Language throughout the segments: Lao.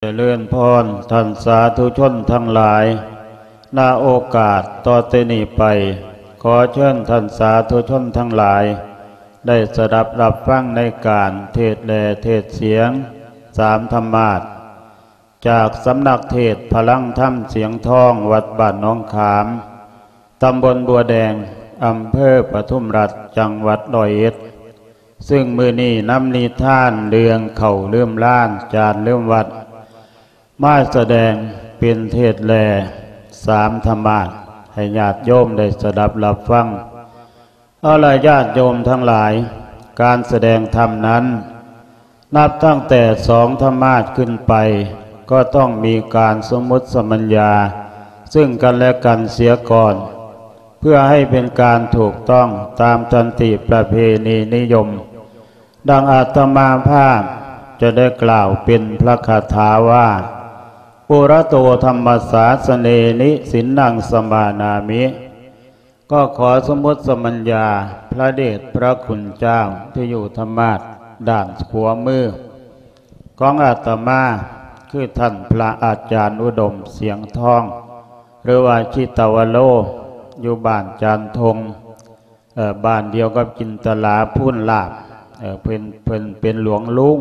ຈະເລີນພອນທ່ານສາທຸຊົນທັງຫຼາຍ, ນະໂອກາດຕໍ່ແຕ່ນີ້ໄປ, ຂໍເຊີນທ່ານສາທຸຊົນທັງຫຼາຍ ໄດ້ສະດັບຮັບຟັງໃນການເທດແລເທດສຽງສາມທຳມາດ ຈາກສຳນັກເທດພະລັງທຳສຽງທອງ ວັດບ້ານໜອງຂາມ, ຕຳບົນບົວແດງ, ອຳເພີປະທຸມລັດ, ຈັງຫວັດຮ້ອຍເອັດ, ຊຶ່ງມື້ນີ້ນຳນິທານເລື່ອງເຂົ້າລືມລ້ານ ຈານລືມວັດ ມາສະແດງເປັນເທດແລສາມທຳມາດ ໃຫ້ຍາດໂຍມໄດ້ສະດັບຮັບຟັງ. ເອົາລະ ຍາດໂຍມທັງຫຼາຍ, ການສະແດງທຳນັ້ນ ນັບຕັ້ງແຕ່ສອງທຳມາດຂຶ້ນໄປ ກໍຕ້ອງມີການສົມມຸດສະມັນຍາ ຊຶ່ງກັນແລະກັນເສຍກ່ອນ ເພື່ອໃຫ້ເປັນການຖືກຕ້ອງຕາມສັນຕິປະເພນີນິຍົມ. ດັ່ງອາດຕະມາພາບຈະໄດ້ກ່າວເປັນພະຄາຖາວ່າ ປຸຣະໂຕທຳມະສາສະເນນິ ສິນນັງສະມານາມິ. ກໍຂໍສົມມຸດສະມັນຍາພະເດດພະຄຸນເຈົ້າທີ່ຢູ່ທຳມາດດ້ານຂວາມືຂອງອາດຕະມາ ຄືທ່ານພະອາຈານອຸດົມ ສຽງທອງ ຫຼືວ່າຈິດຕະວະໂລ ຢູ່ບ້ານຈານທົ່ງ ເອີ ບ້ານດຽວກັບຈິນຕະລາ ພູນລາບ ເອີ ເພິ່ນ ເພິ່ນເປັນຫຼວງລຸງ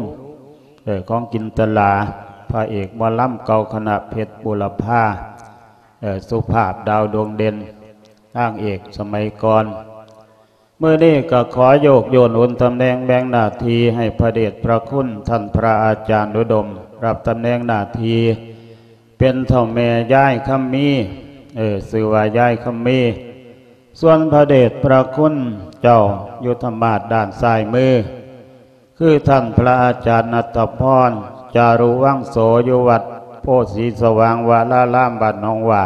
ເອີ ຂອງຈິນຕະລາ, ພະເອກໝໍລຳເກົ່າຄະນະເພັດບຸລະພາ, ເອີ ສຸພາບ ດາວດວງເດັ່ນ, ນາງເອກສະໄໝກ່ອນ. ມື້ນີ້ກໍຂໍໂຍກໂຢນໂອນຕຳແໜ່ງແບ່ງໜ້າທີ່ໃຫ້ພະເດດພະຄຸນທ່ານພະອາຈານອຸດົມ ຮັບຕຳແໜ່ງໜ້າທີ່ເປັນເຖົ້າແມ່ຍາຍຄຳມີ, ເອີ ຊື່ວ່າຍາຍຄຳມີ. ສ່ວນພະເດດພະຄຸນເຈົ້າຢູ່ທຳມາດດ້ານຊ້າຍມື ຄືທ່ານພະອາຈານນັດຕະພອນ ຈາລຸວັງໂສ ຢູ່ວັດໂພສີສະຫວ່າງວະລາລາມ ບ້ານໜອງຫວ້າ.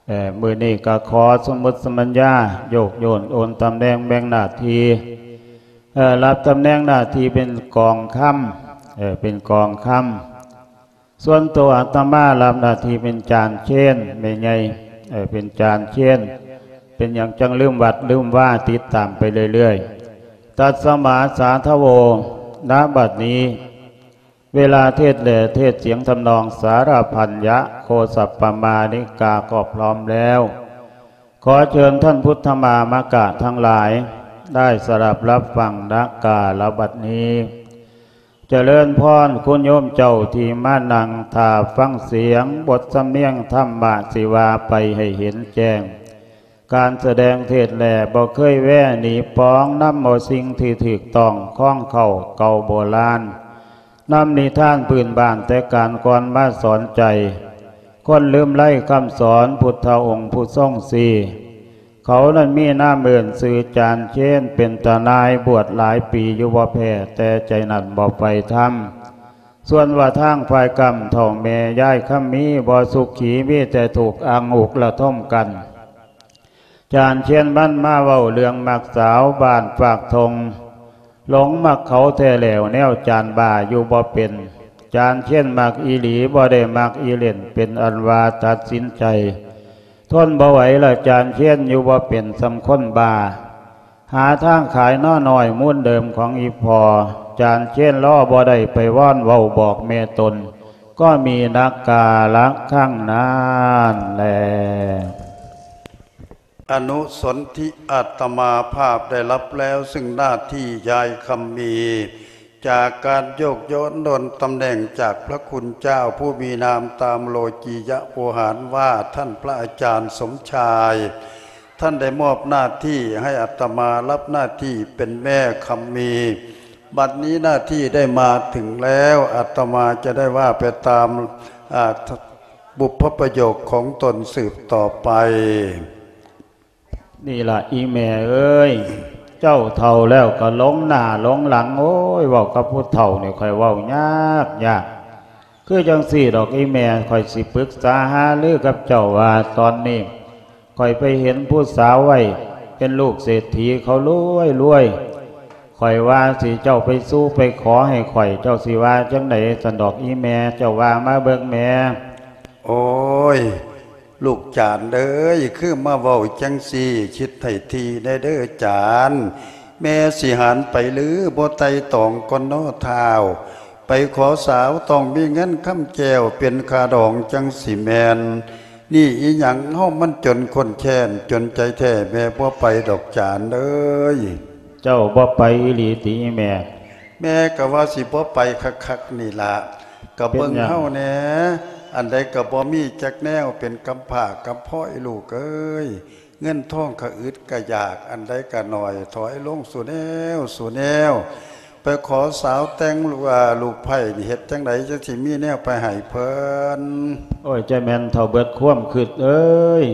ເອີ ມື້ນີ້ກໍຂໍສົມມຸດສະມັນຍາ ໂຍກໂຢນໂອນຕຳແໜ່ງແບ່ງໜ້າທີ່ ເອີ ຮັບຕຳແໜ່ງໜ້າທີ່ເປັນກອງຄຳ, ເອີ ເປັນກອງຄຳ. ສ່ວນໂຕອາດຕະມາຮັບໜ້າທີ່ເປັນຈານເຊນ ແມ່ໃຫຍ່ ເອີ ເປັນຈານເຊນ. ເປັນຫຍັງຈັ່ງລືມວັດລືມວາ? ຕິດຕາມໄປເລື້ອຍໆ. ຕັດສະມາສາທະໂວ ນະບັດນີ້ ເວລາເທດແລເທດສຽງທຳນອງສາລະພັນຍະໂຄສັບປະມານິກາກໍພ້ອມແລ້ວ, ຂໍເຊີນທ່ານພຸດທະມາມະກະທັງຫຼາຍ ໄດ້ສະດັບຮັບຟັງນະກາລະບັດນີ້. ຈະເລີນພອນ ຄຸນໂຍມເຈົ້າທີ່ມານັ່ງຖ້າຟັງສຽງບົດສຳນຽງທຳມະ ຊິວ່າໄປໃຫ້ເຫັນແຈ້ງ. ການສະແດງເທດແລບໍ່ເຄີຍແວໜີປອງ, ນຳເອົາສິ່ງທີ່ຖືກຕ້ອງຂອງເກົ່າເກົ່າໂບລານ, ນຳນິທານພື້ນບ້ານແຕ່ການກ່ອນມາສອນໃຈ ຄົນລືມໄລຄຳສອນພຸດທະອົງຜູ້ຊົງຊີ້. ເຂົານັ້ນມີນາມເອີ້ນຊື່ຈານເຊນ, ເປັນຕານາຍບວດຫຼາຍປີຢູ່ບໍ່ແພ້, ແຕ່ໃຈນັ້ນບໍ່ໃຝ່ທຳ. ສ່ວນວ່າທາງຝ່າຍກຳເຖົ້າແມ່ຍາຍຄຳມີບໍ່ສຸຂີ, ມີແຕ່ທຸກອັງອຸກລະທົມກັນ. ຈານເຊນມັນມາເວົ້າເລື່ອງມັກສາວບ້ານປາກທົ່ງ, ຫຼົງມັກເຂົາແທ້ແລ້ວ ແນວຈານບ້າຢູ່ບໍ່ເປັນ. ຈານເຊນມັກອີ່ຫຼີ ບໍ່ໄດ້ມັກອີ່ຫຼິ້ນ, ເປັນອັນວ່າຕັດສິນໃຈ ທົນບໍ່ໄຫວລະ ຈານເຊນຢູ່ບໍ່ເປັນສ່ຳຄົນບ້າ. ຫາທາງຂາຍໜໍ່ນ້ອຍມູນເດີມຂອງອີ່ພໍ່, ຈານເຊນລໍບໍ່ໄດ້ໄປວອນເວົ້າບອກແມ່ຕົນ, ກໍມີນັກກາລະຄັ້ງນັ້ນແລ. ອະນຸສົນທິອາດຕະມາພາບໄດ້ຮັບແລ້ວ ຊຶ່ງໜ້າທີ່ຍາຍຄຳມີ ຈາກການໂຍກໂຢນໂອນຕຳແໜ່ງຈາກພະຄຸນເຈົ້າຜູ້ມີນາມຕາມໂລກີຍະໂວຫານວ່າ ທ່ານພະອາຈານສົມຊາຍ, ທ່ານໄດ້ມອບໜ້າທີ່ໃຫ້ອາດຕະມາຮັບໜ້າທີ່ເປັນແມ່ຄຳມີ. ບັດນີ້ໜ້າທີ່ໄດ້ມາເຖິງແລ້ວ, ອາດຕະມາຈະໄດ້ວ່າໄປຕາມ ອາ ບຸບພະປະໂຫຍກຂອງຕົນສືບຕໍ່ໄປ. ນີ້ລະອີ່ແມ່ເອີຍ, ເຈົ້າເຖົ້າແລ້ວກໍຫຼົງໜ້າຫຼົງຫຼັງ. ໂອ້ຍ ເວົ້າກັບຜູ້ເຖົ້ານີ້ຂ້ອຍເວົ້າຍາກຍາກ. ຄືຈັ່ງຊີ້ດອກອີ່ແມ່, ຂ້ອຍຊິປຶກສາຫາລືກັບເຈົ້າວ່າ ຕອນນີ້ຂ້ອຍໄປເຫັນຜູ້ສາວໄວ້ ເປັນລູກເສດຖີ ເຂົາລວຍໆ. ຂ້ອຍວ່າຊິເຈົ້າໄປສູ່ໄປຂໍໃຫ້ຂ້ອຍ, ເຈົ້າຊິວ່າຈັ່ງໃດຊັ້ນດອກອີ່ແມ່? ເຈົ້າວ່າມາເບິ່ງແດ່. ໂອ້ຍ ລູກຈານເອີຍ, ຄືມາເວົ້າຈັ່ງຊີ້, ຄິດໃຫ້ຖີ່ແດ່ເດີຈານ. ແມ່ຊິຫັນໄປຫຼືບໍ່ໄຕ່ຕອງກ່ອນເນາະທ້າວ? ໄປຂໍສາວຕ້ອງມີເງິນຄຳແກ້ວເປັນຄ່າດອງຈັ່ງຊິແມ່ນ. ນີ້ອີ່ຫຍັງເຮົາມັນຈົນຄົນແຄ້ນ ຈົນໃຈແທ້ແມ່ບໍ່ໄປດອກຈານເອີຍ. ເຈົ້າບໍ່ໄປອີ່ຫຼີຕິອີ່ແມ່? ແມ່ກໍວ່າຊິບໍ່ໄປຄັກໆນີ້ລະ ກໍເບິ່ງເຮົາແດ່ ອັນໃດກໍບໍ່ມີຈັກແນວ ເປັນກຳພ້າກຳພ້ອຍລູກເອີຍ. ເງິນທອງກະອຶດກະຢາກ ອັນໃດກະໜ້ອຍ ຖອຍລົງສູ່ແນວສູ່ແນວ ໄປຂໍສາວແຕ່ງ ລູກໃພ້ນີ້ ເຮັດຈັ່ງໃດຈັ່ງຊິມີແນວໄປໃຫ້ເພິ່ນ? ໂອ້ຍ ເຈົ້າແມ່ນເຖົ້າເບິດຄວາມຄິດເອີຍ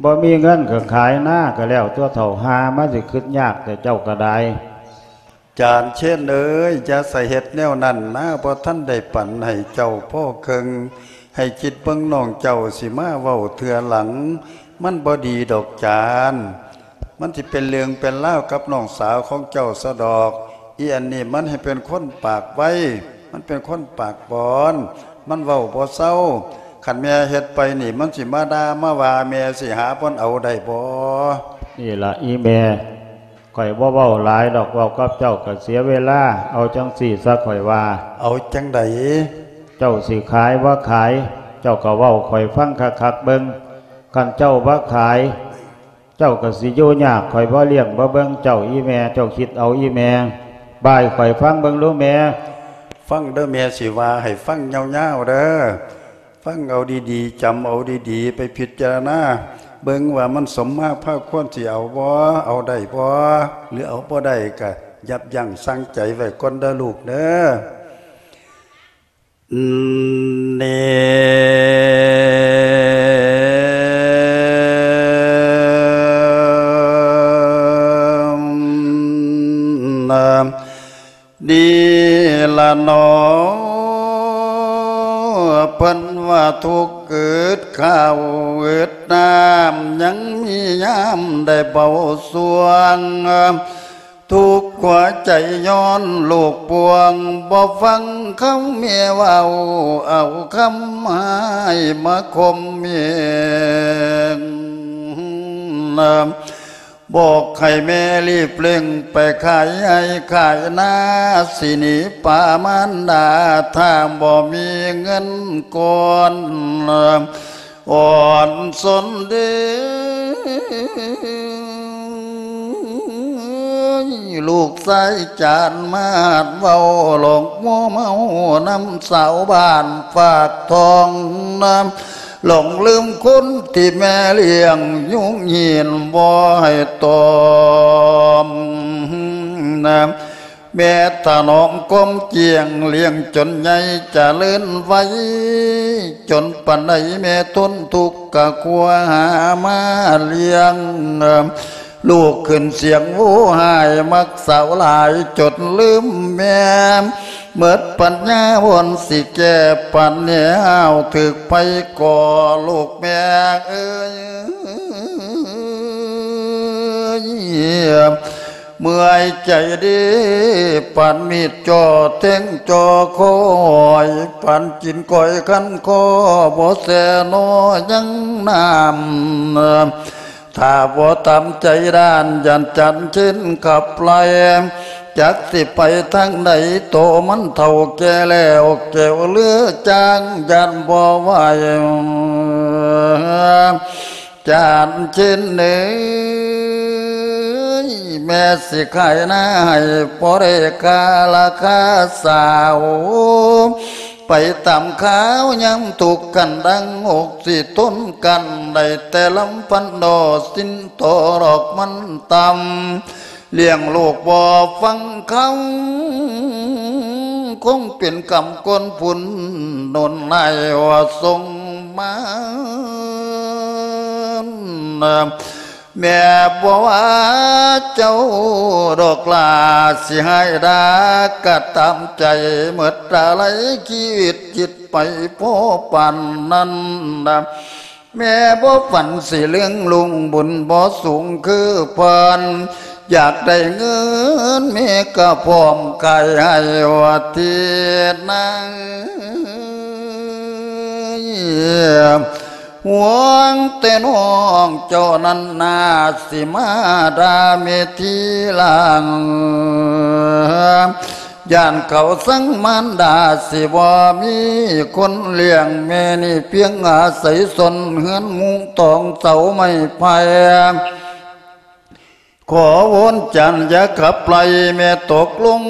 ບໍ່ມີເງິນກໍຂາຍນາກໍແລ້ວຕົວະເຖົ້າ ຫາມາຊິຄິດຍາກແຕ່ເຈົ້າກໍໄດ້. ຈານເຊນເອີຍ ຢ່າສະເຮັດແນວນັ້ນນາ ບໍ່ທັນໄດ້ປັນໃຫ້ເຈົ້າພໍເຄິ່ງ ໃຫ້ຄິດເບິ່ງນ້ອງເຈົ້າຊິມາເວົ້າເທື່ອຫຼັງ ມັນບໍ່ດີດອກຈານ. ມັນຊິເປັນເລື່ອງເປັນລາວກັບນ້ອງສາວຂອງເຈົ້າຊະດອກ. ອີ່ອັນນີ້ມັນໃຫ້ເປັນຄົນປາກໄວ ມັນເປັນຄົນປາກບອນ ມັນເວົ້າບໍ່ເຊົາ. ຄັນແມ່ເຮັດໄປນີ້ ມັນຊິມາດ່າມາວ່າ ແມ່ຊິຫາບ່ອນເອົາໄດ້ບໍ່? ນີ້ລະອີ່ແມ່ ຂ້ອຍບໍ່ເວົ້າຫຼາຍດອກ ເວົ້າກັບເຈົ້າກໍເສຍເວລາ. ເອົາຈັ່ງຊີ້ຊະ ຂ້ອຍວ່າ. ເອົາຈັ່ງໃດ? ເຈົ້າຊິຂາຍບໍ່ຂາຍ ເຈົ້າກໍເວົ້າຂ້ອຍຟັງຄັກໆເບິ່ງ. ຄັນເຈົ້າບໍ່ຂາຍ ເຈົ້າກໍຊິຢູ່ຍາກ ຂ້ອຍບໍ່ລ້ຽງບໍ່ເບິ່ງເຈົ້າອີ່ແມ່. ເຈົ້າຄິດເອົາອີ່ແມ່ ບ່າຍຂ້ອຍຟັງເບິ່ງດູແມ່. ຟັງເດີ້ແມ່ ຊິວ່າໃຫ້ຟັງຍາວໆເດີ້. ຟັງເອົາດີໆ ຈຳເອົາດີໆ ໄປພິຈາລະນາເບິ່ງວ່າມັນສົມມາພາຄວນຊິເອົາບໍ່ ເອົາໄດ້ບໍ່ ຫຼືເອົາບໍ່ໄດ້ກະຢັບຢັ້ງຊັ່ງໃຈໄວ້ກ່ອນເດີ້ລູກເດີ້. ເນ ນີ້ລະໜໍ ເພິ່ນວ່າທຸກອຶດເຂົ້າອຶດນ້ຳ ຍັງມີຍາມໄດ້ເບົາຊ່ວງ ທຸກຫົວໃຈຍ້ອນລູກປ່ວງ ບໍ່ຟັງຄຳແມ່ເວົ້າ ເອົາຄຳຮ້າຍມາຂົ່ມເຫງ ບອກໃຫ້ແມ່ລີບເລັ່ງໄປຂາຍໄຮ່ຂາຍນາ ຊິໜີປາມານດາ ຖ້າບໍ່ມີເງິນກ່ອນ ອ່ອນສົນເດ ລູກຊາຍຈານມາດເວົ້າຫຼອກມົວເມົານຳຊາວບ້ານປາກທອງນຳ ຫຼອງລືມຄຸນທີ່ແມ່ລ້ຽງຍຸງຍິນບໍ່ໃຫ້ຕອມນຳ ແມ່ຖະໜອມຄວາມຈຽງ ລ້ຽງຈົນໃຫຍ່ຈະເລີນໄວ ຈົນປານໃດແມ່ທົນທຸກກະຄົວຫາມາລ້ຽງ ລູກຂຶ້ນສຽງໂຫຮ້ຮ້າຍ ມັກສາວຫຼາຍຈົນລືມແມ່ ໝົດປັນຍາບ່ອນຊິແກ້ປັນແນວ ຖືກໄຟກໍລູກແມ່ເອີຍ ເມື່ອຍໃຈເດ ປານມີດຈ່ອແທງຈ່ອຄອຍ ປານກິນກ້ອຍຄັນຄໍ ບໍ່ແຊນໍຍັງນ້ຳ ຖ້າບໍ່ຕາມໃຈດ້ານ ຢ້ານຈັນເຊັ່ນຂັບໄລ່ ຈັກຊິໄປທາງໃດ ໂຕມັນເຖົ້າແກ່ແລ້ວ ແກ້ວເຫຼືອຈາງ ຢ້ານບໍ່ໄຫວ ຈານເຊັ່ນເອີຍ ແມ່ຊິຂາຍນາໃຫ້ ພໍໄດ້ຄ່າລາຄາສາວ ໄປຕາມຄາວຍາມທຸກກັນດັງ ອົກຊິທົນກັນໄດ້ແຕ່ລຳພັນ ດອກສິນຕໍ່ດອກມັນຕ່ຳ ລ້ຽງລູກບໍ່ຟັງຄຳ ຄົງເປັນກຳກົນພຸ້ນ ໜູນນາຍວ່າສົ່ງມາ ແມ່ບໍ່ວ່າເຈົ້າດອກຫຼ້າ ຊິຮ້າຍດ່າກະຕາມໃຈ ໝົດອາໄລຊີວິດຈິດໄປພໍປານນັ້ນ ແມ່ບໍ່ຝັນຊິເລື່ອງລຸ້ງ ບຸນບໍ່ສູງຄືເພິ່ນ ຢາກໄດ້ເງິນແມ່ກະພ້ອມຂາຍໃຫ້ວ່າຕິນາງ ຫ່ວງແຕ່ນ້ອງເຈົ້ານັ້ນນາ ຊິມາດ່າແມ່ທີຫຼັງ ຢ້ານເຂົາຊັງມານດາ ຊິບໍ່ມີຄົນລ້ຽງແມ່ນີ້ ພຽງອາໄສຊ່ອນເຮືອນມຸງຕອງເສົາໄມ້ໄຜ່ ຂໍວອນຈານຢ່າຂັບໄລ່ແມ່ ຕົກລົງ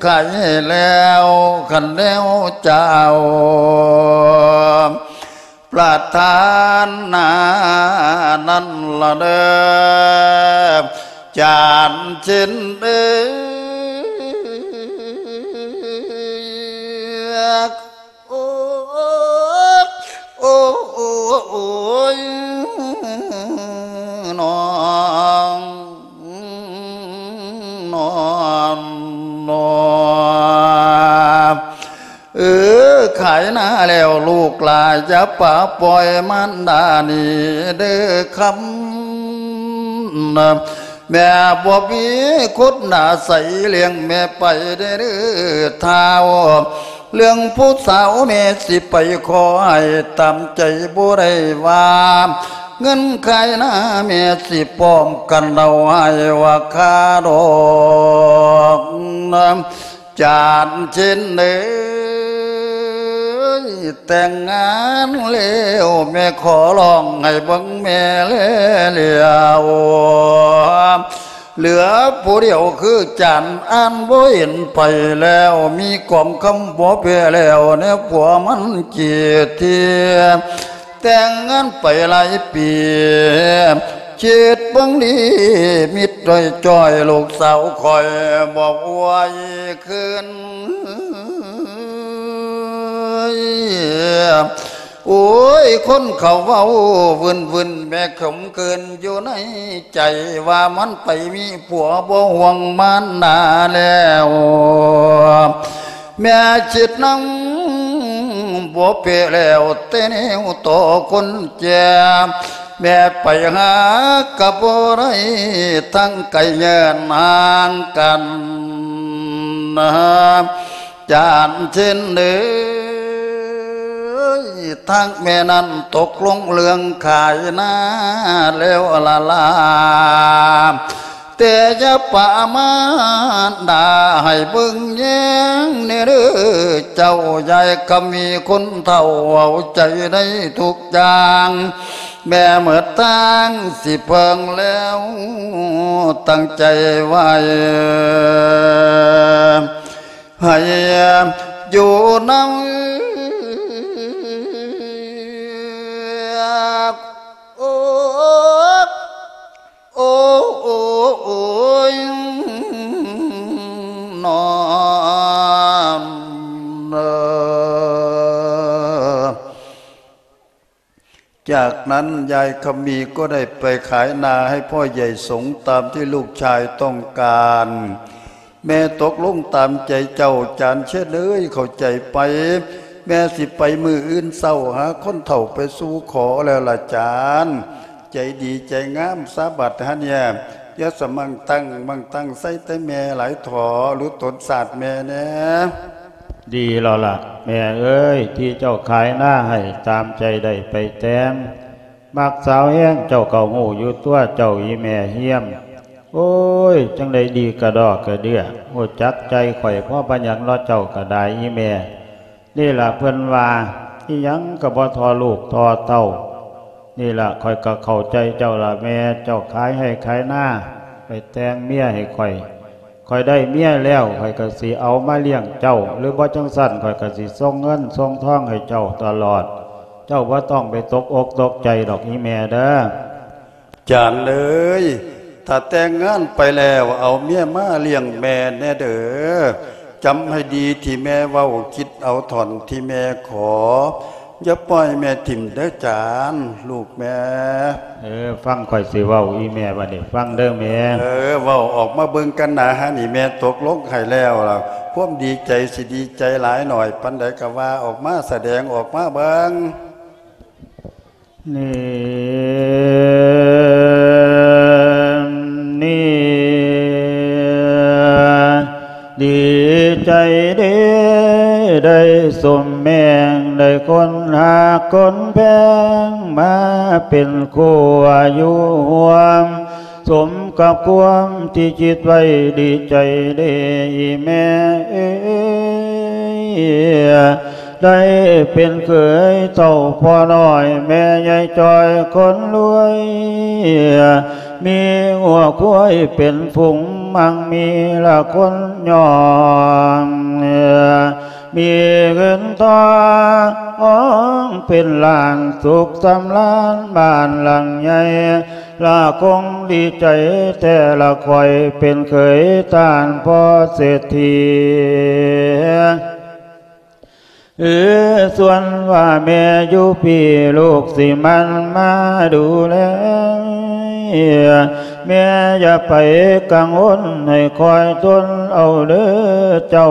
ຂາຍໃຫ້ແລ້ວ ຄັນແນວຈະເອົາ ປະທານນານັ້ນລະເດີ ຈານເຊັ່ນເອີ ໂອ້ ໂອ້ ໂອ້ຍ ນ້ອງ ນ້ອງ ນ້ອງ ເອີ ຂາຍນາແລ້ວລູກຫຼານ ຢ່າປະປ່ອຍມານດານີ້ເດີຄຳ ແມ່ບໍ່ມີຄົນອາໄສ ລ້ຽງແມ່ໄປເດີທ້າວ ເລື່ອງຜູ້ສາວແມ່ຊິໄປຂໍໃຫ້ຕາມໃຈບໍ່ໄດ້ວ່າ ເງິນຂາຍນາແມ່ຊິພ້ອມກັນເອົາໃຫ້ວ່າຄ່າດອກ ຈານເຊັ່ນເອີຍ ແຕ່ງງານແລ້ວ ແມ່ຂໍຮ້ອງໃຫ້ເບິ່ງແມ່ແລແລ້ວ ເຫຼືອຜູ້ດຽວຄືຈານ ອ່ານບໍ່ເຫັນໃຜແລ້ວ ມີກອງຄຳບໍ່ແພ້ແລ້ວ ແນວຜົວມັນເກຍເທຍ ແຕ່ງງານໄປຫຼາຍປີ ຄິດເບິ່ງດີມິດດ້ອຍຈ້ອຍ ລູກສາວຂ້ອຍບໍ່ອວຍຄືນ ໂອ້ຍ ຄົນເຂົາເວົ້າວື່ນໆ ແມ່ຂົມເຂີນຢູ່ໃນໃຈ ວ່າມັນໄປມີຜົວບໍ່ຫ່ວງມານດາແລ້ວ ແມ່ຄິດນຳບໍ່ເປະແລ້ວ ແຕ່ແນວຕໍ່ຄົນແກ່ ແມ່ໄປຫາກະບໍ່ໄດ້ ທັງໄກເຍີນຫ່າງກັນ ຈານເຊັ່ນເອີຍ ທັງແມ່ນັ້ນຕົກລົງເລື່ອງຂາຍນາແລ້ວລະລາ ແຕ່ຢ່າປະມາດດາ ໃຫ້ເບິ່ງແຍງແດ່ເດີເຈົ້າ ຍາຍຄຳມີຄົນເຖົ້າເອົາໃຈໃນທຸກຢ່າງ ແມ່ເໝິດທາງຊິເພິ່ງແລ້ວ ຕັ້ງໃຈໄວ້ ໃຫ້ຢູ່ນຳ ໂອ້ ໂອ້ ໂອ້ ໂອ້ຍ ນອນເດີ. ຈາກນັ້ນຍາຍຄຳມີກໍໄດ້ໄປຂາຍນາໃຫ້ພໍ່ໃຫຍ່ສົງຕາມທີ່ລູກຊາຍຕ້ອງການ. ແມ່ຕົກລົງຕາມໃຈເຈົ້າ ຈານເຊນເອີຍ ເຂົ້າໃຈໄປ? ແມ່ຊິໄປມື້ອື່ນເຊົ້າ ຫາຄົນເຖົ້າໄປສູ່ຂໍແລ້ວລະຈານ. ໃຈດີໃຈງາມສາບັດຫັ້ນແຍ. ຢ່າສະມັງຕັ້ງມັງຕັ້ງໃສ່ແຕ່ແມ່ຫຼາຍທໍ້ ຫຼຸດຕົນສາດແມ່ແດ່. ດີແລ້ວລະແມ່ເອີຍ ທີ່ເຈົ້າຂາຍນາໃຫ້ຕາມໃຈໄດ້ໄປແຕ່ງ. ມັກສາວແຮງເຈົ້າກໍຮູ້ຢູ່ຕົວເຈົ້າອີ່ແມ່ຮຽມ. ໂອ້ຍ ຈັ່ງໄດ້ດີກະດໍກະເດື່ອ ຮູ້ຈັກໃຈຂ້ອຍພໍປານຫຍັງເນາະເຈົ້າກະດາຍອີ່ແມ່. ນີ້ລະເພິ່ນວ່າ ອີ່ຫຍັງກໍບໍ່ທໍ່ລູກທໍ່ເຕົ້າ. ນີ້ລະຂ້ອຍກໍເຂົ້າໃຈເຈົ້າລະແມ່ ເຈົ້າຂາຍໄຮ່ຂາຍນາໄປແຕ່ງເມຍໃຫ້ຂ້ອຍ. ຂ້ອຍໄດ້ເມຍແລ້ວ ຂ້ອຍກໍຊິເອົາມາລ້ຽງເຈົ້າ ຫຼືບໍ່ຈັ່ງຊັ້ນຂ້ອຍກໍຊິສົ່ງເງິນສົ່ງທອງໃຫ້ເຈົ້າຕະຫຼອດ. ເຈົ້າບໍ່ຕ້ອງໄປຕົກອົກຕົກໃຈດອກອີ່ແມ່ເດີ. ຈານເອີຍ ຖ້າແຕ່ງງານໄປແລ້ວ ເອົາເມຍມາລ້ຽງແມ່ແດ່ເດີ. ຈຳໃຫ້ດີທີ່ແມ່ເວົ້າ ຄິດເອົາທ່ອນທີ່ແມ່ຂໍ. ຢ່າປ່ອຍແມ່ຖິ້ມເດີຈານ ລູກແມ່. ເອີ ຟັງຂ້ອຍຊິເວົ້າອີ່ແມ່ບາດນີ້ ຟັງເດີແມ່. ເອີ ເວົ້າອອກມາເບິ່ງກັນນາ ຫານີ້ແມ່ຕົກລົງໃຫ້ແລ້ວລະ ຄວາມດີໃຈຊິດີໃຈຫຼາຍໜ້ອຍປານໃດກໍວ່າອອກມາ ສະແດງອອກມາເບິ່ງ. ນີ້ ນີ້ ດີໃຈເດ້ ໄດ້ສົມແມງ ໄດ້ຄົນຮັກຄົນແພງ ມາເປັນຄູ່ຢູ່ຮ່ວມ ສົມກັບຄວາມທີ່ຄິດໄວ້ ດີໃຈເດ້ອີແມ່ເອີຍ ໄດ້ເປັນເຂີຍເຖົ້າພໍ່ນ້ອຍ ແມ່ໃຫຍ່ຈ່ອຍຄົນລວຍ ມີງົວຄວາຍເປັນຝູງ ມັກມີລະຄົນຍ້ອງ ມີເງິນທອງເປັນລ້ານ ສຸກສຳລານບ້ານຫຼັງໃຫຍ່ ລະຄົງດີໃຈແທ້ລະ ຂ້ອຍເປັນເຂີຍທ່ານພໍ່ເສດຖີ. ເອີ ສ່ວນວ່າແມ່ຢູ່ພີ້ ລູກຊິໝັ່ນມາດູແລ ແມ່ຢ່າໄປກັງວົນ ໃຫ້ຄອຍທົນເອົາເດີເຈົ້າ.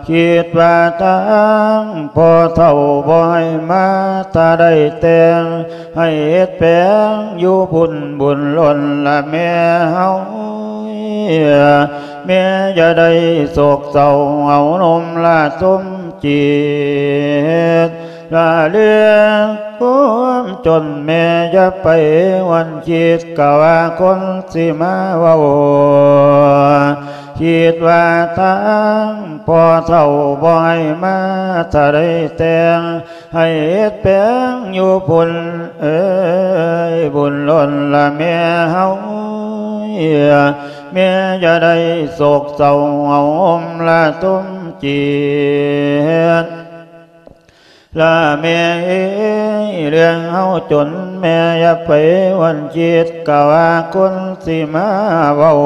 ຄິດວ່າທາງພໍ່ເຖົ້າບໍ່ໃຫ້ມາ ຖ້າໄດ້ແຕ່ງ ໃຫ້ເຮັດແປງຢູ່ພຸ້ນ ບຸນລົ້ນລະແມ່ເຮົາ. ແມ່ຢ່າໄດ້ໂສກເສົ້າ ເອົານົມລະສົມຈິດ ລະເລື່ອງຄວາມຈົນ ແມ່ຢ່າໄປຫວັ່ນຄິດ ກະວ່າຄົນຊິມາເວົ້າ. ຄິດວ່າທາງພໍ່ເຖົ້າບໍ່ໃຫ້ມາ ຖ້າໄດ້ແຕ່ງ ໃຫ້ເຮັດແປງຢູ່ພຸ້ນເອີຍ ບຸນລົ້ນລະແມ່ເຮົາ. ແມ່ຢ່າໄດ້ໂສກເສົ້າ ເອົາໂຮມລະສົມຈິດ ລະແມ່ເອີຍ ເລື່ອງເຮົາຈົນ ແມ່ຢ່າໄປຫວັ່ນຄິດ ກະວ່າຄົນຊິມາເວົ້າ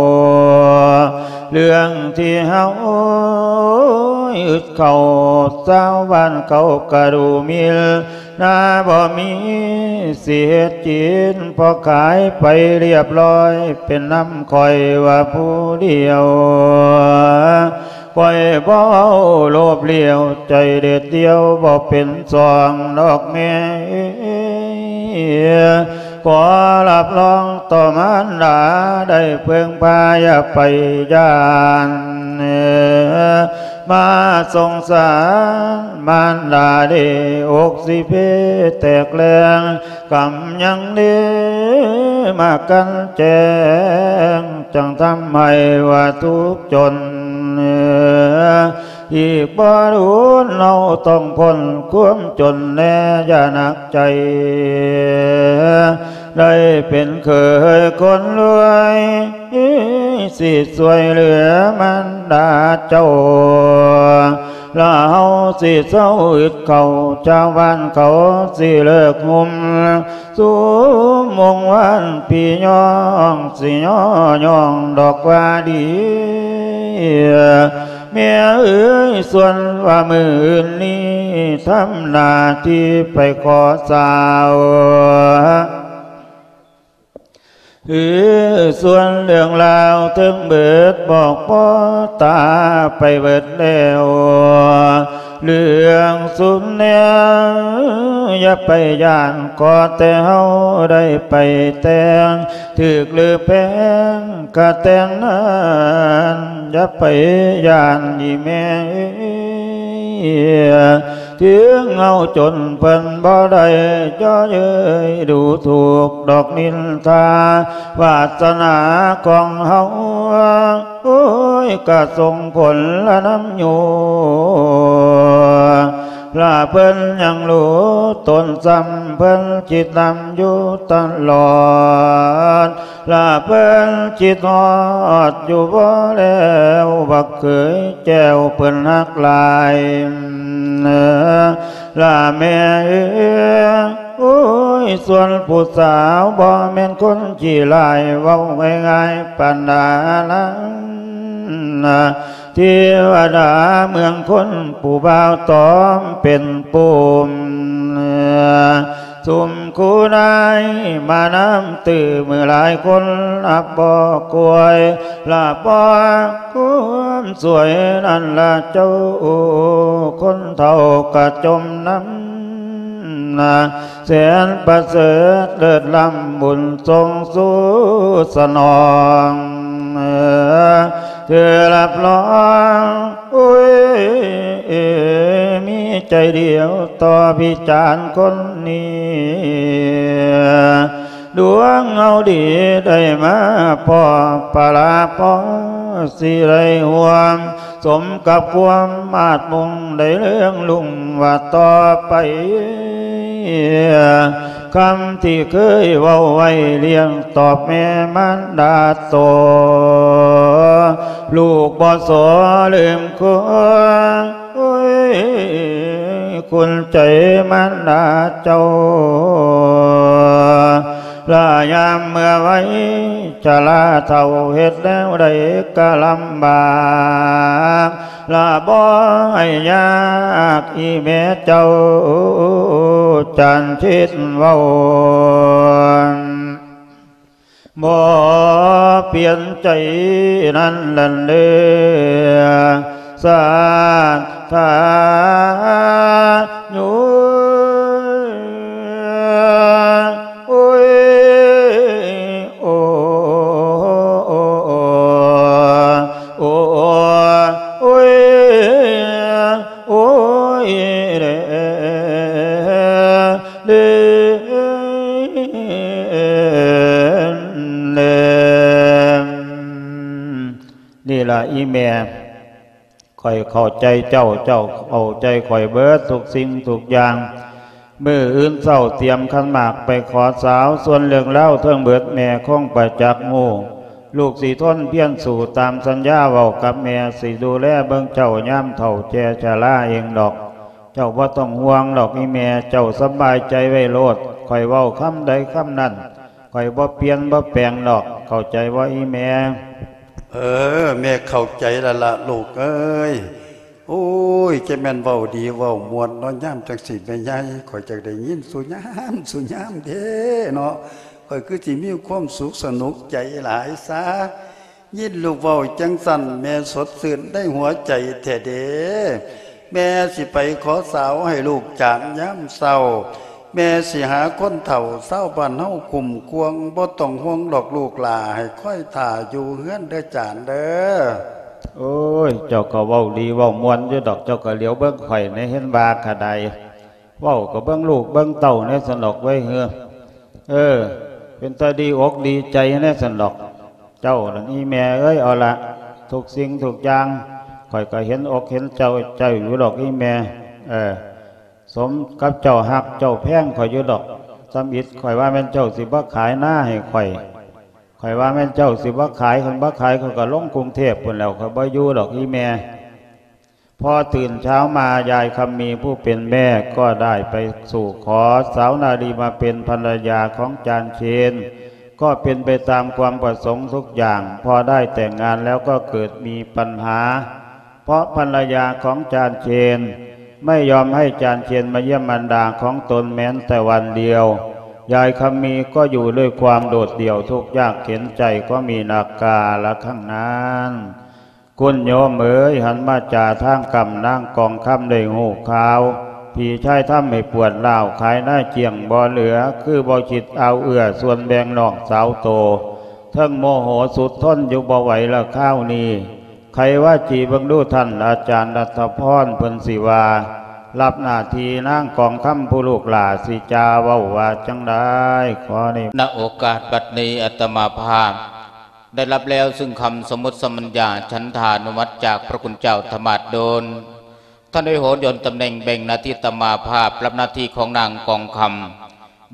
ເລື່ອງທີ່ເຮົາອຶດເຂົ້າ ຊາວບ້ານເຂົາກະດູໝິ່ນ ນາບໍ່ມີຊິເຮັດກິນ ພໍຂາຍໄປລຽບລ້ອຍ ເປັນນຳຂ້ອຍວ່າຜູ້ດຽວ. ຂ້ອຍບໍ່ເວົ້າໂລບລ້ຽວ ໃຈເດັດດ່ຽວບໍ່ເປັນສອງດອກແມ່ເອີຍ. ຂໍຮັບຮອງຕໍ່ມານດາໄດ້ເພິ່ງພາ ຢ່າໄປຢ້ານ ມາສົງສານມານດາເດ້ ອົກຊິເພແຕກແລງ ກຳຍັງເດ້ມາກັ່ນແຈງ ຈັ່ງທຳໃຫ້ວ່າທຸກຈົນ. ອີກບໍ່ດົນເຮົາຕ້ອງພົ້ນຄວາມຈົນແນ່ ຢ່າໜັກໃຈ ໄດ້ເປັນເຂີຍຄົນລວຍ ຊິຊ່ວຍເຫຼືອມານດາເຈົ້າ ລະເຮົາຊິເຊົາອຶດເຂົ້າ ຊາວບ້ານເຂົາຊິເລີກຫຸ່ມ ຊຸມວົງວານພີ່ນ້ອງ ຊິຍໍຍ້ອງດອກວ່າດີ. ແມ່ເອີຍ ສ່ວນວ່າມື້ອື່ນນີ້ ທຳໜ້າທີ່ໄປຂໍສາວ ຄືສ່ວນເລື່ອງລາວເຖິງເບີດ ບອກພໍ່ຕາໄປເບີດແລ້ວ ເລື່ອງສຸມແນວຢ່າໄປຢ້ານ ຂໍແຕ່ເຮົາໄດ້ໄປແຕ່ງ ຖືກຫຼືແພງກະແຕ່ງນັ້ນ ຢ່າໄປຢ້ານອີ່ແມ່ເອີຍ. ເຖິງເຮົາຈົນເພິ່ນບໍ່ໄດ້ເຍາະເຍີ້ຍດູຖູກດອກນິນທາ ວາສະໜາຂອງເຮົາ ໂອ້ຍ ກະສົ່ງຜົນລະນຳຢູ່ ລະເພິ່ນຍັງຮູ້ຕົນຊ້ຳ ເພິ່ນຄິດນຳຢູ່ຕະຫຼອດ ລະເພິ່ນຄິດຮອດຢູ່ບໍ່ແລ້ວ ບັກເຂີຍແກ້ວເພິ່ນຮັກຫຼາຍ ລະແມ່ເອີຍ ໂອ້ຍ ສ່ວນຜູ້ສາວບໍ່ແມ່ນຄົນຂີ້ຮ້າຍ ເວົ້າງ່າຍໆປານດາລານ ເທວະດາເມືອງຄົນ ຜູ້ບ່າວຕອມເປັນປູມ ຊຸມຄູນາຍມານຳຕື້ ມື້ຫຼາຍຄົນຮັບບໍ່ກວຍ ລະບໍ່ຄວາມສວຍນັ້ນລະເຈົ້າ ຄົນເຖົ້າກະຈົມນຳ ແສນປະເສີດເລີດລ້ຳ ບຸນສົ່ງສູ່ສະໜອງ ເທື່ອຮັບຮອງ ໂອ້ຍ ມີໃຈດຽວຕໍ່ພິຈານຄົນນີ້ ດວງເຮົາດີໄດ້ມາພໍ້ປະລາພໍ້ ຊິໄດ້ຮ່ວມສົມກັບຄວາມມາດມຸ່ງ ໄດ້ເລື່ອງລຸ້ງວ່າຕໍ່ໄປ ຄຳທີ່ເຄີຍເວົ້າໄວ້ ລ້ຽງຕອບແມ່ມານດາໂຕ ລູກບໍ່ສໍລືມຄຸນ ໂອ້ຍ ຄຸນໃຈມານດາເຈົ້າ ລະຍາມເມື່ອໄວຊະລາເຖົ້າ ເຮັດແນວໃດກະລຳບາກ ລະບໍ່ໃຫ້ຍາກ ອີ່ແມ່ເຈົ້າ ຈານເທດເວົ້າ ບໍ່ປ່ຽນໃຈນັ້ນແຫຼະເດີ ສາທາໂຍ ໂອ້ຍ ໂອ້ ໂອ້ ໂອ້ ໂອ້ຍ ໂອ້ຍ ເດ ເດ ເດ ນີ້ລະອີ່ແມ່ ຂ້ອຍເຂົ້າໃຈເຈົ້າ ເຈົ້າເຂົ້າໃຈຂ້ອຍເບິດທຸກສິ່ງທຸກຢ່າງ. ມື້ອື່ນເຊົ້າຕຽມຂັນໝາກໄປຂໍສາວ ສ່ວນເລື່ອງລາວເທິງເບິດແມ່ຄົງປະຈັກຮູ້. ລູກຊິທົນພຽນສູ້ຕາມສັນຍາເວົ້າກັບແມ່ ຊິດູແລເບິ່ງເຈົ້າຍາມເຖົ້າແກ່ຊະລາເອງດອກ. ເຈົ້າບໍ່ຕ້ອງຫ່ວງດອກອີ່ແມ່ ເຈົ້າສະບາຍໃຈໄວ້ໂລດ. ຂ້ອຍເວົ້າຄຳໃດຄຳນັ້ນ ຂ້ອຍບໍ່ປ່ຽນບໍ່ແປງດອກ. ເຂົ້າໃຈບໍ່ອີ່ແມ່? ເອີ ແມ່ເຂົ້າໃຈແລ້ວລະລູກເອີຍ. ໂອ້ຍ ຈະແມ່ນເວົ້າດີເວົ້າມ່ວນເນາະ ຍາມຈັ່ງຊີ້ແມ່ໃຫຍ່ ຂ້ອຍຈັກໄດ້ຍິນສູ່ຍາມສູ່ຍາມເດ້ເນາະ. ຂ້ອຍຄືຊິມີຄວາມສຸກສະໜຸກໃຈຫຼາຍຊະ ຍິນລູກເວົ້າຈັ່ງຊັ້ນ ແມ່ສົດຊື່ນໃນຫົວໃຈແທ້ເດ້. ແມ່ຊິໄປຂໍສາວໃຫ້ລູກຈານຍາມເຊົ້າ. ແມ່ຊິຫາຄົນເຖົ້າຊາວບ້ານເຮົາຄຸ້ມຄວງ ບໍ່ຕ້ອງຫ່ວງດອກລູກຫຼ້າ ໃຫ້ຄອຍຖ້າຢູ່ເຮືອນເດີຈານເດີ. ໂອ້ຍ ເຈົ້າກໍເວົ້າດີເວົ້າມ່ວນຢູ່ດອກ ເຈົ້າກໍຫຼຽວເບິ່ງຂ້ອຍແດ່ ເຫັນວ່າກະໄດ້ ເວົ້າກໍເບິ່ງລູກເບິ່ງເຕົ້າແດ່ຊັ້ນດອກເວີຍ ເອີ ເອີ ເປັນຕາດີອົກດີໃຈແດ່ຊັ້ນດອກ ເຈົ້ານັ້ນອີ່ແມ່ເອີຍ. ເອົາລະ ທຸກສິ່ງທຸກຢ່າງ ຂ້ອຍກໍເຫັນອົກເຫັນເຈົ້າ ເຈົ້າຢູ່ດອກອີ່ແມ່ ເອີ ສົມກັບເຈົ້າຮັກເຈົ້າແພງຂ້ອຍຢູ່ດອກ. ຊຳອິດ ຂ້ອຍວ່າແມ່ນເຈົ້າຊິບໍ່ຂາຍນາໃຫ້ຂ້ອຍ ຂ້ອຍວ່າແມ່ນເຈົ້າຊິບໍ່ຂາຍ ຄັນບໍ່ຂາຍ ຂ້ອຍກໍລົງກຸງເທບພຸ້ນແລ້ວ ຂ້ອຍບໍ່ຢູ່ດອກອີ່ແມ່. ພໍຕື່ນເຊົ້າມາ ຍາຍຄຳມີຜູ້ເປັນແມ່ກໍໄດ້ໄປສູ່ຂໍສາວນາລີມາເປັນພັນລະຍາຂອງຈານເຊນ ກໍເປັນໄປຕາມຄວາມປະສົງທຸກຢ່າງ. ພໍໄດ້ແຕ່ງງານແລ້ວກໍເກີດມີປັນຫາ ເພາະພັນລະຍາຂອງຈານເຊນໄມ່ຍອມໃຫ້ຈານເຊນມາຢ້ຽມມານດາຂອງຕົນແມ້ນແຕ່ວັນດຽວ. ຍາຍຄຳມີກໍຢູ່ດ້ວຍຄວາມໂດດດ່ຽວ ທຸກຍາກເຂັນໃຈກໍມີໜັກກາລະຄັ້ງນັ້ນ. ຄຸນໂຍມເອີຍ ຫັນມາຈາທາງກຳ ນາງກອງຄຳໄດ້ຮູ້ຂ່າວ ພີ່ຊາຍທຳໃຫ້ປວດຮ້າວ ຂາຍນາຈ້ຽງບໍ່ເຫຼືອ ຄືບໍ່ຄິດອາວເອື້ອສ່ວນແບ່ງນ້ອງສາວໂຕ ເທິງໂມໂຫສຸດທົນຢູ່ບໍ່ໄຫວລະຄາວນີ້. ໄຂວາຈີເບິ່ງດູທ່ານອາຈານລັດຖະພອນ ເພິ່ນຊິວ່າ ຮັບໜ້າທີ່ນາງກອງຄຳຜູ້ລູກຫຼ້າ ຊິຈາເວົ້າວ່າຈັ່ງໃດ? ຂໍນິ ນະໂອກາດບັດນີ້ ອາດຕະມາພາບໄດ້ຮັບແລ້ວຊຶ່ງຄຳສຳມຸດສຳບັນຍາ ສັນທານຸມັດຈາກພະຄຸນເຈົ້າທະມາດໂດນ ທ່ານໄດ້ໂຫນໂຍນຕຳແໜ່ງແບ່ງໜ້າທີ່ອາດຕະມາພາບ ຮັບໜ້າທີ່ຂອງນາງກອງຄຳ.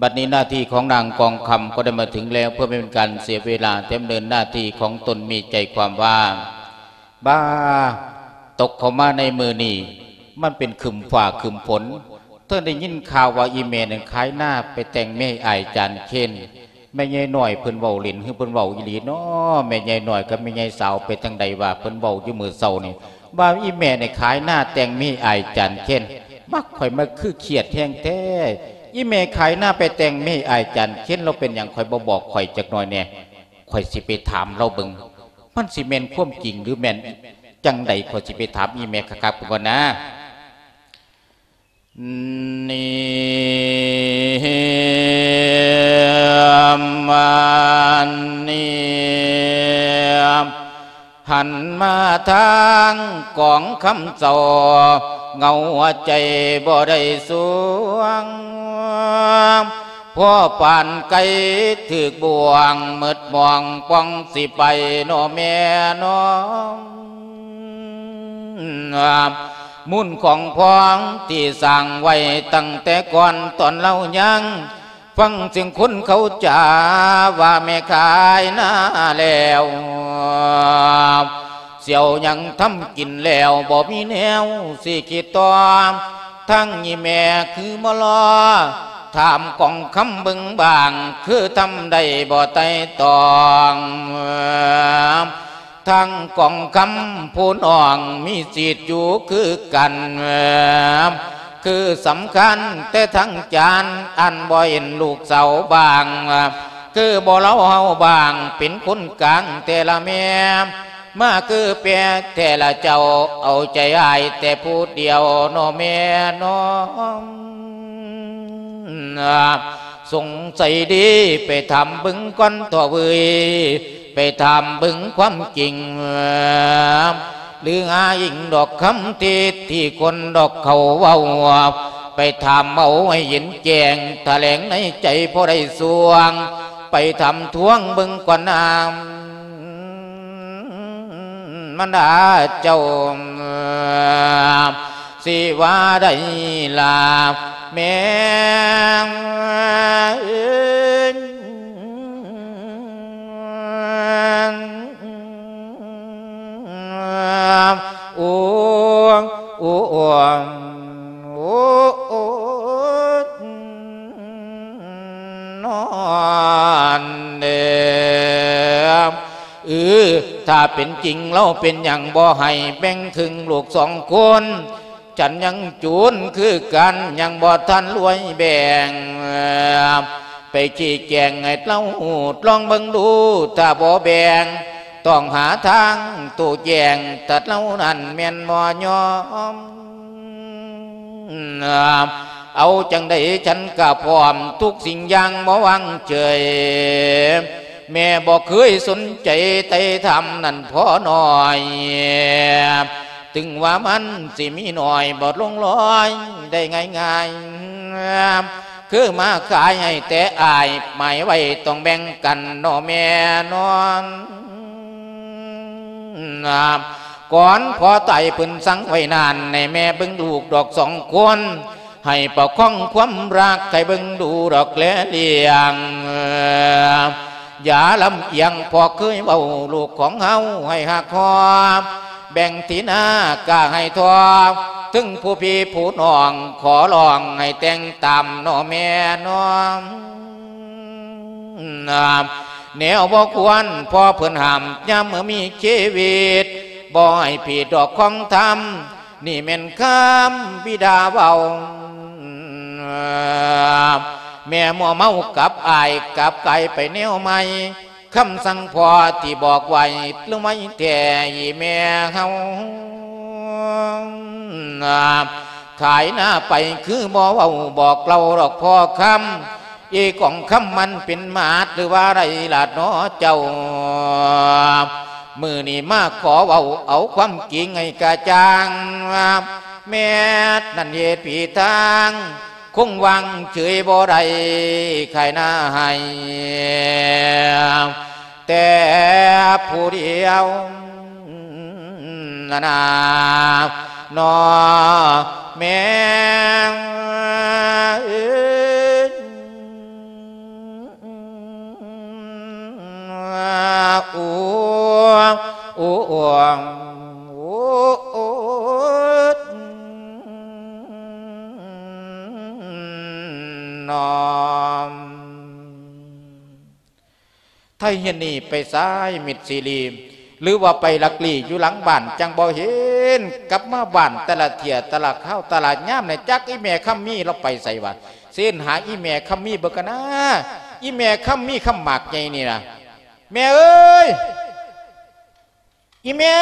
ບັດນີ້ໜ້າທີ່ຂອງນາງກອງຄຳກໍໄດ້ມາເຖິງແລ້ວ ເພື່ອບໍ່ເປັນການເສຍເວລາ ແຕ່ດຳເນີນໜ້າທີ່ຂອງຕົນມີໃຈຄວາມວ່າ ບາ ຕົກເຂົ້າມາໃນມື້ນີ້ ມັນເປັນຄຶ້ມຟ້າຄຶ້ມຝົນ ເຖິງໄດ້ຍິນຂ່າວວ່າອີ່ແມ່ນັ້ນຂາຍນາໄປແຕ່ງເມຍອ້າຍຈານເຄນ. ແມ່ໃຫຍ່ນ້ອຍເພິ່ນເວົ້າຫຼິ້ນ ຫຼື ເພິ່ນເວົ້າອີ່ຫຼີເນາະ? ແມ່ໃຫຍ່ນ້ອຍກັບແມ່ໃຫຍ່ສາວໄປທາງໃດວະ? ເພິ່ນເວົ້າຢູ່ມື້ເຊົ້ານີ້ ວ່າອີ່ແມ່ນີ້ຂາຍນາແຕ່ງເມຍອ້າຍຈານເຄນ. ມັກ ຂ້ອຍມັກຄືຄຽດແຮງແທ້ ອີ່ແມ່ຂາຍນາໄປແຕ່ງເມຍອ້າຍຈານເຄນ ແລ້ວເປັນຫຍັງຂ້ອຍບໍ່ບອກຂ້ອຍຈັກໜ່ອຍແດ່? ຂ້ອຍຊິໄປຖາມລາວເບິ່ງ ມັນຊິແມ່ນຄວາມຈິງ ຫຼື ແມ່ນຈັ່ງໃດ? ຂ້ອຍຊິໄປຖາມອີ່ແມ່ຄັກໆເບິ່ງກ່ອນນາ. ນີ້ ມານີ້ ຫັນມາທາງກອງຄຳເຈົ້າ ເຫງົາຫົວໃຈບໍ່ໄດ້ສວງ. ພໍປານໄກ່ຖືກບ່ວງ ໝົດໝອງປ່ອງຊິໄປເນາະແມ່ເນາະ. ມູນຂອງພອງທີ່ສ້າງໄວ້ຕັ້ງແຕ່ກ່ອນຕອນລາວຍັງ ຟັງສຽງຄົນເຂົາຈາວ່າແມ່ຂາຍນາແລ້ວ ສຽວຫຍັງທຳກິນແລ້ວ ບໍ່ມີແນວຊິຄິດຕໍ່. ທັງອີ່ແມ່ຄືມາລໍ ຖາມກອງຄຳເບິ່ງບ້າງ ຄືທຳໄດ້ບໍ່ໄຕ່ຕອງ? ທັງກອງຄຳຜູ້ນ້ອງມີສິດຢູ່ຄືກັນ ຄືສຳຄັນແຕ່ທັງຈານ ອັນບໍ່ເຫັນລູກສາວບ້າງ ຄືບໍ່ເລົ່າເຮົາບ້າງ ເປັນຄົນກາງແຕ່ລະແມ່ ມາຄືແປແຕ່ລະເຈົ້າ ເອົາໃຈອ້າຍແຕ່ຜູ້ດຽວເນາະແມ່ເນາະ. ສົງໄສດີ ໄປຖາມເບິ່ງກ່ອນເຖາະເວີຍ ໄປຖາມເບິ່ງຄວາມຈິງ ຫຼືຫາອີງດອກຄຳເທດທີ່ຄົນດອກເຂົາເວົ້າ ໄປຖາມເອົາໃຫ້ເຫັນແຈ້ງ ຖະແຫຼງໃນໃຈພໍໄດ້ຊ່ວງ ໄປຖາມທວງເບິ່ງກ່ອນນາ ມັນດາເຈົ້າ ຊິວ່າໄດ້ລະແມ່. ໂອ້ ໂອ້ ໂອ້ ໂອ້ ນອນເດີ ເອີ ຖ້າເປັນຈິງລາວເປັນຫຍັງບໍ່ໃຫ້ແບ່ງເຄິ່ງລູກສອງຄົນ? ສັນຍັງຈູນຄືກັນ ຍັງບໍ່ທັນລວຍແບ່ງ ໄປຊີ້ແຈງໃຫ້ລາວຮູ້ ລອງເບິ່ງດູ ຖ້າບໍ່ແບ່ງ ຕ້ອງຫາທາງໂຕ້ແຈງ ຖ້າລາວນັ້ນແມ່ນບໍ່ຍອມ. ເອົາຈັ່ງໃດ ສັນກະພ້ອມທຸກສິ່ງຢ່າງບໍ່ວາງເຊີຍ ແມ່ບໍ່ເຄີຍສົນໃຈໄຕ່ຖາມນັ້ນພໍໜ້ອຍ ເຖິງວ່າມັນຊິມີໜ້ອຍ ບໍ່ຫຼົງລອຍໄດ້ງ່າຍໆ ຄືມາຂາຍໃຫ້ແຕ່ອ້າຍ ໝາຍໄວ້ຕ້ອງແບ່ງກັນເນາະແມ່ເນາະ. ກ່ອນພໍ່ຕາຍເພິ່ນສັ່ງໄວ້ນັ້ນ ໃຫ້ແມ່ເບິ່ງລູກດອກສອງຄົນ ໃຫ້ປະຄອງຄວາມຮັກ ໃຫ້ເບິ່ງດູດອກແລລ້ຽງ ຢ່າລຳອຽງ ພໍ່ເຄີຍເວົ້າ ລູກຂອງເຮົາໃຫ້ຮັກຮອບ ແບ່ງທີ່ນາກະໃຫ້ທອບ ເຖິງຜູ້ພີ່ຜູ້ນ້ອງ ຂໍຮ້ອງໃຫ້ແຕ່ງຕາມເນາະແມ່ເນາະ. ແນວບໍ່ຄວນ ພໍ່ເພິ່ນຫ້າມ ຍາມເມື່ອມີຊີວິດ ບໍ່ໃຫ້ຜິດດອກຂອງທຳ ນີ້ແມ່ນຄຳບິດາເວົ້າ ແມ່ມົວເມົາກັບອ້າຍ ກັບກາຍໄປແນວໃໝ່ ຄຳສັ່ງພໍ່ທີ່ບອກໄວ້ ລືມໄວ້ແທ້ອີ່ແມ່ເຮົາ ຂາຍນາໄປຄືບໍ່ເວົ້າບອກເລົ່າດອກພໍ່ຄຳ ອີກອງຄຳມັນເປັນໝາດ ຫຼືວ່າໄດ້ລາດນໍເຈົ້າ ມື້ນີ້ມາຂໍເວົ້າເອົາຄວາມຈິງໃຫ້ກະຈ່າງ ແມ່ນັ້ນເຮັດຜິດທາງ ຄົງວາງເສີຍບໍ່ໄດ້ ຂາຍນາໃຫ້ແຕ່ຜູ້ດຽວ ນານາ ນໍແມ່ເອີຍ ໂອ້ ໂອ້ ໂອ້ ໂອ້ ນອມ. ໄທເຮັດນີ້ໄປສາຍມິດຊີລີ ຫຼືວ່າໄປລັກລີ້ຢູ່ຫຼັງບ້ານ ຈັ່ງບໍ່ເຫັນ ກັບມາບ້ານແຕ່ລະເທື່ອ ແຕ່ລະຄາວ ແຕ່ລະຍາມນີ້ ຈັກອີ່ແມ່ຄຳມີລາວໄປໃສວະ? ເຊີນຫາອີ່ແມ່ຄຳມີເບິ່ງກັນນາ ອີ່ແມ່ຄຳມີຄຳໝາກໃຫຍ່ນີ້ນະ ແມ່ເອີຍ ອີ່ແມ່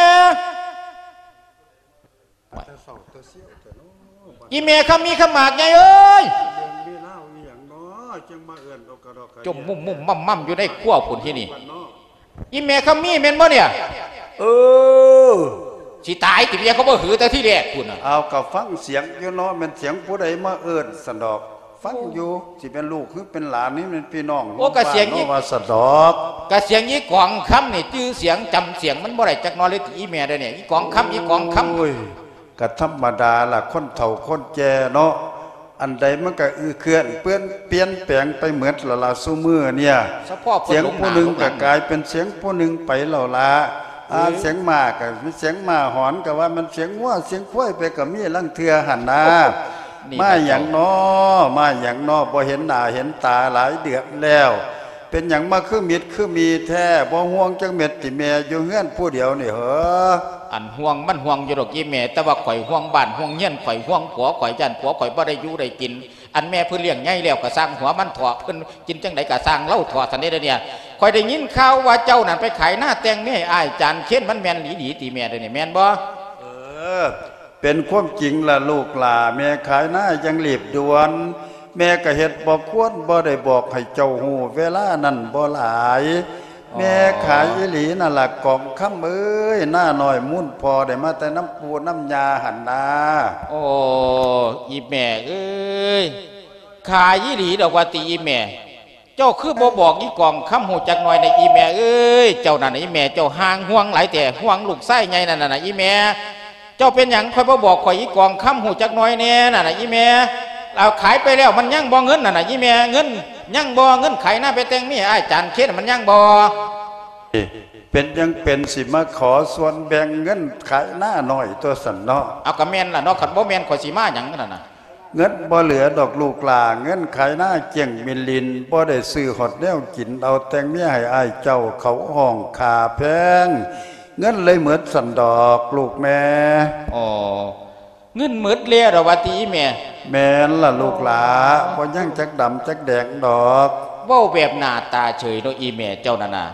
ອີ່ແມ່ຄຳມີຄຳໝາກໃຫຍ່ເອີຍ ເລື່ອງມີລາວອີ່ຫຍັງເນາະ ຈັ່ງມາເອີ້ນເອົາກະດອກກະເດຍ ຈົ່ມມຸ້ມໆມ່ຳໆຢູ່ໃນຄົວພຸ້ນ ທີ່ນີ້ ອີ່ແມ່ຄຳມີແມ່ນບໍ່ເນຍ? ເອີ ຊິຕາຍຕິເມຍ ເຂົາບໍ່ຫືແຕ່ທີແລກພຸ້ນນະ. ອ້າວ ກະຟັງສຽງຢູ່ເນາະ ແມ່ນສຽງຜູ້ໃດມາເອີ້ນຊັ້ນດອກ. ຟັງຢູ່ ຊິເປັນລູກ ຫຼື ເປັນຫຼານ ຫຼື ແມ່ນພີ່ນ້ອງ ໂອ້ ກະສຽງອີ ເນາະ ວ່າຊັ້ນດອກ ກະສຽງອີກອງຄຳນີ້ ຈື່ສຽງຈຳສຽງມັນບໍ່ໄດ້ຈັກໜ້ອຍເລີຍຕິອີແມ່ເດ້ນີ້ ອີກອງຄຳ ອີກອງຄຳ ໂອ້ຍ ກະທຳມະດາລະ ຄົນເຖົ້າຄົນແກ່ເນາະ ອັນໃດມັນກະອື້ເຄື່ອນ ເປື້ອນ ປ່ຽນແປງໄປໝົດລະລະ ຊຸມື້ເນີ້ຍ ສຽງຜູ້ໜຶ່ງກະກາຍເປັນສຽງຜູ້ໜຶ່ງໄປແລ້ວລະ ອາ ສຽງມ້າກະ ສຽງມ້າຫອນ ກະວ່າແມ່ນສຽງງົວ ສຽງຄວາຍໄປກະມີລາງເທື່ອຫັ້ນນາ ມາຫຍັງນໍ ມາຫຍັງນໍ ບໍ່ເຫັນໜ້າເຫັນຕາຫຼາຍເດືອນແລ້ວ ເປັນຫຍັງມາຄືມິດຄືມີແທ້ ບໍ່ຫ່ວງຈັກເມັດຕິແມ່ ຢູ່ເຮືອນຜູ້ດຽວນີ້ເຫີ? ອັນຫ່ວງມັນຫ່ວງຢູ່ດອກອີແມ່ ແຕ່ວ່າຂ້ອຍຫ່ວງບ້ານຫ່ວງເຮືອນ ຂ້ອຍຫ່ວງຜົວຂ້ອຍ ຢ້ານຜົວຂ້ອຍບໍ່ໄດ້ຢູ່ໄດ້ກິນ ອັນແມ່ເພິ່ນລ້ຽງໃຫຍ່ແລ້ວກະຊ່າງຫົວມັນເຖາະ ເພິ່ນກິນຈັ່ງໃດກະຊ່າງລາວເຖາະ ຊັ້ນເດ້ດຽວນີ້ ຂ້ອຍໄດ້ຍິນຂ່າວວ່າເຈົ້ານັ້ນໄປຂາຍນາແຕ່ງເມຍອ້າຍຈານເຄນ ມັນແມ່ນອີ່ຫຼີຕິແມ່ ດຽວນີ້ແມ່ນບໍ່? ເອີ ເປັນຄວາມຈິງລະລູກຫຼ້າ ແມ່ຂາຍນາຢ່າງຮີບດ່ວນ ແມ່ກະເຮັດບໍ່ຄວນ ບໍ່ໄດ້ບອກໃຫ້ເຈົ້າຮູ້ເວລານັ້ນບໍ່ຫຼາຍ ອໍ ແມ່ຂາຍອີ່ຫຼີນັ້ນລະກອງຄຳເອີຍ ນານ້ອຍມູນພໍ່ໄດ້ມາແຕ່ນຳປູ່ນຳຍ່າຫັ້ນນາ. ໂອ້ ອີແມ່ເອີຍ ຂາຍອີ່ຫຼີດອກວ່າຕິອີແມ່ ເຈົ້າຄືບໍ່ບອກອີກອງຄຳຮູ້ຈັກໜ້ອຍນະ ອີແມ່ເອີຍ ເຈົ້ານັ້ນນະ ອີແມ່ເຈົ້າຫ່າງຫ່ວງຫຼາຍແທ້ ຫ່ວງລູກຊາຍໃຫຍ່ນັ້ນນະ ອີແມ່ ເຈົ້າເປັນຫຍັງ ຂ້ອຍບໍ່ບອກຂ້ອຍ ອີກອງຄຳ ຮູ້ຈັກໜ້ອຍແດ່ນັ້ນນະ ອີແມ່ ເອົາຂາຍໄປແລ້ວ ມັນຍັງບໍ່ເງິນນັ້ນນະ ອີແມ່ ເງິນຍັງບໍ່ ເງິນຂາຍນາໄປແຕ່ງເມຍອ້າຍຈານເຄນ ມັນຍັງບໍ່? ເປັນຫຍັງເປັນ ຊິມາຂໍສ່ວນແບ່ງເງິນຂາຍນານ້ອຍຕົວຊັ້ນເນາະ? ເອົາ ກະແມ່ນລະເນາະ ຄັນບໍ່ແມ່ນ ຂ້ອຍຊິມາຫຍັງນັ້ນນະ? ເງິນບໍ່ເຫຼືອດອກລູກຫຼ້າ ເງິນຂາຍນາກ້ຽງມິນລິນ ບໍ່ໄດ້ຊື້ຮອດແນວກິນ ເອົາແຕ່ງເມຍໃຫ້ອ້າຍເຈົ້າ ເຂົາຮ້ອງຄ່າແພງ ເງິນເລີຍໝົດຊັ້ນດອກລູກແມ່. ອໍ ເງິນໝົດແລ້ວດອກວ່າຕິອີແມ່? ແມ່ນລະລູກຫຼ້າ ບໍ່ຍັງຈັກດຳຈັກແດງດອກ. ເວົ້າແບບໜ້າຕາເສີຍເນາະ ອີແມ່ເຈົ້ານັ້ນນະ.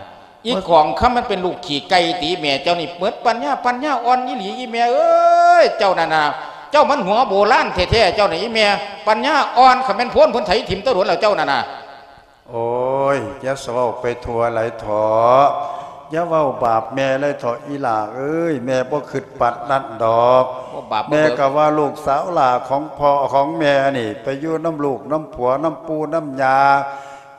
ອີກອງຄຳມັນເປັນລູກຂີ້ໄກ່ຕິ ແມ່ເຈົ້ານີ້ເໝິດປັນຍາ ປັນຍາອ່ອນອີ່ຫຼີ ອີແມ່ເອີຍ ເຈົ້ານັ້ນນະ ເຈົ້າມັນຫົວໂບລານແທ້ໆ ເຈົ້ານະ ອີແມ່ ປັນຍາອ່ອນ ຄັນແມ່ນໂພນເພິ່ນໄຖຖິ້ມແຕ່ດົນແລ້ວ ເຈົ້ານັ້ນນະ. ໂອ້ຍ ຢ່າສະເວົ້າໄປທົ່ວຫຼາຍເຖາະ ຢ່າເວົ້າບາບແມ່ຫຼາຍເຖາະ ອີຫຼ້າເອີຍ ແມ່ບໍ່ຄິດປານນັ້ນດອກ ບໍ່ບາບບໍ່ເບີກ ແມ່ກະວ່າລູກສາວຫຼ້າຂອງພໍ່ຂອງແມ່ນີ້ ໄປຢູ່ນຳລູກນຳຜົວນຳປູ່ນຳຍ່າ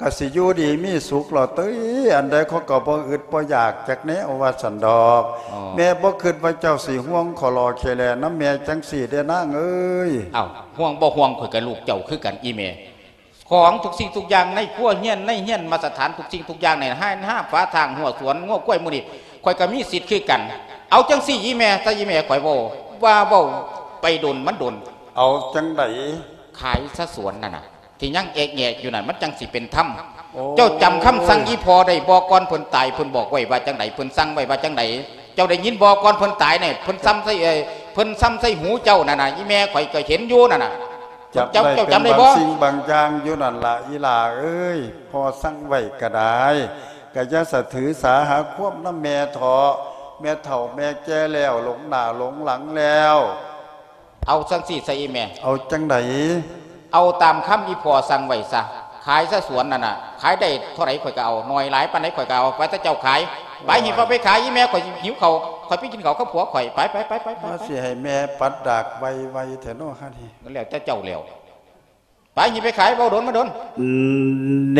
ກະຊິຢູ່ດີມີສຸກລະເຕີຍ ອັນໃດເຂົາກະບໍ່ອຶດບໍ່ຢາກຈັກແນວວ່າຊັ້ນດອກ. ອໍ ແມ່ບໍ່ຄິດວ່າເຈົ້າຊິຫ່ວງຂໍຫຼໍ່ເຂແຫຼນຳແມ່ຈັ່ງຊີ້ເດ້ນາງເອີຍ. ອ້າວ ຫ່ວງບໍ່ຫ່ວງ ຂ້ອຍກະລູກເຈົ້າຄືກັນອີແມ່. ຂອງທຸກສິ່ງທຸກຢ່າງໃນຄົວເຮືອນ ໃນເຮືອນມາດຕະຖານ ທຸກສິ່ງທຸກຢ່າງໃນຮ້ານຮາບຝາທາງ ຮົ້ວສວນ ງົວຄວາຍ ໝູ່ນີ້ ຂ້ອຍກະມີສິດຄືກັນ. ເອົາຈັ່ງຊີ້ອີແມ່ ຊະອີແມ່ ຂ້ອຍເວົ້າ ວ່າເວົ້າໄປດົນມັນດົນ. ເອົາຈັ່ງໃດ? ຂາຍຊະສວນນັ້ນນະ ທີ່ຍັງແອກແຍກຢູ່ນັ້ນ ມັນຈັ່ງຊິເປັນທຳ. ໂອ້ ເຈົ້າຈຳຄຳສັ່ງອີພໍ່ໄດ້ບໍ່? ກ່ອນເພິ່ນຕາຍ ເພິ່ນບອກໄວ້ວ່າຈັ່ງໃດ? ເພິ່ນສັ່ງໄວ້ວ່າຈັ່ງໃດ? ເຈົ້າໄດ້ຍິນບໍ່? ກ່ອນເພິ່ນຕາຍນີ້ ເພິ່ນສັ່ງໃສ່ ເອີ ເພິ່ນສັ່ງໃສ່ຫູເຈົ້ານັ້ນນະ ອີແມ່ ຂ້ອຍກະເຫັນຢູ່ນັ້ນນະ. ເຈົ້າ ເຈົ້າຈຳໄດ້ບໍ່? ບາງສິ່ງບາງຢ່າງຢູ່ນັ້ນລະ ອີຫຼ້າເອີຍ ພໍ່ສັ່ງໄວ້ກະໄດ້ ກະຢ່າສະຖືສາຫາຄວາມນຳແມ່ເຖາະ ແມ່ເຖົ້າແມ່ແກ່ແລ້ວ ຫຼົງໜ້າຫຼົງຫຼັງແລ້ວ. ເອົາຈັ່ງຊີ້ຊະອີແມ່. ເອົາຈັ່ງໃດ? ເອົາຕາມຄຳອີພໍ່ສັ່ງໄວ້ຊະ ຂາຍຊະສວນນັ້ນນະ ຂາຍໄດ້ເທົ່າໃດຂ້ອຍກະເອົາ ໜ້ອຍຫຼາຍປານໃດຂ້ອຍກະເອົາ ໄປ ແຕ່ເຈົ້າຂາຍ ໄປ ໂອ້ຍ ຮີບເອົາໄປຂາຍ ອີແມ່ ຂ້ອຍຫິວເຂົ້າ ຂ້ອຍໄປກິນເຂົ້າກັບຜົວຂ້ອຍ ໄປ ໄປ ໄປ ໄປ ໄປ. ມາຊິໃຫ້ແມ່ປັດດາກໄວໆແທ້ເນາະ ຫັ້ນນີ້ ມັນແລ້ວແຕ່ເຈົ້າແລ້ວ. ໄປ ຫິໄປຂາຍ ເວົ້າດົນມາດົນ. ເນ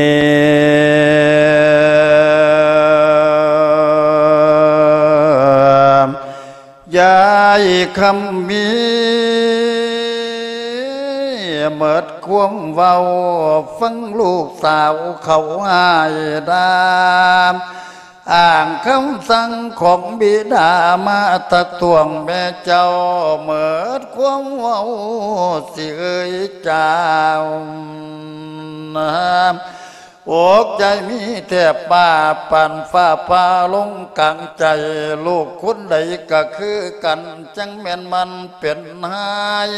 ຍາຍຄຳມີ ເໝິດຄວາມເວົ້າ ຟັງລູກສາວເຂົາອ້າຍດາ ອ້າງຄຳສັ່ງຂອງບິດາມາຕັກທ້ວງແມ່ເຈົ້າ ເໝິດຄວາມເວົ້າ ຊິເອີຍຈາວ ອົກໃຈມີແທບປາ ປານຟ້າຜ່າລົງກາງໃຈ ລູກຄົນໃດກະຄືກັນ ຈັ່ງແມ່ນມັນເປັນຮ້າຍ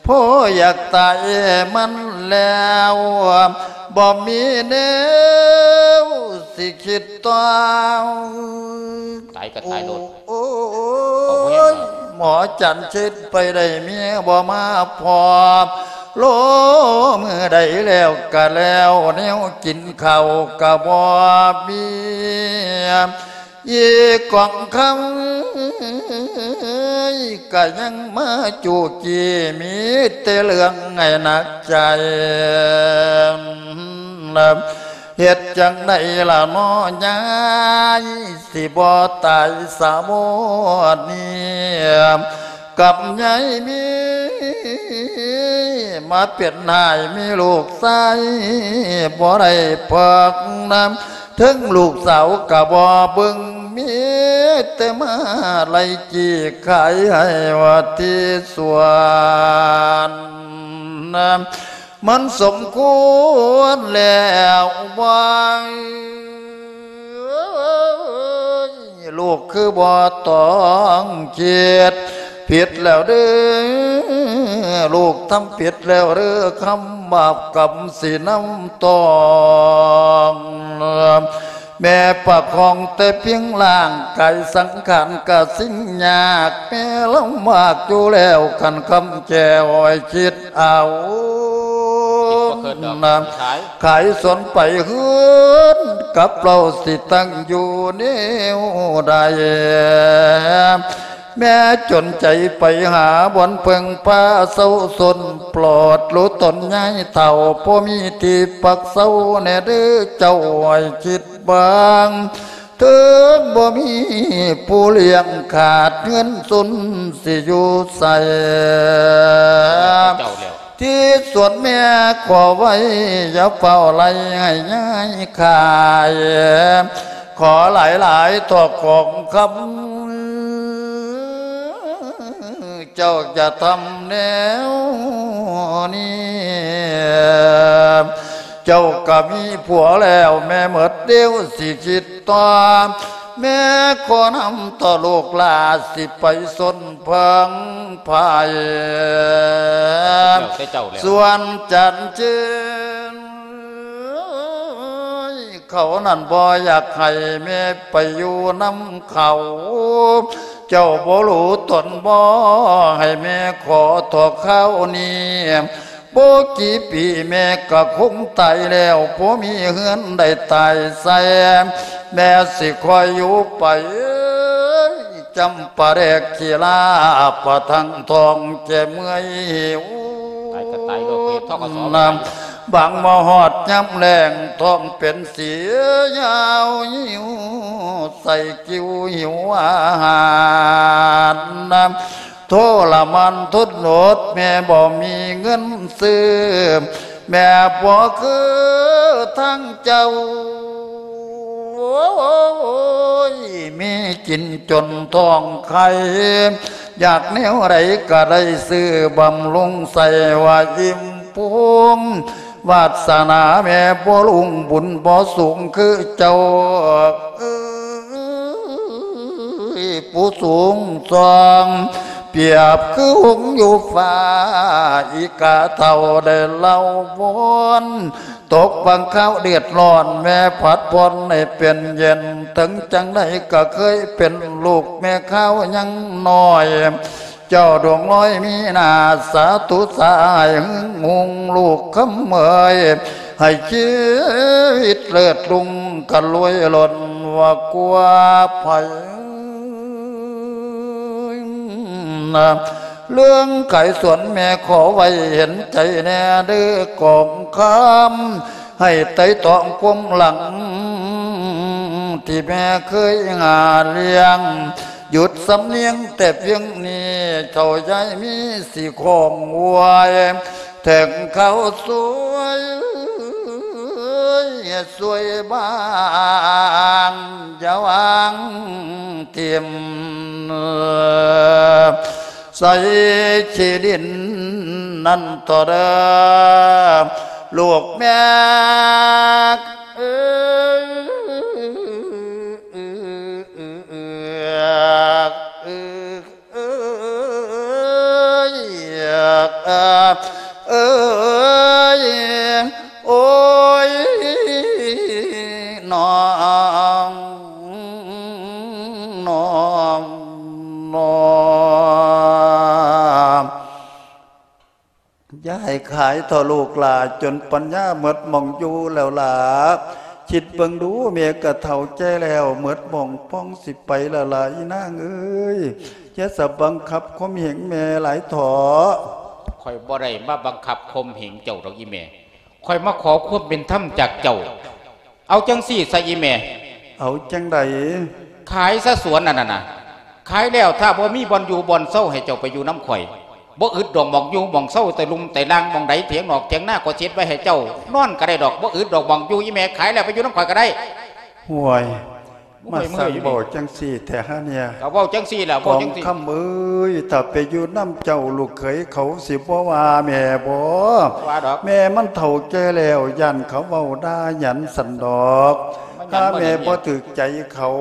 ພໍຢາກຕາຍມັນແລ້ວ ບໍ່ມີແນວຊິຄິດຕໍ່ ຕາຍກະຕາຍໂລດ. ໂອ້ຍ ໝໍຈັນເຊັດໄປໄດ້ເມຍບໍ່ມາພໍ້ ໂລມື້ໃດແລ້ວກະແລ້ວ ແນວກິນເຂົ້າກະບໍ່ມີ ອີກອງຄຳ ກະຍັງມາຈູ້ຈີ້ ມີແຕ່ເລື່ອງໃຫ້ໜັກໃຈ ເຮັດຈັ່ງໃດລະນໍຍາຍ ຊິບໍ່ຕາຍສາວນີ້ ກັບຍາຍມີ ມາເປັນຫາຍມີລູກຊາຍ ບໍ່ໄດ້ເພິ່ງນຳ ເຖິງລູກສາວກະບໍ່ເບິ່ງ ມີແຕ່ມາໄລ່ຈີ້ຂາຍໃຫ້ວ່າທີ່ສວນ ມັນສົມຄວນແລ້ວບໍ່? ລູກຄືບໍ່ຕ້ອງຄິດ ຜິດແລ້ວເດີ້ ລູກທຳຜິດແລ້ວເດີ້ ຄຳບາບກຳຊິນຳຕ້ອງ ແມ່ປະຄອງແຕ່ພຽງຮ່າງກາຍ ສັງຂານກະສິ້ນຍາກ ແມ່ລຳບາກຢູ່ແລ້ວ ຄັນຄຳແກ້ວໃຫ້ຄິດເອົາ ຂາຍສວນໄປເຮືອນ ກັບເຮົາຊິຕັ້ງຢູ່ແນວໃດ ແມ່ຈົນໃຈໄປຫາບ່ອນເພິ່ງພາເຊົາຊົນ ໂປດຮູ້ຕົນຍາຍເຖົ້າ ບໍ່ມີທີ່ພັກເຊົາແດ່ເດີ້ ເຈົ້າໃຫ້ຄິດເບິ່ງ ເຖິງບໍ່ມີຜູ້ລ້ຽງຂາດເຮືອນຊົນ ຊິຢູ່ໃສ ທີ່ສວນແມ່ຂໍໄວ້ ຢ່າຟ້າວໄລ່ໃຫ້ຍາຍຂາຍ ຂໍຫຼາຍໆ ທອກຂອງຄຳ ເຈົ້າຈະທຳແນວນີ້ ເຈົ້າກະມີຜົວແລ້ວ ແມ່ໝົດດຽວຊິຄິດຕໍ່ ແມ່ຂໍນຳຕໍ່ລູກຫຼ້າ ຊິໄປຊົນເພິ່ງພາຍ ແລ້ວແຕ່ເຈົ້າແລ້ວ ສ່ວນຈັນເຈີນ ເຂົານັ້ນບໍ່ຢາກໃຫ້ແມ່ໄປຢູ່ນຳເຂົາ ເຈົ້າບໍ່ຮູ້ຕົນບໍ່ ໃຫ້ແມ່ຂໍເທາະຄາວນີ້ ບໍ່ກີ່ປີແມ່ກະຄົງຕາຍແລ້ວ ບໍ່ມີເຮືອນໃດຕາຍໃສ່ ແມ່ຊິຄອຍຢູ່ໄປ ຈຳປາແດກຂີ້ລາປະທັງທ້ອງແກ່ເມື່ອຍຫິວ ຕາຍກະຕາຍໂລດ ເຮັດ ທກສ ນຳ ບາງມາຮອດຍາມແລ້ງ ທ້ອງເປັນເສຍຍາວຫິວ ໃສ່ກິ່ວຫິວອາຫານນຳ ໂທລະມານທົນອົດ ແມ່ບໍ່ມີເງິນຊື້ ແມ່ບໍ່ຄືທາງເຈົ້າ ໂອ້ຍ ມີກິນຈົນທ້ອງໄຂ່ ຢາກແນວໃດກະໄດ້ຊື້ບຳລຸງໃສ່ວ່າອີ່ມພຸງ ວາດສະໜາແມ່ບໍ່ລຸ້ງ ບຸນບໍ່ສູງຄືເຈົ້າ ເອີຍ ຜູ້ສູງສ່ອງ ປຽບຄືຫົງຢູ່ຟ້າ ອີກາເຖົ້າໄດ້ເລົ່າວອນ ຕົກບາງຄາວເດືອດຮ້ອນ ແມ່ຜັດຜ່ອນໃຫ້ເປັນເຢັນ ເຖິງຈັ່ງໃດກະເຄີຍເປັນລູກແມ່ຄາວຍັງນ້ອຍ ເຈົ້າດວງລອຍມີໜ້າ ສາທຸສາໃຫ້ຫຶງຫຸງລູກຄຳເອີຍ ໃຫ້ຊີວິດເລີດລຸງກະລວຍລົ້ນວ່າກວ່າໃຜ ເລື່ອງຂາຍສວນແມ່ຂໍໄວ້ເຫັນໃຈແດ່ເດີ້ກອງຄຳ ໃຫ້ໄຕ່ຕອງຄວາມຫຼັງ ທີ່ແມ່ເຄີຍຫາລ້ຽງ ຢຸດສຳນຽງແຕ່ພຽງນີ້ ເຖົ້າຍາຍມີຊິຂອງໄວ້ ເຖິງເຂົາຊ່ວຍ ຊ່ວຍບາງ ຢ່າວາງຖິ້ມ ໃສ່ຂີ້ດິນນັ້ນເຖາະເດີ້ ລູກແມ່ເອີຍ ເອີຍ ເອີຍ ເອີຍ ເອີຍ ໂອ້ຍ ນ້ອງ ນ້ອງ ນ້ອງ ຢາຍຂາຍເຖົ້າລູກຫຼ້າ ຈົນປັນຍາໝົດໝ່ອງຢູ່ແລ້ວລະ ຄິດເບິ່ງດູ ແມ່ກໍເຖົ້າແກ່ແລ້ວ ໝົດໝ້ອງປ່ອງ ຊິໄປແລ້ວລະອີນາງເອີຍ. ຢ່າສະບັງຄັບຂົ່ມເຫງແມ່ຫຼາຍເຖາະ. ຂ້ອຍບໍ່ໄດ້ມາບັງຄັບຂົ່ມເຫງເຈົ້າດອກອີແມ່. ຂ້ອຍມາຂໍຄວາມເປັນທຳຈາກເຈົ້າ. ເອົາຈັ່ງຊີ້ຊະອີແມ່. ເອົາຈັ່ງໃດ? ຂາຍຊະສວນນັ້ນນະ. ຂາຍແລ້ວ ຖ້າບໍ່ມີບ່ອນຢູ່ບ່ອນເຊົາ ໃຫ້ເຈົ້າໄປຢູ່ນຳຂ້ອຍ. ບໍ່ອຶດດອກໝ່ອງຢູ່ໝ່ອງເຊົາ ແຕ່ລຸ່ມແຕ່ລ່າງ ໝ່ອງໃດຖຽງນອກຖຽງນາ ຂ້ອຍຊິເຮັດໄວ້ໃຫ້ເຈົ້ານອນກໍໄດ້ດອກ. ບໍ່ອຶດດອກໝ່ອງຢູ່ ອີແມ່. ຂາຍແລ້ວໄປຢູ່ນຳຂ້ອຍກໍໄດ້. ຫ້ວຍ ມາສັ່ງເວົ້າຈັ່ງຊີ້ແທ້ຫາເນຍ. ກໍເວົ້າຈັ່ງຊີ້ແຫຼະ ເວົ້າຈັ່ງຊີ້. ກອງຄຳເອີຍ ຖ້າໄປຢູ່ນຳເຈົ້າ ລູກເຂີຍເຂົາຊິບໍ່ວ່າແມ່ບໍ? ວ່າດອກ. ແມ່ມັນເຖົ້າແກ່ແລ້ວ ຢ້ານເຂົາເວົ້າດ່າຫຍັນຊັ້ນດອກ. ຫາແມ່ບໍ່ຖືກໃຈເຂົາ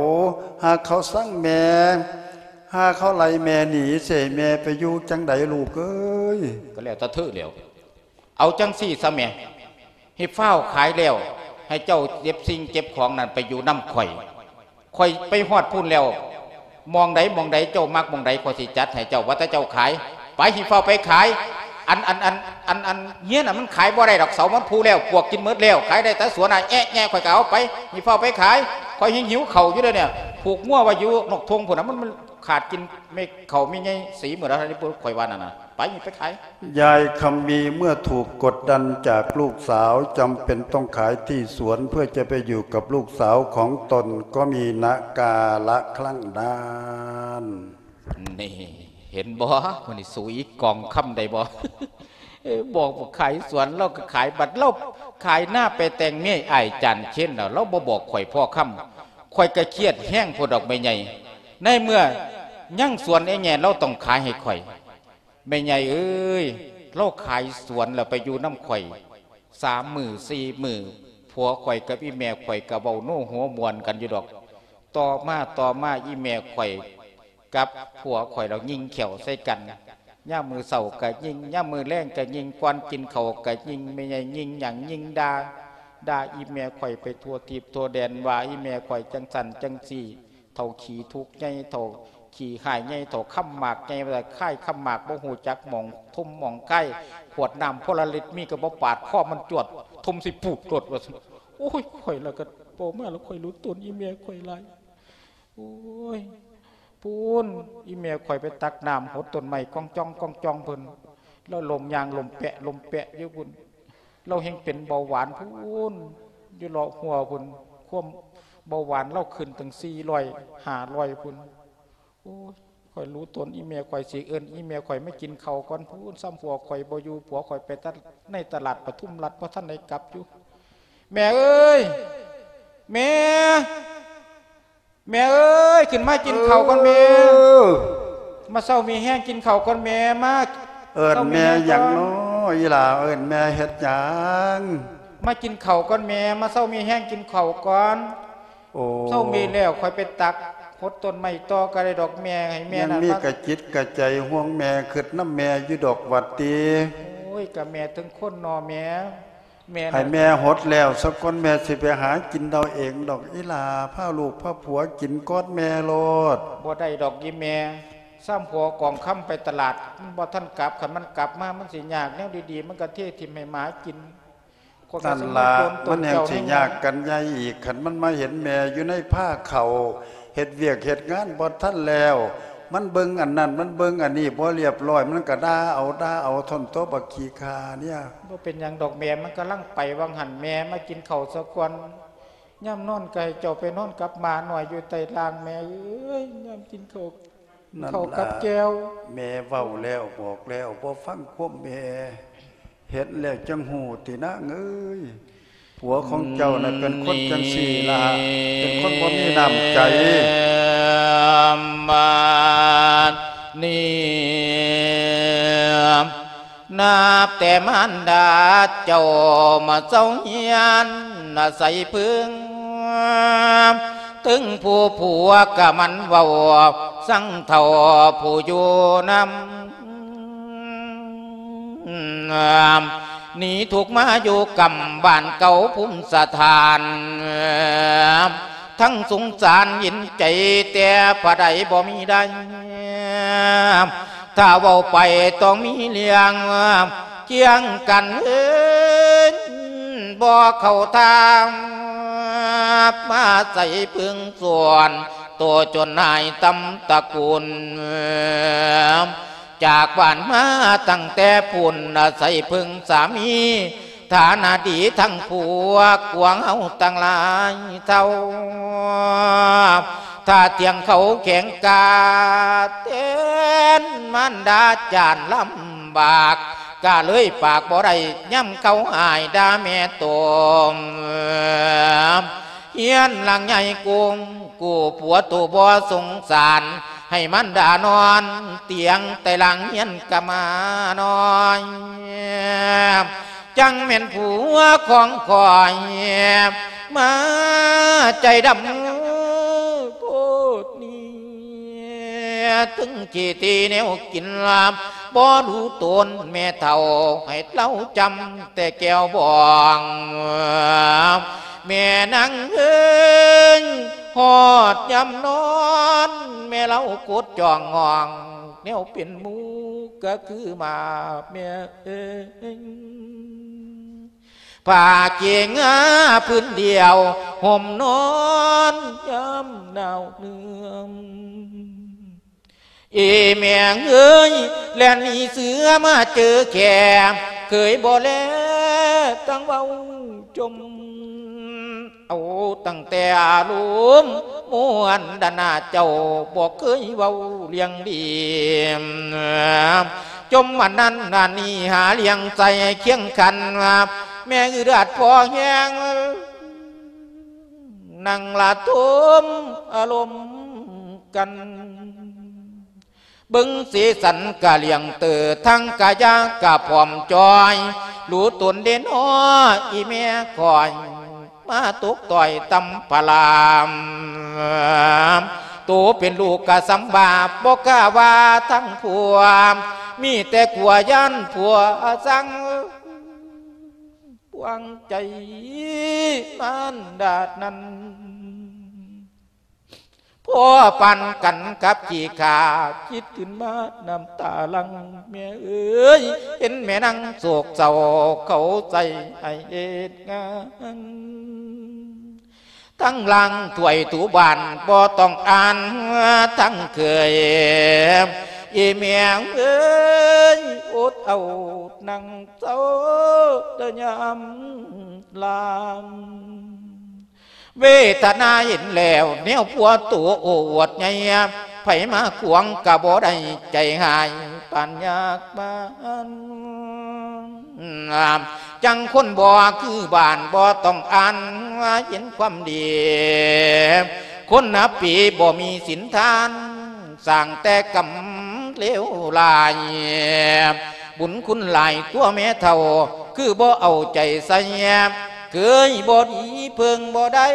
ຫາເຂົາຊັງແມ່ ຫາເຂົາໄລ່ແມ່ໜີ ຊິໃຫ້ແມ່ໄປຢູ່ຈັ່ງໃດລູກເອີຍ? ກໍແລ້ວແຕ່ເທີແລ້ວ. ເອົາຈັ່ງຊີ້ຊະແມ່ ໃຫ້ຟ້າວຂາຍແລ້ວ ໃຫ້ເຈົ້າເກັບສິ່ງເກັບຂອງນັ້ນໄປຢູ່ນຳຂ້ອຍ. ຂ້ອຍໄປຮອດພຸ້ນແລ້ວ ໝ່ອງໃດໝ່ອງໃດເຈົ້າມັກໝ່ອງໃດ ຂ້ອຍຊິຈັດໃຫ້ເຈົ້າ. ວ່າແຕ່ເຈົ້າຂາຍ ໄປ ໃຫ້ຟ້າວໄປຂາຍ. ອັນ ອັນ ອັນ ອັນ ອັນເຮືອນນະ ມັນຂາຍບໍ່ໄດ້ດອກ ເສົາມັນຜຸແລ້ວ ປວກກິນໝົດແລະ ຂາຍໄດ້ແຕ່ສວນນະ ແອະແຍະ ຂ້ອຍກໍເອົາໄປ. ໃຫ້ຟ້າວໄປຂາຍ ຂ້ອຍຍັງຫິວເຂົ້າຢູ່ເດ້ນີ້. ຜູກງົວໄວ້ຢູ່ນອກທົ່ງພຸ້ນນະ ມັນ ມັນຂາດກິນແມ່ເຂົ້າແມ່ໃຫຍ່ສີໝົດແລ້ວ ຂ້ອຍວ່ານັ້ນນະ. ໄປ ໄປຂາຍ. ຍາຍຄຳມີເມື່ອถูกกดดันจากลูกสาว จำเป็นต้องขายที่สวนเพื่อจะไปอยู่กับลูกสาวของตน ก็มีณกาลครั้งนั้น. ນີ້ ເຫັນບໍ່? ມື້ນີ້ສູ້ອີກองคำได้บ่? ເອີ ບອກຂາຍສວນ ລາວກໍຂາຍ. ບັດລາວຂາຍນາໄປແຕ່ງເມຍອ້າຍຈານເຄນແລ້ວ ລາວບໍ່ບອກຂ້ອຍພໍຄຳ ຂ້ອຍກໍຄຽດແຮງໂພດດອກແມ່ໃຫຍ່. ໃນເມື່ອຍັງສວນແອແງ່ ລາວຕ້ອງຂາຍໃຫ້ຂ້ອຍ. ແມ່ໃຫຍ່ເອີຍ ລາວຂາຍສວນແລ້ວໄປຢູ່ນຳຂ້ອຍສາມມື້ສີ່ມື້ ຜົວຂ້ອຍກັບອີ່ແມ່ຂ້ອຍກໍເວົ້າໂນຫົວມ່ວນກັນຢູ່ດອກ. ຕໍ່ມາ ຕໍ່ມາ ອີ່ແມ່ຂ້ອຍກັບຜົວຂ້ອຍລາວຍິງແຂ້ວໃສ່ກັນ. ຍາມມື້ເຊົ້າກໍຍິງ ຍາມມື້ແລງກໍຍິງ ກ່ອນກິນເຂົ້າກໍຍິງ. ແມ່ໃຫຍ່ຍິງຫຍັງ? ຍິງດ່າ ດ່າອີ່ແມ່ຂ້ອຍໄປທົ່ວທີບທົ່ວແດນ ວ່າອີ່ແມ່ຂ້ອຍຈັ່ງຊັ້ນຈັ່ງຊີ້. ເຖົ້າຂີ້ທຸກໃຫຍ່ ເຖົ້າຂີ້ຮ້າຍໃຫຍ່ ເຖົ້າຄຳໝາກໃຫຍ່ ວ່າຄາຍຄຳໝາກ ບໍ່ຮູ້ຈັກໝ່ອງທຸ່ມໝ່ອງຄາຍ. ຂວດນ້ຳໂພລາລິດມີກໍບໍ່ປາດຄໍມັນຈວດ ທຸ່ມໃສ່ປູດໂລດວ່າຊັ້ນ. ໂອ້ຍ ຂ້ອຍລະກໍເວົ້າມາລະຂ້ອຍຫຼຸດຕົນອີ່ແມ່ຂ້ອຍຫຼາຍ. ໂອ້ຍ ພຸ້ນ ອີ່ແມ່ຂ້ອຍໄປຕັກນ້ຳຫົດຕົ້ນໄມ້ກອງຈ້ອງກອງຈ້ອງພຸ້ນ ລາວລົມຍ່າງລົມແປະລົມແປະຢູ່ພຸ້ນ. ລາວແຮ່ງເປັນເບົາຫວານພຸ້ນ ຢູ່ເລາະຫົວພຸ້ນ ຄວາມເບົາຫວານລາວຂຶ້ນເຖິງສີ່ຮ້ອຍ ຫ້າຮ້ອຍພຸ້ນ. ໂອ້ຍ ຂ້ອຍຮູ້ຕົນ ອີ່ແມ່ຂ້ອຍຊິເອີ້ນອີ່ແມ່ຂ້ອຍມາກິນເຂົ້າກ່ອນພຸ້ນ. ຊ້ຳຜົວຂ້ອຍບໍ່ຢູ່ ຜົວຂ້ອຍໄປຕະ ໃນຕະຫຼາດປະທຸມລັດ ບໍ່ທັນໄດ້ກັບຢູ່. ແມ່ເອີຍ ແມ່ ແມ່ເອີຍ ຂຶ້ນມາກິນເຂົ້າກ່ອນແມ່. ເອີ ມາເຊົາມີແຮງກິນເຂົ້າກ່ອນແມ່. ມາ ເອີ້ນແມ່ຫຍັງເນາະ ອີ່ຫຼ້າ ເອີ້ນແມ່ເຮັດຫຍັງ? ມາກິນເຂົ້າກ່ອນແມ່ ມາເຊົາມີແຮງກິນເຂົ້າກ່ອນ. ໂອ້ ເຊົາມີແລ້ວ ຂ້ອຍໄປຕັກຫົດຕົ້ນໄມ້ຕໍ່ກໍໄດ້ດອກແມ່ ໃຫ້ແມ່ ຍັງມີກະຈິດກະໃຈຫ່ວງແມ່ ຄຶດນຳແມ່ຢູ່ດອກຫວັດຕິ. ໂອ້ຍ ກະແມ່ເຖິງຄົນເນາະແມ່. ແມ່ ໃຫ້ແມ່ຫົດແລ້ວສາກ່ອນ ແມ່ຊິໄປຫາກິນເອົາເອງດອກ ອີ່ຫຼ້າ. ພາລູກພາຜົວກິນກ່ອນແມ່ໂລດ. ບໍ່ໄດ້ດອກອີ່ແມ່ ຊ້ຳຜົວກອງຄຳໄປຕະຫຼາດ ມັນບໍ່ທັນກັບ. ຄັນມັນກັບມາ ມັນຊິຍາກ. ແນວດີໆ ມັນກະເທຖິ້ມໃຫ້ໝາກິນ. ນັ້ນລະ ມັນແຮ່ງຊິຍາກກັນໃຫຍ່ອີກ ຄັນມັນມາເຫັນແມ່ຢູ່ໃນພາເຂົ້າ ເຮັດວຽກເຮັດງານບໍ່ທັນແລ້ວ ມັນເບິ່ງອັນນັ້ນ ມັນເບິ່ງອັນນີ້ ບໍ່ລຽບຮ້ອຍ ມັນກະດ່າເອົາ ດ່າເອົາ ທ້ອນໂຕບັກຂີ້ຂ້າເນຍ. ບໍ່ເປັນຫຍັງດອກແມ່ ມັນກຳລັງໄປຫວ່າງຫັ້ນ. ແມ່ມາກິນເຂົ້າສາກ່ອນ ຍາມນອນກະໃຫ້ເຈົ້າໄປນອນກັບໝານ້ອຍຢູ່ໃຕ້ລ່າງແມ່ເອີຍ. ຍາມກິນເຂົ້າ ນັ້ນລະ ເຂົ້າກັບແຈ່ວ ແມ່ເວົ້າແລ້ວບອກແລ້ວ ບໍ່ຟັງຄວາມແມ່ ເຫັນແລ້ວຈັ່ງຮູ້ຕິນາງເອີຍ. ຜົວຂອງເຈົ້ານັ້ນເປັນຄົນຈັ່ງຊີ້ລະ ເປັນຄົນບໍ່ມີນ້ຳໃຈ. ນີ້ ນັບແຕ່ມານດາເຈົ້າມາເຊົາຮຽນອາໄສເພິ່ງ ເຖິງຜູ້ຜົວກະໝັ່ນເວົ້າ ສັງເຖົ້າຜູ້ຢູ່ນຳ ໜີທຸກມາຢູ່ກຳບ້ານເກົ່າພູມສະຖານ ທັງສົງສານເຫັນໃຈແຕ່ຜູ້ໃດບໍ່ມີໄດ້ ຖ້າເວົ້າໄປຕ້ອງມີເລື່ອງ ຄຽງກັນເອີນບໍ່ເຂົ້າທາງ ບມາໃສ່ເພິ່ງສ່ວນໂຕຈົນຫາຍຕຳຕະກຸນ ຈາກບ້ານມາຕັ້ງແຕ່ພຸ້ນ ອາໄສເພິ່ງສາມີ ຖານະດີທັງພວກ ພວກເຮົາທັງຫຼາຍເຖົ້າ ຖ້າທ່ຽງເຂົາແຂງກາ ແທນມານດາຈານລຳບາກ ກະເລີຍປາກບໍ່ໄດ້ ຍາມເຂົາອ້າຍດ່າແມ່ຕົມ ເຮືອນຫຼັງໃຫຍ່ກຸ້ມກູ້ຜົວໂຕບໍ່ສົງສານ ໃຫ້ມານດານອນຕຽງ ແຕ່ຫຼັງເຮືອນກະມານ້ອຍ ຈັ່ງແມ່ນຜົວຂອງຂ້ອຍ ມາໃຈດຳໂພດນີ້ ເຖິງຊິຕີແນວກິນລາບ ບໍ່ຮູ້ຕົນແມ່ເຖົ້າ ໃຫ້ເລົ່າຈຳແຕ່ແກ້ວບອງ ແມ່ນາງເອີຍ ຮອດຍາມນອນ ແມ່ເລົ່າກົດຈ້ອງຫ້ອງ ແນວເປັນໝູກະຄືໝາບແມ່ເອີຍ ຜ້າເກງາພື້ນດຽວ ຫົ່ມນອນຍາມໜາວເໜືອມ ເອແມ່ເອີຍ ແລ່ນໜີເສືອມາເຈີແຂ້ ເຄີຍບໍ່ແລຕັ້ງເວົ້າຈົ່ມ ເອົາຕັ້ງແຕ່ອາລົມມ່ວນດານາເຈົ້າ ບໍ່ເຄີຍເວົ້າລຽງດີ ຈົ່ມອັນນັ້ນອັນນີ້ຫາລຽງໃສ່ຄຽງຂັນ ແມ່ອຶດອັດພໍແຮງ ນັ່ງລະທົມອາລົມກັນ ເບິ່ງສີສັນກະລຽງເຕີ ທັງກະຢາກະພ້ອມຈ່ອຍ ຮູ້ຕົນເດນໍ ອີແມ່ຂ້ອຍ ມາຕົກຕ່ອຍຕຳພະລາມ ໂຕເປັນລູກກະສຳບາບ ບໍ່ກ້າວ່າທັງຜົວ ມີແຕ່ກົວຢ້ານຜົວສັ່ງ ປວງໃຈມານດານັ້ນ ພໍປານກັນກັບຂີ້ຂ້າ ຄິດຂຶ້ນມານ້ຳຕາຫຼັ່ງ ແມ່ເອີຍ ເຫັນແມ່ນາງໂສກເສົ້າ ເຂົາໃສ່ໃຫ້ເຮັດງານ ທັງລ້າງຖ້ວຍຖູບ້ານບໍ່ຕ້ອງອ່ານ ທັງເຄີຍ ອີແມ່ເອີຍ ອົດເອົານັ່ງເຊົາແຕ່ຍາມລາມ ເວທະນາເຫັນແລ້ວແນວຜົວໂຕໂອ້ອວດໃຫຍ່ ໃຜມາຂວາງກະບໍ່ໄດ້ ໃຈຮ້າຍປານຍາກມານ ຈັ່ງຄົນບໍ່ຄືບ້ານ ບໍ່ຕ້ອງອ່ານ ເຫັນຄວາມດີ ຄົນນັບປີບໍ່ມີສິນທານ ສ້າງແຕ່ກຳເລວຫຼາຍ ບຸນຄຸນຫຼາຍຕົວແມ່ເຖົ້າ ຄືບໍ່ເອົາໃຈໃສ່ ເຄີຍບໍ່ດີເພິ່ງບໍ່ໄດ້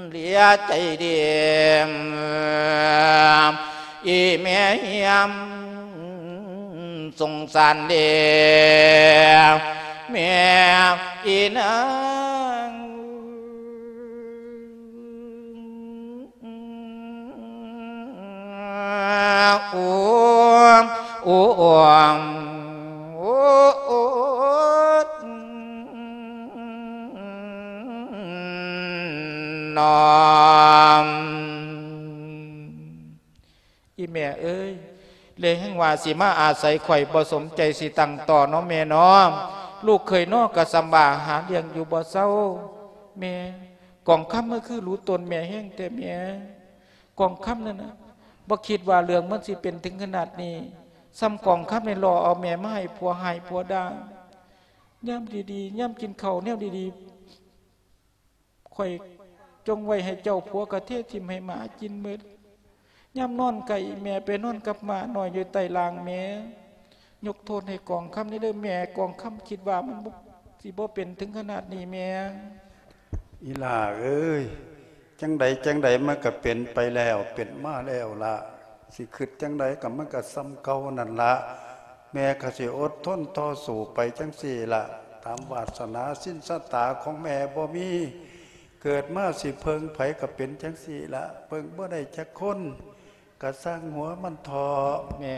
ເຫຼືອໃຈເດ ອີແມ່ຮຽມ ສົງສານເດ ແມ່ອີນາງ ໂອ້ ໂອ້ ໂອ້ ໂອ້ ໂອ້ ນອມ ອີແມ່ເອີຍ ແລງແຮງວ່າຊິມາອາໄສຂ້ອຍ ບໍ່ສົມໃຈຊິຕັ້ງຕໍ່ເນາະແມ່ເນາະ ລູກເຂີຍເນາະກະສຳບາຫາລ້ຽງຢູ່ບໍ່ເຊົາ ແມ່ ກອງຄຳມັນຄືຮູ້ຕົນແມ່ແຮງແທ້ແມ່ ກອງຄຳນັ້ນນະ ບໍ່ຄິດວ່າເລື່ອງມັນຊິເປັນເຖິງຂະໜາດນີ້ ສ່ຳກອງຄຳນີ້ຫຼໍ່ເອົາແມ່ມາໃຫ້ຜົວຮ້າຍຜົວດ່າ ຍາມດີໆ ຍາມກິນເຂົ້າແນວດີໆ ຂ້ອຍຈົ່ງໄວ້ໃຫ້ເຈົ້າ ຜົວກະເທຖິ້ມໃຫ້ໝາກິນໝົດ ຍາມນອນໃກ້ແມ່ໄປນອນກັບໝານ້ອຍຢູ່ໃຕ້ລ່າງແມ່ ຍົກໂທດໃຫ້ກອງຄຳແດ່ເດີແມ່ ກອງຄຳຄິດວ່າມັນບໍ່ ຊິບໍ່ເປັນເຖິງຂະໜາດນີ້ແມ່. ອີຫຼ້າເອີຍ ຈັ່ງໃດຈັ່ງໃດມັນກະເປັນໄປແລ້ວ ເປັນມາແລ້ວລະ ຊິຄຶດຈັ່ງໃດກະມັນກະສ່ຳເກົ່ານັ້ນລະ ແມ່ກະຊິອົດທົນຕໍ່ສູ້ໄປຈັ່ງຊີ້ລະ ຕາມວາສະໜາສິນຊະຕາຂອງແມ່ບໍ່ມີ ເກີດມາຊິເພິ່ງໃຜກະເປັນຈັ່ງຊີ້ລະ ເພິ່ງບໍ່ໄດ້ຈັກຄົນ ກະຊ່າງຫົວມັນເຖາະ ແມ່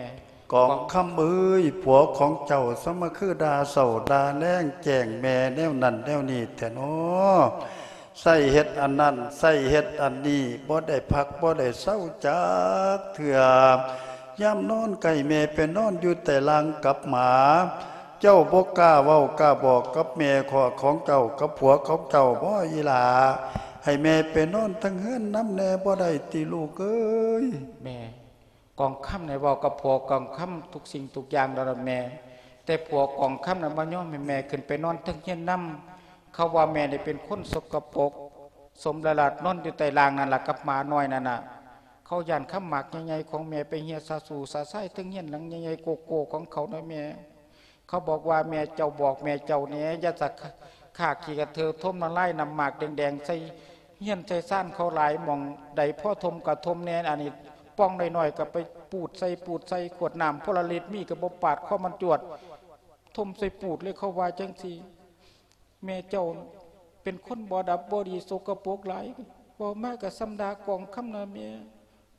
ກອງຄຳເອີຍ ຜົວຂອງເຈົ້າສະມາຄືດ່າເຊົ້າດ່າແລງ ແຈ້ງແມ່ແນວນັ້ນແນວນີ້ແທ້ນໍ ໃຊ້ເຮັດອັນນັ້ນ ໃຊ້ເຮັດອັນນີ້ ບໍ່ໄດ້ພັກບໍ່ໄດ້ເຊົາຈັກເທື່ອ ຍາມນອນໃກ້ແມ່ໄປນອນຢູ່ໃຕ້ລ່າງກັບໝາ ເຈົ້າບໍ່ກ້າເວົ້າກ້າບອກກັບແມ່ຂອງເຈົ້າ ກັບຜົວຂອງເຈົ້າບໍອີ່ຫຼ້າ ໃຫ້ແມ່ໄປນອນເທິງເຮືອນນຳແດ່ບໍ່ໄດ້ຕິລູກເອີຍ ແມ່ ກອງຄຳນີ້ເວົ້າກັບຜົວກອງຄຳທຸກສິ່ງທຸກຢ່າງແລ້ວລະແມ່ ແຕ່ຜົວກອງຄຳນັ້ນບໍ່ຍອມໃຫ້ແມ່ຂຶ້ນໄປນອນເທິງເຮືອນນຳ ເຂົາວ່າແມ່ນີ້ເປັນຄົນສົກກະປົກ ສົມລະລາດນອນຢູ່ໃຕ້ລ່າງນັ້ນລະກັບໝານ້ອຍນັ້ນນະ ເຂົາຢ້ານຄຳໝາກໃຫຍ່ໆຂອງແມ່ໄປເຮຍສະຊູສະຊາຍເທິງເຮືອນຫຼັງໃຫຍ່ໆໂກໂກ້ຂອງເຂົານະແມ່ ເຂົາບອກວ່າແມ່ເຈົ້າບອກແມ່ເຈົ້າແດ່ ຢ່າສະຂ້າຂີ້ກະເທີຖົມນ້ຳລາຍນ້ຳໝາກແດງໆໃສ່ ເຮືອນໃສ່ຊານເຂົາຫຼາຍ ໝ່ອງໃດພໍຖົມກະຖົມແດ່ ອັນນີ້ປ່ອງນ້ອຍໆກະໄປປູດໃສ່ປູດໃສ່ ຂວດນ້ຳໂພລາລິດມີກະບໍ່ປາດຄໍມັນຈວດ ຖົມໃສ່ປູດເລີຍ ເຂົາວ່າຈັ່ງຊີ້ ແມ່ເຈົ້າເປັນຄົນບໍ່ດັບບໍ່ດີ ສົກກະປົກຫຼາຍ ເວົ້າມາກະສ່ຳດ່າກອງຄຳນະແມ່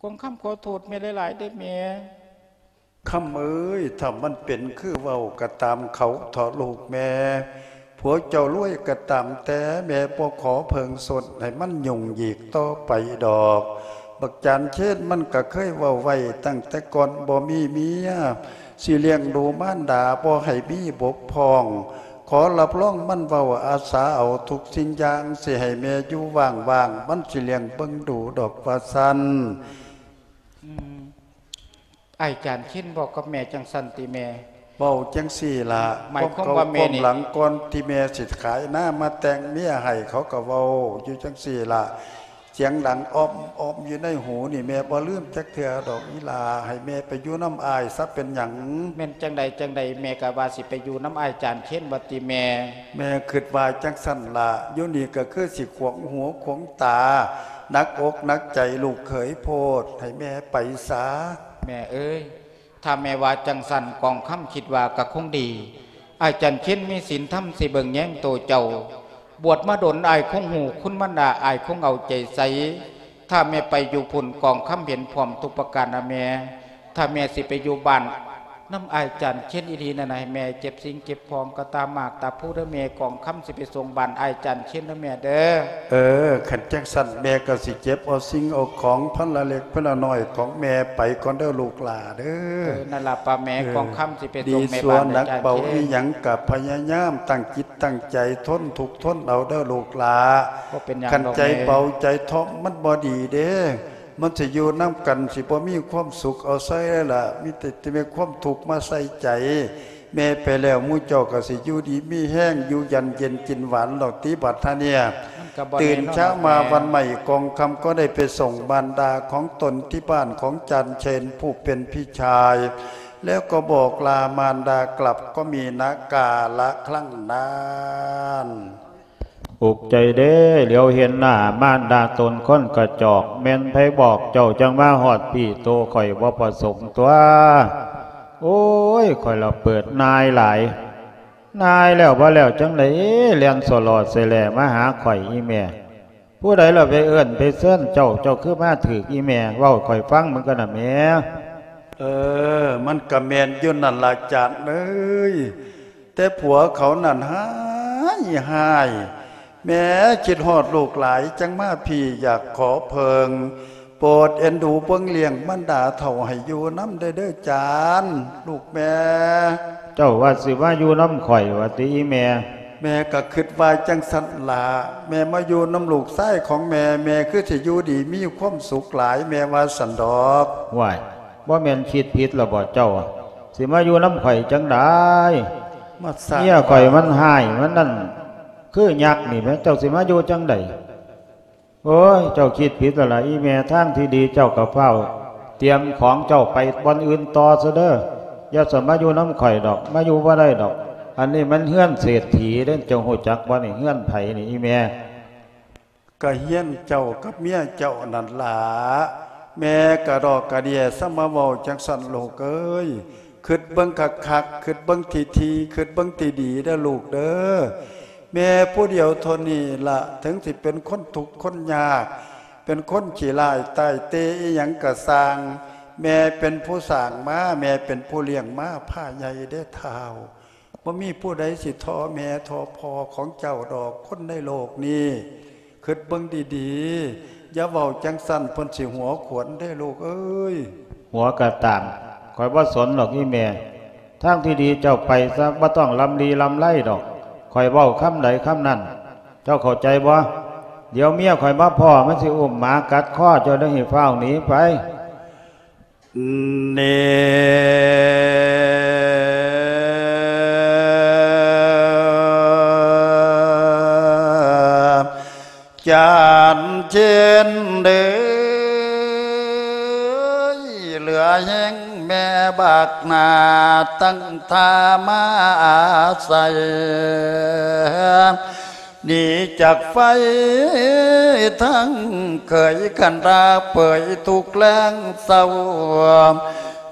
ກອງຄຳຂໍໂທດແມ່ຫຼາຍໆເດີ້ແມ່. ຄຳເອີຍ ຖ້າມັນເປັນຄືເວົ້າກະຕາມເຂົາເຖາະລູກແມ່ ຜົວເຈົ້າລວຍກະຕາມແຕ່ ແມ່ບໍ່ຂໍເພິ່ງສົນໃຫ້ມັນຫຍຸ້ງຫຍິກຕໍ່ໄປດອກ ບັກຈານເຄນມັນກະເຄີຍເວົ້າໄວ້ຕັ້ງແຕ່ກ່ອນບໍ່ມີເມຍ ຊິລ້ຽງດູມານດາບໍ່ໃຫ້ມີບົກຜ່ອງ ຂໍຮັບຮອງມັນເວົ້າອາສາເອົາທຸກສິ່ງຢ່າງ ຊິໃຫ້ແມ່ຢູ່ຫວ່າງໆ ມັນຊິລ້ຽງເບິ່ງດູດອກວ່າຊັ້ນ. ອືມ ອ້າຍຈານເຄນເວົ້າກັບແມ່ຈັ່ງຊັ້ນຕິແມ່? ເວົ້າຈັ່ງຊີ້ລະ ໝາຍຄວາມວ່າແມ່ນີ້ ຄວາມເກົ່າຄວາມຫຼັງກ່ອນທີ່ແມ່ຊິຂາຍນາມາແຕ່ງເມຍໃຫ້ ເຂົາກະເວົ້າຢູ່ຈັ່ງຊີ້ລະ ສຽງດັງອອມໆຢູ່ໃນຫູນີ້ ແມ່ບໍ່ລືມຈັກເທື່ອດອກອີ່ຫຼ້າ ໃຫ້ແມ່ໄປຢູ່ນຳອ້າຍຊະ ເປັນຫຍັງ? ແມ່ນຈັ່ງໃດຈັ່ງໃດ ແມ່ກະວ່າຊິໄປຢູ່ນຳອ້າຍຈານເຄນວ່າຕິແມ່? ແມ່ຄຶດວ່າຈັ່ງຊັ້ນລະ ຢູ່ນີ້ກະຄືຊິຂວາງຫູຂວາງຕາ ໜັກອົກໜັກໃຈລູກເຂີຍໂພດ ໃຫ້ແມ່ໄປສາ. ແມ່ເອີຍ ຖ້າແມ່ວ່າຈັ່ງຊັ້ນ ກອງຄຳຄິດວ່າກະຄົງດີ ອ້າຍຈັນເຄນມີສິນທຳຊິເບິ່ງແຍງໂຕເຈົ້າ ບວດມາດົນອ້າຍຄົງຮູ້ຄຸນມັນດາ ອ້າຍຄົງເອົາໃຈໃສ່ ຖ້າແມ່ໄປຢູ່ພຸ້ນ ກອງຄຳເຫັນພ້ອມທຸກປະການນະແມ່ ຖ້າແມ່ຊິໄປຢູ່ບ້ານ ນຳອ້າຍຈັນເຄນອີ່ຫຼີນັ້ນ ໃຫ້ແມ່ເກັບສິ່ງເກັບຂອງກະຕາໝາກຕາພູເດີ້ແມ່ ກອງຄຳຊິໄປສົ່ງບ້ານອ້າຍຈັນເຄນເດີ້ແມ່ເດີ້. ເອີ ຄັນຈັ່ງຊັ້ນແມ່ກະຊິເກັບເອົາສິ່ງເອົາຂອງພັນລະເລັກພັນລະນ້ອຍຂອງແມ່ໄປກ່ອນເດີ້ລູກຫຼ້າເດີ້. ເອີ ນັ້ນລະປ້າແມ່ ເອີ ກອງຄຳຊິໄປສົ່ງແມ່ບ້ານເດີ້ ດີຊົ່ວໜັກເບົາອີ່ຫຍັງກະພະຍາຍາມຕັ້ງຈິດຕັ້ງໃຈທົນທຸກທົນເອົາເດີ້ລູກຫຼ້າ. ບໍ່ເປັນຫຍັງດອກແມ່ ຄັນໃຈເບົາໃຈທ້ອງມັນບໍ່ດີເດ້ ມັນຊິຢູ່ນຳກັນຊິບໍ່ມີຄວາມສຸກເອົາໃສລະ ມີແຕ່ຊິມີຄວາມທຸກມາໃສ່ໃຈ. ແມ່ໄປແລ້ວ ໝູ່ເຈົ້າກໍຊິຢູ່ດີມີແຮງ ຢູ່ຢັນເຢັນກິນຫວານດອກຕິບັດທະເນຍ. ຕື່ນເຊົ້າມາວັນໃໝ່ ກອງຄຳກໍໄດ້ໄປສົ່ງມານດາຂອງຕົນທີ່ບ້ານຂອງຈານເຊນຜູ້ເປັນພີ່ຊາຍ ແລ້ວກໍບອກລາມານດາກັບ ກໍມີນາກາລະຄັ້ງນັ້ນ. ອຸກໃຈເດ້ ຫຼຽວເຫັນໜ້າມານດາຕົນຄົນກະຈອກ ແມ່ນໃຜບອກເຈົ້າຈັ່ງມາຮອດພີ້ ໂຕຂ້ອຍບໍ່ປະສົງຕົວະ. ໂອ້ຍ ຂ້ອຍລະເປີດນາຍຫຼາຍ ນາຍແລ້ວບໍ່ແລ້ວຈັ່ງໃດ ແລ່ນສໍ່ລໍ່ແຊແລ່ມາຫາຂ້ອຍອີ່ແມ່. ຜູ້ໃດລະໄປເອີ້ນໄປເຊີນເຈົ້າ ເຈົ້າຄືມາຖືກອີ່ແມ່ ເວົ້າໃຫ້ຂ້ອຍຟັງເບິ່ງກ່ອນນະແມ່. ເອີ ມັນກະແມ່ນຢູ່ນັ້ນລະຈານເອີຍ ແຕ່ຜົວເຂົານັ້ນຮ້າຍຮ້າຍ ແມ່ຄິດຮອດລູກຫຼາຍ ຈັ່ງມາພີ້ຢາກຂໍເພິ່ງ ໂປດເອັນດູເບິ່ງລ້ຽງມັນດາເຖົ້າໃຫ້ຢູ່ນຳແດ່ເດີ້ຈານ ລູກແມ່. ເຈົ້າວ່າຊິມາຢູ່ນຳຂ້ອຍວ່າຕິອີ່ແມ່? ແມ່ກະຄຶດວ່າຈັ່ງຊັ້ນລະ ແມ່ມາຢູ່ນຳລູກຊາຍຂອງແມ່ ແມ່ຄືຊິຢູ່ດີມີຄວາມສຸກຫຼາຍ ແມ່ວ່າຊັ້ນດອກ. ຫ້ວຍ ບໍ່ແມ່ນຄິດຜິດລະບໍເຈົ້າ ຊິມາຢູ່ນຳຂ້ອຍຈັ່ງໃດ? ມາສ້າງ ເມຍຂ້ອຍມັນຮ້າຍ ມັນນັ້ນຄືຍັກນີ້ແໝ່ ເຈົ້າຊິມາຢູ່ຈັ່ງໃດ? ໂອ້ຍ ເຈົ້າຄິດຜິດແລ້ວລະອີ່ແມ່ ທາງທີ່ດີເຈົ້າກໍຟ້າວຕຽມຂອງເຈົ້າໄປບ່ອນອື່ນຕໍ່ຊະເດີ້ ຢ່າສະມາຢູ່ນຳຂ້ອຍດອກ ມາຢູ່ບໍ່ໄດ້ດອກ. ອັນນີ້ມັນເຮືອນເສດຖີເດ້ ເຈົ້າຮູ້ຈັກບໍ່ນີ້ ເຮືອນໃຜນີ້ອີ່ແມ່? ກະເຮືອນເຈົ້າກັບເມຍເຈົ້ານັ້ນລະ ແມ່ກະດອກກະເດຍ ສະມາເວົ້າຈັ່ງຊັ້ນລູກເອີຍ. ຄຶດເບິ່ງຄັກໆ ຄຶດເບິ່ງຖີ່ໆ ຄຶດເບິ່ງດີໆເດີ້ລູກເດີ້. ແມ່ຜູ້ດຽວເທົ່ານີ້ລະ ເຖິງຊິເປັນຄົນທຸກຄົນຍາກ ເປັນຄົນຂີ້ຮ້າຍຕາຍເຕອີ່ຫຍັງກະຊ່າງ ແມ່ເປັນຜູ້ສ້າງມາ ແມ່ເປັນຜູ້ລ້ຽງມາ ພາໃຫຍ່ເດ້ທ້າວ. ບໍ່ມີຜູ້ໃດຊິທໍ່ແມ່ທໍ່ພໍ່ຂອງເຈົ້າດອກ ຄົນໃນໂລກນີ້. ຄິດເບິ່ງດີໆ ຢ່າເວົ້າຈັ່ງຊັ້ນ ເພິ່ນຊິຫົວຂວັນເດ້ລູກເອີຍ. ຫົວກະຕາມ ຂ້ອຍບໍ່ສົນດອກອີ່ແມ່. ທາງທີ່ດີເຈົ້າໄປຊະ ບໍ່ຕ້ອງລ່ຳລີລ່ຳໄລດອກ. ຂ້ອຍເວົ້າຄຳໃດຄຳນັ້ນ ເຈົ້າເຂົ້າໃຈບໍ່? ດຽວເມຍຂ້ອຍມາພໍ້ ມັນຊິອຸ້ມໝາກັດຄໍເຈົ້າເດີ ໃຫ້ຟ້າວໜີໄປ. ນີ້ ຈັນເຈນເດີ ເຫຼືອແຮງແມ່ບາກໜ້າ ຕັ້ງທ່າມາອາໄສ ໜີຈາກໄຟທັງເຄີຍ ຄັນດາເປີຍທຸກແລງເຊົ້າ.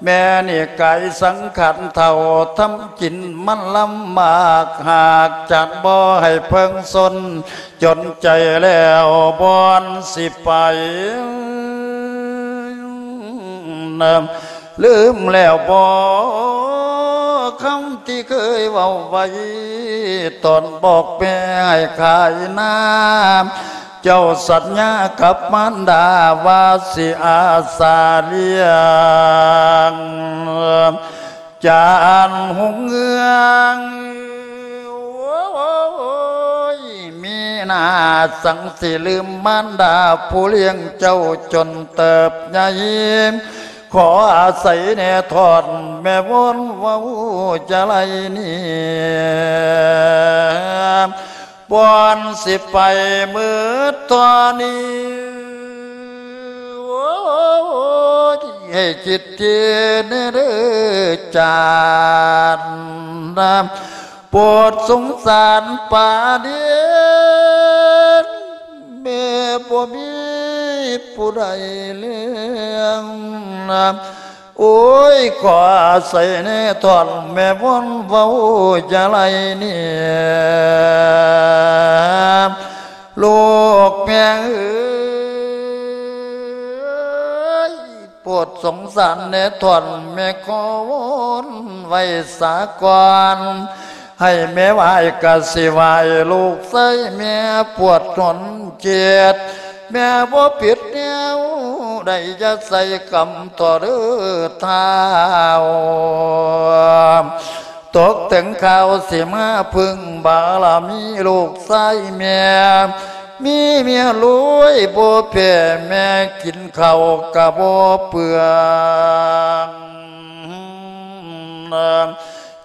ແມ່ນີ້ກາຍສັງຂານເຖົ້າ ທຳກິນມັນລຳບາກ ຫາກຈານບໍ່ໃຫ້ເພິ່ງຊົນ ຈົນໃຈແລ້ວບ່ອນຊິໄປ. ລືມແລ້ວບໍ ຄຳທີ່ເຄີຍເວົ້າໄວ້ ຕອນບອກແມ່ໃຫ້ຂາຍນາ? ເຈົ້າສັນຍາກັບມານດາວ່າຊິອາສາລ້ຽງ ຈານຮຸ່ງເຮືອງ. ໂອ້ຍ ມີໜ້າສັງຊິລືມມານດາຜູ້ລ້ຽງເຈົ້າຈົນເຕີບໃຫຍ່. ຂໍອາໄສແນ່ທອດແມ່ວອນເວົ້າຈະໄລນີ້ ບ່ອນຊິໄປໝົດຕອນນີ້ ໂອ້ຍ ໃຫ້ຄິດເທແນ່ເດີຈານ ໂປດສົງສານປາເດນ ແມ່ບໍ່ມີຜູ້ໃດລ້ຽງ. ໂອ້ຍ ຂໍອາໄສແນ່ທ່ອນແມ່ວອນເວົ້າຈະໄລນີ້ ລູກແມ່ເອີຍ ໂປດສົງສານແນ່ທ່ອນແມ່ຂໍວອນໄວ້ສາກ່ອນ ໃຫ້ແມ່ໄຫວ້ກະຊິໄຫວ້ລູກຊາຍແມ່ປວດທົນເຈັບ ແມ່ບໍ່ຜິດແນວໃດ ຢ່າໃສ່ກຳຕໍ່ເດີທ້າວ ຕົກເຖິງຄາວຊິມາເພິ່ງບາລະມີລູກຊາຍແມ່ ມີເມຍລວຍບໍ່ແພ້ແມ່ ກິນເຂົ້າກະບໍ່ເປືອງ.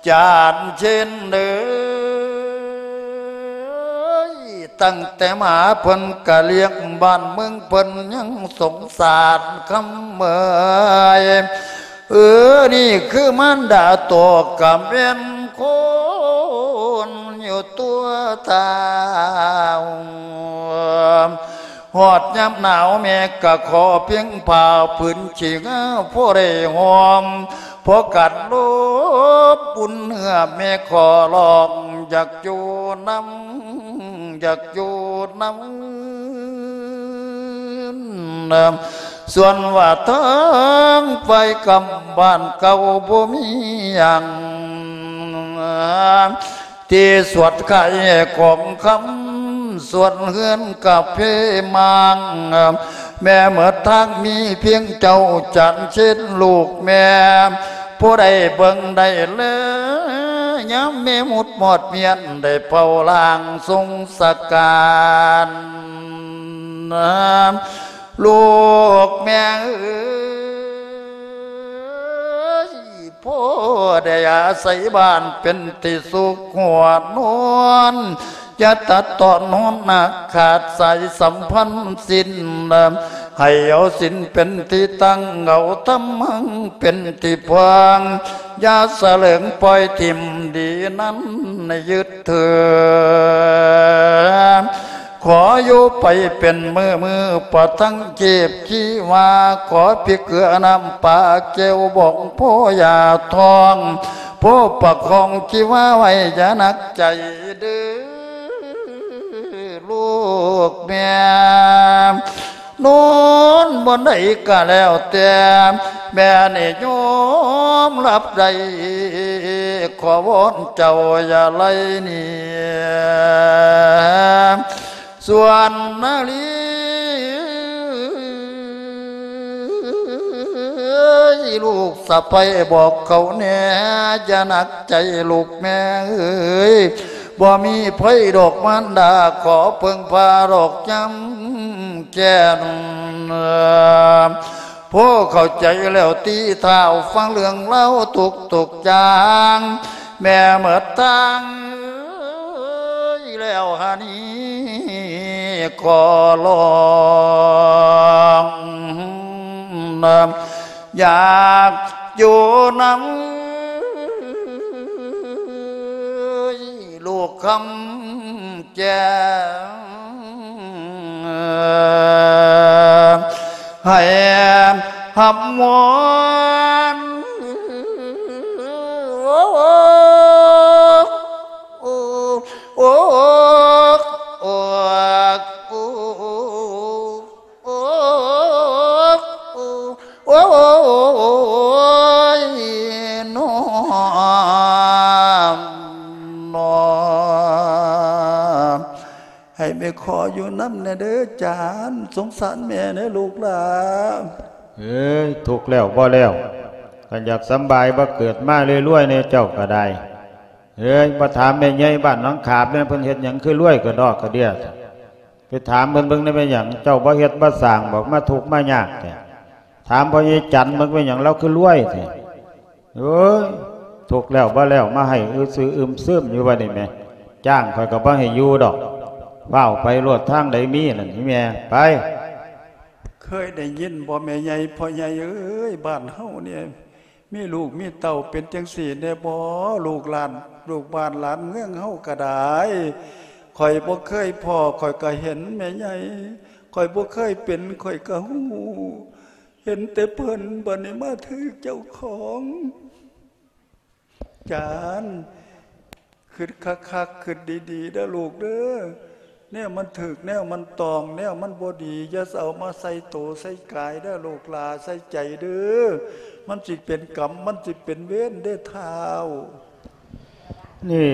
ຈານເຊນເອີຍ ຕັ້ງແຕ່ມາເພິ່ນກະລ້ຽງບ້ານເມືອງເພິ່ນຍັງສົງສານຄຳເມີຍ ເອີ ນີ້ຄືມານດາໂຕກະແມ່ນຄົນຢູ່ຕົວທ້າວ ຮອດຍາມໜາວແມ່ກະຂໍພຽງຜ້າຜືນຂີ້ງາ ພໍໄດ້ຫອມ ພໍກັນລົບອຸ່ນເນື້ອ ແມ່ຂໍຮ້ອງຢາກຢູ່ນຳ ຢາກຢູ່ນຳ ສ່ວນວ່າທາງໄປກຳບ້ານເກົ່າບໍ່ມີຫຍັງ ທີ່ສວດຂາຍຂອງຄຳ ສ່ວນເຮືອນກາເຟມັງ ແມ່ເໝິດທາງມີພຽງເຈົ້າ ຈານເຊນລູກແມ່ ຜູ້ໃດເບິ່ງໄດ້ແລ ຍາມແມ່ໝຸດມອດມຽນ ໄດ້ເຝົ້າລ້າງສົງສະການ ລູກແມ່ເອີຍ ພໍໄດ້ອາໄສບ້ານເປັນທີ່ສຸກຫົວນອນ ຢ່າຕັດຕອນຫອນໜັກຂາດສາຍສຳພັນສິ້ນ ໃຫ້ເອົາສິນເປັນທີ່ຕັ້ງ ເອົາທຳມັງເປັນທີ່ພາງ ຢ່າສະເຫຼີງປ່ອຍຖິ້ມດີນັ້ນໃນຍຶດຖື ຂໍຢູ່ໄປເປັນມື້ໆ ປະທັງເຈັບທີ່ວ່າ ຂໍພິເກືອນ້ຳປາແກ້ວບອງພໍ່ຢ່າທ້ອງ ພໍ່ປະຄອງທີ່ວ່າໄວ້ຢ່າໜັກໃຈເດີ ລູກແມ່ ນອນບ່ອນໃດກະແລ້ວແຕ່ ແມ່ນີ້ຍອມຮັບໄດ້ ຂໍວອນເຈົ້າຢ່າໄລ່ໜີ ສ່ວນນາລີ ເອີຍ ລູກສະໃພ້ບອກເຂົາແດ່ ຢ່າໜັກໃຈລູກແມ່ເອີຍ ບໍ່ມີໃຜດອກມານດາ ຂໍເພິ່ງພາດອກຍາມແກ່ນ. ພໍເຂົ້າໃຈແລ້ວຕິທ້າວ ຟັງເລື່ອງລາວທຸກໆຢ່າງ ແມ່ໝົດທາງເອີຍ ແລ້ວຫານີ້ຂໍລອງ ຢາກຢູ່ນຳລູກຄຳແກ້ວ ໃຫ້ຮັບມວນ ໂອ້ ໂອ້ ໂອ້ ໂອ້ ໂອ້ ໂອ້ ໂອ້ຍ ນ້ອງ ນ້ອງ ໃຫ້ແມ່ຂໍຢູ່ນຳແດ່ເດີຈານ ສົງສານແມ່ເດີລູກຫຼ້າ. ເອີຍ ທຸກແລ້ວບໍ່ແລ້ວ ຄັນຢາກສຳບາຍບໍ່ເກີດມາລວຍໆແດ່ເຈົ້າກໍໄດ້. ເອີຍ ບໍ່ຖາມແມ່ໃຫຍ່ບ້ານໜອງຂາບແດ່ ເພິ່ນເຮັດຫຍັງຄືລວຍກະດອກກະເດຍ ໄປຖາມເພິ່ນເບິ່ງໄດ້ ແມ່ນຫຍັງເຈົ້າບໍ່ເຮັດບໍ່ສ້າງບໍ ມາທຸກມາຍາກແທ້. ຖາມພໍ່ໃຫຍ່ຈັນເບິ່ງ ເປັນຫຍັງລາວຄືລວຍແທ້. ໂອ້ຍ ທຸກແລ້ວບໍ່ແລ້ວ ມາໄຫ້ອຶຊືອອຶມຊຶມຢູ່ບັດນີ້ແໝ່. ຈ້າງຂ້ອຍກໍບໍ່ໃຫ້ຢູ່ດອກ ຟ້າວໄປໂລດ ທາງໃດມີນັ້ນອີແມ່ ໄປ. ເຄີຍໄດ້ຍິນບໍ່ແມ່ໃຫຍ່ ພໍ່ໃຫຍ່ເອີຍ ບ້ານເຮົານີ້ ມີລູກມີເຕົ້າເປັນຈັ່ງຊີ້ແດ່ບໍ ລູກຫຼານ ລູກບ້ານຫຼານເມືອງເຮົາກໍໄດ້. ຂ້ອຍບໍ່ເຄີຍພໍ້ ຂ້ອຍກໍເຫັນແມ່ໃຫຍ່ ຂ້ອຍບໍ່ເຄີຍເປັນ ຂ້ອຍກໍຮູ້ ເຫັນແຕ່ເພິ່ນ ບັດນີ້ມາຖືກເຈົ້າຂອງ. ຈານ ຄິດຄັກໆ ຄິດດີໆເດີລູກເດີ ແນວມັນຖືກ ແນວມັນຕ້ອງ ແນວມັນບໍ່ດີ ຢ່າເອົາມາໃສ່ໂຕໃສ່ກາຍເດີລູກຫຼ້າ ໃສ່ໃຈເດີ ມັນຊິເປັນກຳ ມັນຊິເປັນເວນເດີທ້າວ. ນີ້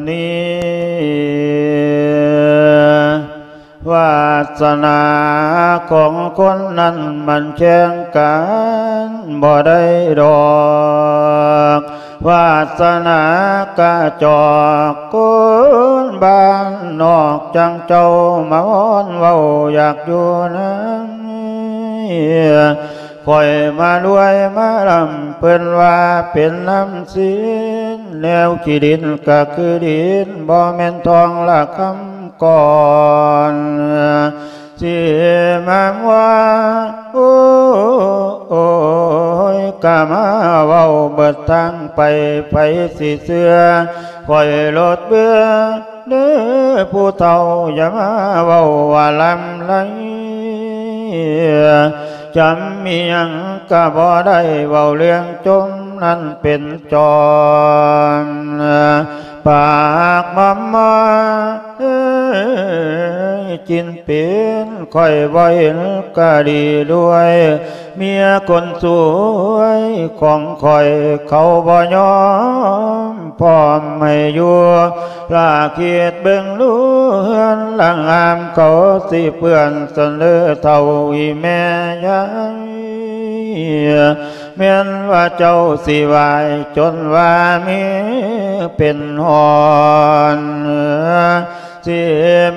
ນີ້ ວາດສະໜາຂອງຄົນນັ້ນມັນແຂ່ງກັນບໍ່ໄດ້ດອກ ວາດສະໜາກະຈອກຄົນບ້ານນອກ ຈັ່ງເຈົ້າມາວອນເວົ້າຢາກຢູ່ນຳ ຂ້ອຍມາລວຍມາລ່ຳ ເພິ່ນວ່າເປັນນ້ຳສິນ ແນວຂີ້ດິນກະຄືດິນ ບໍ່ແມ່ນທອງລະຄຳກ່ອນ ຊິມາວ່າ ໂອ້ ໂອ້ຍ ກະມາເວົ້າເບິດທາງໄປ ໃຜຊິເຊື່ອ ຂ້ອຍໂລດເບື່ອ ເດີຜູ້ເຖົ້າ ຢ່າມາເວົ້າວ່າລຳໄລ ຈຳອີ່ຫຍັງກະບໍ່ໄດ້ ເວົ້າເລື່ອງຈົ່ມນັ້ນເປັນຈອມ ປາກມອມມອຍ ເອີຍ ຈິນເປັນ ຂ້ອຍບໍ່ເຫັນກະດີດ້ວຍ ເມຍຄົນສວຍຂອງຂ້ອຍ ເຂົາບໍ່ຍອມພ້ອມໃຫ້ຢູ່ ລາຄິດເບິ່ງດູເຮືອນລະງາມ ເຂົາຊິເປື້ອນຊັ້ນເດີເຖົ້າອີ່ແມ່ຍາຍ ແມ່ນວ່າເຈົ້າຊິວາຍຈົນວ່າມີເປັນຫອນ ຊິ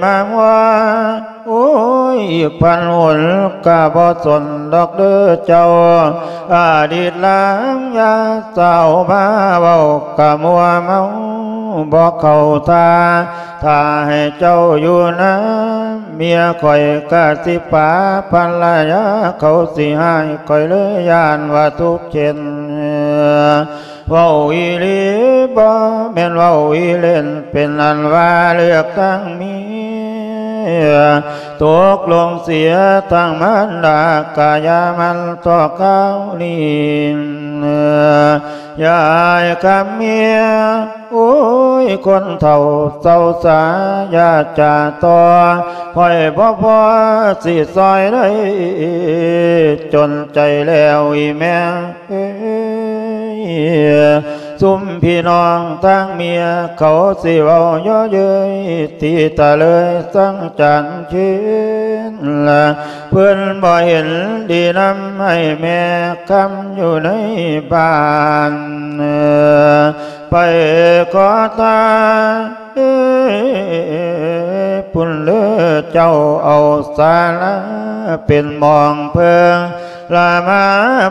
ມາວ່າ ໂອ້ຍ ອີກພັນຫົນກະບໍ່ສົນດອກເດີເຈົ້າ ອະດີດລາງຢ່າເຊົາມາເວົ້າກະມົວເມົາບໍ່ເຂົ້າທ່າ ຖ້າໃຫ້ເຈົ້າຢູ່ນຳເມຍຂ້ອຍກະຊິປາພັນລະຍາ ເຂົາຊິຮ້າຍຂ້ອຍເລີຍ ຢ້ານວ່າທຸກເຂັນ ເວົ້າອີ່ຫຼີບໍ່ແມ່ນເວົ້າອີ່ເລ່ນ ເປັນອັນວ່າເລືອກຕັ້ງເມຍ ຕົກລົງເສຍທັງມານດາ ກະຢ່າມັນຕໍ່ຄາວນີ້ ຍາຍຄຳເມຍ ໂອ້ຍ ຄົນເຖົ້າເຊົາຊາ ຢ່າຈາຕໍ່ ຂ້ອຍບໍ່ພໍຊິຊ່ອຍໄດ້ ຈົນໃຈແລ້ວອີ່ແມ່ເອີຍ ຊຸມພີ່ນ້ອງທາງເມຍ ເຂົາຊິເວົ້າເຍາະເຍີ້ຍ ຕີຕະເລີຍສັງຈານເຄນ ເພິ່ນບໍ່ເຫັນດີນຳໃຫ້ແມ່ຄຳຢູ່ໃນບ້ານ ໄປຂໍທານ ເອີ ພຸ້ນເລີເຈົ້າ ເອົາສາລາເປັນໝ່ອງເພິ່ງ ລະມາ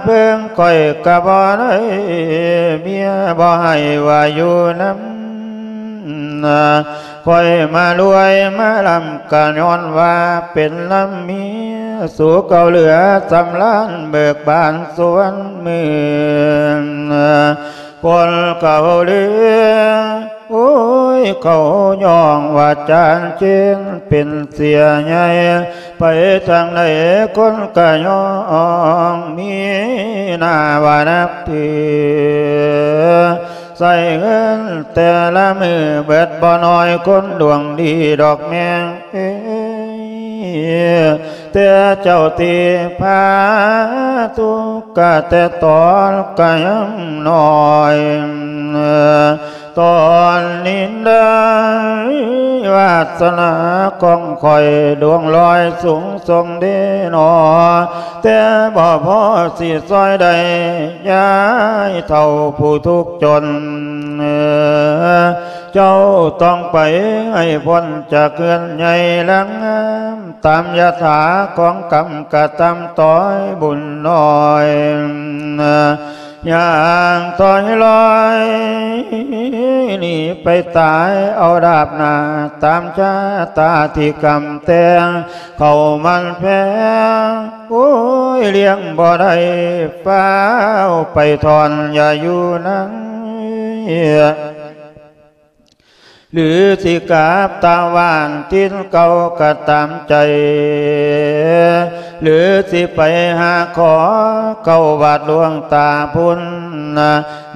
ເພິ່ງຂ້ອຍກະບໍ່ໄດ້ ເມຍບໍ່ໃຫ້ວ່າຢູ່ນຳ ຂ້ອຍມາລວຍມາລຳ ກະຍ້ອນວ່າເປັນລຳເມຍ ສູ່ເກົ່າເຫຼືອສຳລານ ເບີກບານສ່ວນເມືອງ ຄົນເຂົາເຫຼືອ ໂອ້ຍ ເຂົາຍ້ອງວ່າຈານເຄນເປັນເສຍໃຫຍ່ ໄປທາງໃດຄົນກະຍ້ອງ ມີໜ້າວ່ານັບຖື ໃຊ້ເງິນແຕ່ລະມື້ເບິດບໍ່ໜ້ອຍ ຄົນດວງດີດອກແມ່ເອີຍ ແຕ່ເຈົ້າທີ່ພາທຸກກະແຕ່ຕອນກະຍັງນ້ອຍ ຕອນນີ້ໄດ້ວາສະໜາຂອງຂ້ອຍດວງລອຍສູງສົ່ງເດນໍ ແຕ່ບໍ່ພໍຊິຊ່ອຍໄດ້ ຍາຍເຖົ້າຜູ້ທຸກຈົນ ເຈົ້າຕ້ອງໄປໃຫ້ພົ້ນຈາກເຮືອນໃຫຍ່ຫຼັງງາມ ຕາມຍະຖາຂອງກຳກະຕຳຕ້ອຍບຸນນ້ອຍ ຍ່າງຖອຍລອຍໜີໄປຕາຍເອົາດາບໜ້າ ຕາມຊະຕາທີ່ກຳແຕ່ງ ເຂົ້າມັນແພງ ໂອ້ຍ ລ້ຽງບໍ່ໄດ້ ຟ້າວໄປຖອນ ຢ່າຢູ່ນັ້ນ ຫຼືຊິກັບຕາວບ້ານຖິ່ນເກົ່າກໍຕາມໃຈ ຫຼືຊິໄປຫາຂໍເຂົ້າວັດຫຼວງຕາພຸ້ນ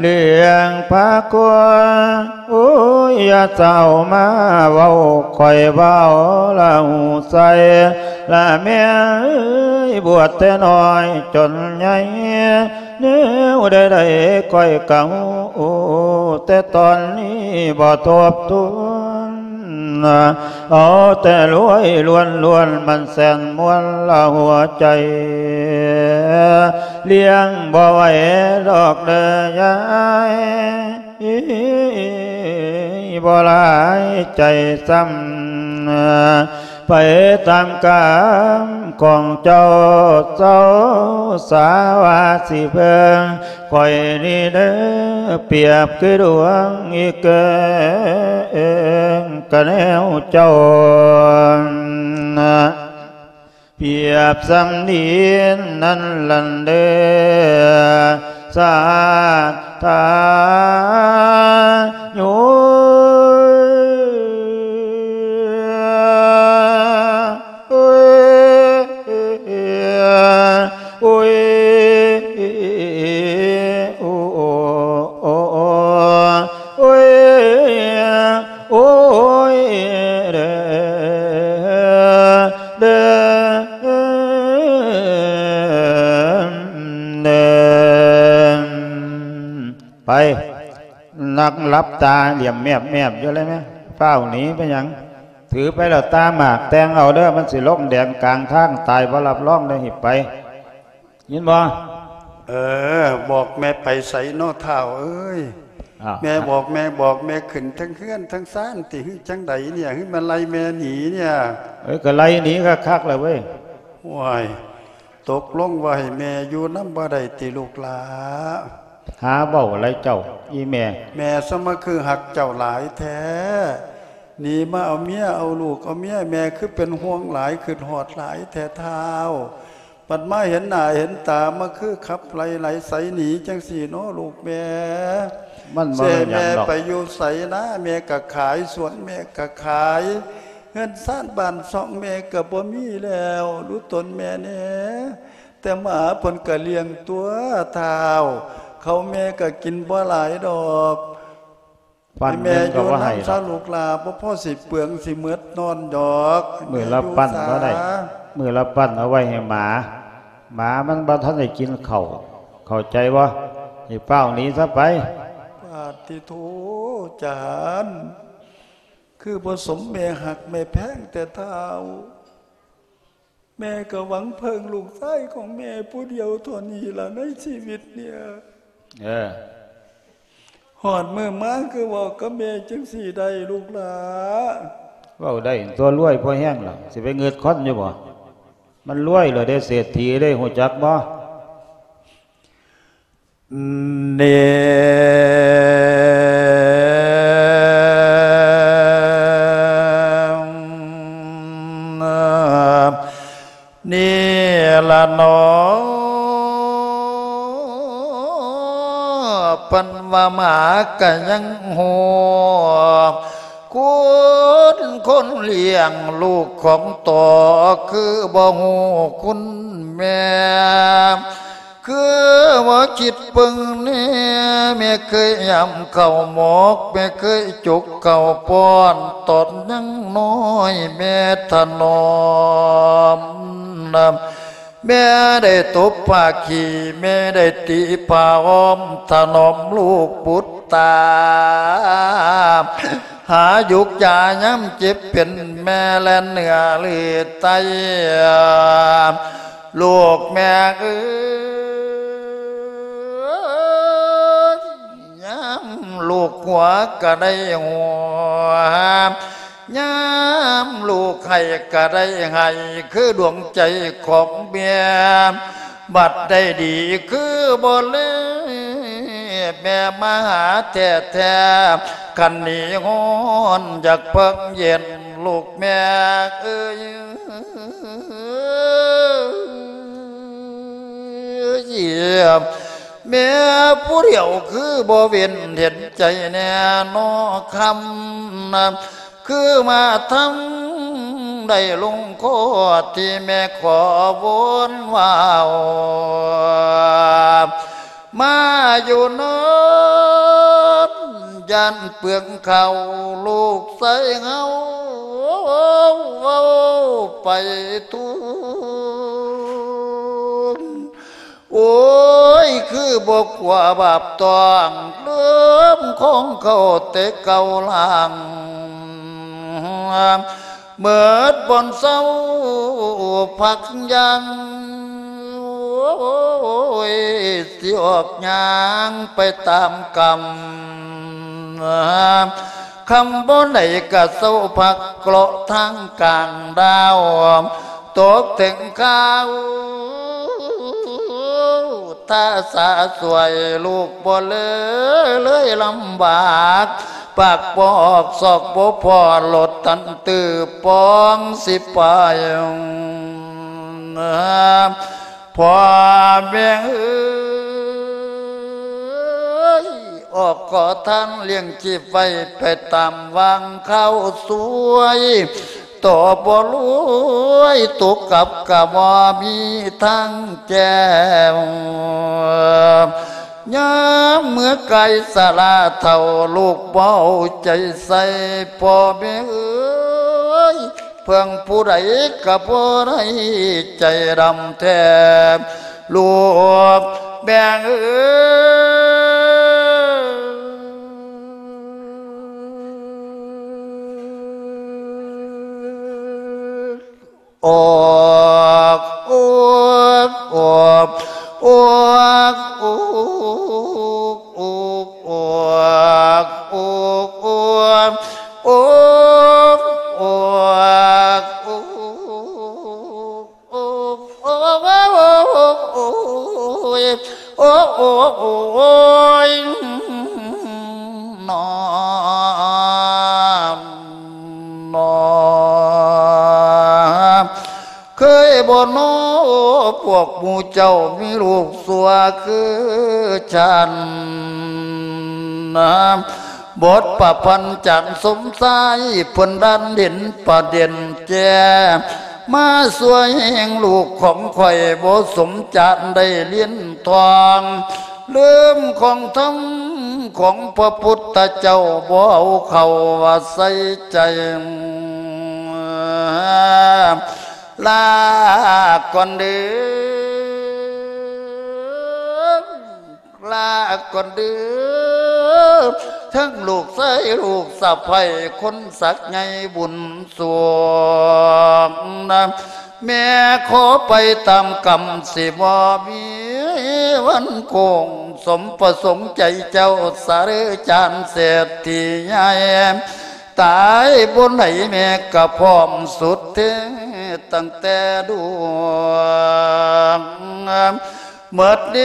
ເລື່ອງພາຄົວ ໂອ້ຍ ຢ່າເຈົ້າມາເວົ້າ ຂ້ອຍເວົ້າລະຫູໃສ່ ລະແມ່ເອີຍ ບວດແຕ່ນ້ອຍຈົນໃຫຍ່ ແນວໃດໆຂ້ອຍກະຮູ້ ແຕ່ຕອນນີ້ບໍ່ທົບທວນ ເອົາແຕ່ລວຍລ້ວນໆ ມັນແສນມ່ວນລະຫົວໃຈ ລ້ຽງບໍ່ໄຫວດອກເດີຍາຍ ບໍ່ຫຼາຍໃຈຊ້ຳ ໄປຕາມກຳຂອງເຈົ້າ ເຈົ້າສາວ່າຊິເບິ່ງ ຂ້ອຍນີ້ເດີ ປຽບຄືດວງອີເກີງ ກະແນວເຈົ້າ ປຽບສ່ຳດິນນັ້ນຫັ້ນເດີ ສາທາໂຍ ໂອ້ຍ ໂອ້ຍ ໂອ້ ໂອ້ຍ ໂອ້ຍ ໂອ້ຍ ເດີ ເດີ ເດີ ໄປ ນັ່ງຫຼັບຕາຫຼ້ຽມແມບໆຢູ່ເລີຍແມະ ຟ້າວໜີໄປຫຍັງ? ຖືໄປແລ້ວຕ່າງຫາກແຕ່ງເອົາເດີ ມັນຊິລົງແດນກາງທາງ ຕາຍບໍ່ຮັບຮອງເດີ ຮີບໄປ ຍິນບໍ່? ເອີ ບອກແມ່ໄປໃສນໍທ້າວເອີຍ? ອ້າວ ແມ່ບອກ ແມ່ບອກ ແມ່ຂຶ້ນເທິງເຮືອນເທິງຊານຕິ ຫຼືຈັ່ງໃດເນຍ? ຫຼືມາໄລ່ແມ່ໜີເນຍ? ເອີ ກໍໄລ່ໜີຄັກໆແລ້ວເວີຍ. ໂອ້ຍ ຕົກລົງວ່າໃຫ້ແມ່ຢູ່ນຳບໍ່ໄດ້ຕິລູກຫຼ້າ? ຫາເວົ້າໄຫຼເຈົ້າ ອີ່ແມ່. ແມ່ສະມາຄືຮັກເຈົ້າຫຼາຍແທ້ ໜີມາເອົາເມຍເອົາລູກເອົາເມຍ ແມ່ຄືເປັນຫ່ວງຫຼາຍ ຄຶດຮອດຫຼາຍແທ້ທ້າວ. ບັດມາເຫັນໜ້າເຫັນຕາ ມາຄືຂັບໄລ່ໄຫຼໃສໜີຈັ່ງຊີ້ເນາະລູກແມ່. ມັນບໍ່ແມ່ນຫຍັງດອກ ຊິໃຫ້ແມ່ໄປຢູ່ໃສນາ ແມ່ກະຂາຍສວນ ແມ່ກະຂາຍ ເຮືອນຊານບ້ານຊ່ອງແມ່ກໍບໍ່ມີແລ້ວ ຮູ້ຕົນແມ່ແດ່. ແຕ່ໝາເພິ່ນກໍລ້ຽງຕົວະທ້າວ ເຂົ້າແມ່ກໍກິນບໍ່ຫຼາຍດອກ. ປັ້ນແມ່ຢູ່ນຳຊະລູກຫຼ້າ ບໍ່ພໍຊິເປືອງຊິໝົດນອນດອກ. ມື້ລະປັ້ນບໍ່ໄດ້ ມື້ລະປັ້ນເອົາໄວ້ໃຫ້ໝາ ໝາມັນບໍ່ທັນໄດ້ກິນເຂົ້າ ເຂົ້າໃຈບໍ່? ໃຫ້ຟ້າວໜີຊະໄປ. ປາດຕິໂທ ຈານ ຄືບໍ່ສົມແມ່ຮັກແມ່ແພງແຕ່ທ້າວ. ແມ່ກໍຫວັງເພິ່ງລູກຊາຍຂອງແມ່ຜູ້ດຽວເທົ່ານີ້ລະໃນຊີວິດເນີ້ຍ. ເອີ ຮອດມື້ມາຄືເວົ້າກັບແມ່ຈັ່ງຊີ້ໄດ້ລູກຫຼ້າ? ເວົ້າໄດ້ຕົວະ ລວຍພໍແຮງແລ້ວ ຊິໄປງຶດຄົນຢູ່ບໍ່? ມັນລວຍແລ້ວເດ້ ເສດຖີເດ້ ຮູ້ຈັກບໍ່? ນີ້ ນີ້ລະເນາະ ເພິ່ນວ່າໝາກະຍັງຮູ້ ຄຸນຄົນລ້ຽງລູກຂອງໂຕ ຄືບໍ່ຮູ້ຄຸນແມ່ ຄືວ່າຄິດເບິ່ງແນ່ ແມ່ເຄີຍຢຳເຂົ້າໝົກ ແມ່ເຄີຍຈົກເຂົ້າປ້ອນ ຕອນຍັງນ້ອຍແມ່ຖະໜອມນຳ ແມ່ໄດ້ຕົບຜ້າຂີ້ ແມ່ໄດ້ຕີຜ້າອ້ອມ ຖະໜອມລູກບຸດຕາ ຫາຢຸກຢາຍາມເຈັບເປັນ ແມ່ແລ່ນເໜືອລືດໄຕ ລູກແມ່ເອີຍ ຍາມລູກຫົວກໍໄດ້ຫົວ ຍາມລູກໄຫ້ກໍໄດ້ໄຫ້ ຄືດວງໃຈຂອງແມ່ ບັດໄດ້ດີຄືບໍ່ແລ ແມ່ມາຫາແທ້ໆ ຄັນໜີຮ້ອນຢາກເພິ່ງເຢັນ ລູກແມ່ເອີຍ ແມ່ຜູ້ດຽວຄືບໍ່ເວັນເຫັນໃຈແນ່ນໍຄຳ ຄືມາທຳໄດ້ລົງຄໍທີ່ແມ່ຂໍວົນວ່າວ ມາຢູ່ນອນຢ້ານເປືອງເຂົ້າ ລູກຊາຍເຮົາເວົ້າໄປທູນ ໂອ້ຍ ຄືບໍ່ກົວບາບຕ້ອງ ເລີ່ມຂອງເຂົາແຕ່ເກົ່າຫຼັງ ເໝິດບ່ອນເຊົາພັກຍັງ ໂອ້ຍ ຊິອອກຍ່າງໄປຕາມກຳ ຄຳບໍ່ໄດ້ກະເຊົາພັກເລາະທາງກາງດາວ ຕົກເຖິງຄາວ ຖ້າສາສວຍລູກບໍ່ເລີ ເລີຍລຳບາກ ປາກປອກສອກບໍ່ພໍ ລົດຕັນຕື້ປອງຊິໄປ ພໍ່ແມ່ເອີຍ ອອກຂໍທານລ້ຽງຊີບໄວ້ ໄປຕາມວາງຄາວສວຍ ຕໍ່ບໍ່ລວຍ ຕົກກັບກະບໍ່ມີທາງແກ້ວ ຍາມເມື່ອກາຍຊະລາເຖົ້າ ລູກບໍ່ເອົາໃຈໃສ່ ພໍ່ແມ່ເອີຍ ເພິ່ງຜູ້ໃດກະບໍ່ໄດ້ ໃຈດຳແທ້ ລູກແມ່ເອີຍ ອອກ ອອກ ອອກ ອອກ ອອກ ອອກ ອອກ ອອກ ອອກ ອອກ ໂອ້ຍ ໂອ້ ໂອ້ ໂອ້ຍ ນອ ນອ ເຄີຍບໍ່ນໍ ພວກໝູ່ເຈົ້າມີລູກຊົ່ວຄືສັນ ບົດປະພັນຈານສົມຊາຍ ເພິ່ນດັນເຫັນປະເດັນແຈ້ ມາຊ່ວຍແຫ່ງລູກຂອງຂ້ອຍ ບໍ່ສົມຈານໄດ້ລຽນທ່ອງ ລືມຂອງທຳຂອງພະພຸດທະເຈົ້າ ບໍ່ເອົາເຂົ້າວ່າໃສ່ໃຈ ລາກ່ອນເດີ້ ລາກ່ອນເດີ້ ທັງລູກຊາຍລູກສະໃພ້ ຄົນສັກໃຫຍ່ບຸນສວງນະ ແມ່ຂໍໄປຕາມກຳ ຊິບໍ່ມີວັນໂຄ້ງ ສົມປະສົງໃຈເຈົ້າສະເດີ້ ຈານເສດຖີໃຫຍ່ ຕາຍບໍ່ໄດ້ແມ່ກະພ້ອມສຸດເທ ຕັ້ງແຕ່ດວງ ໝົດແນ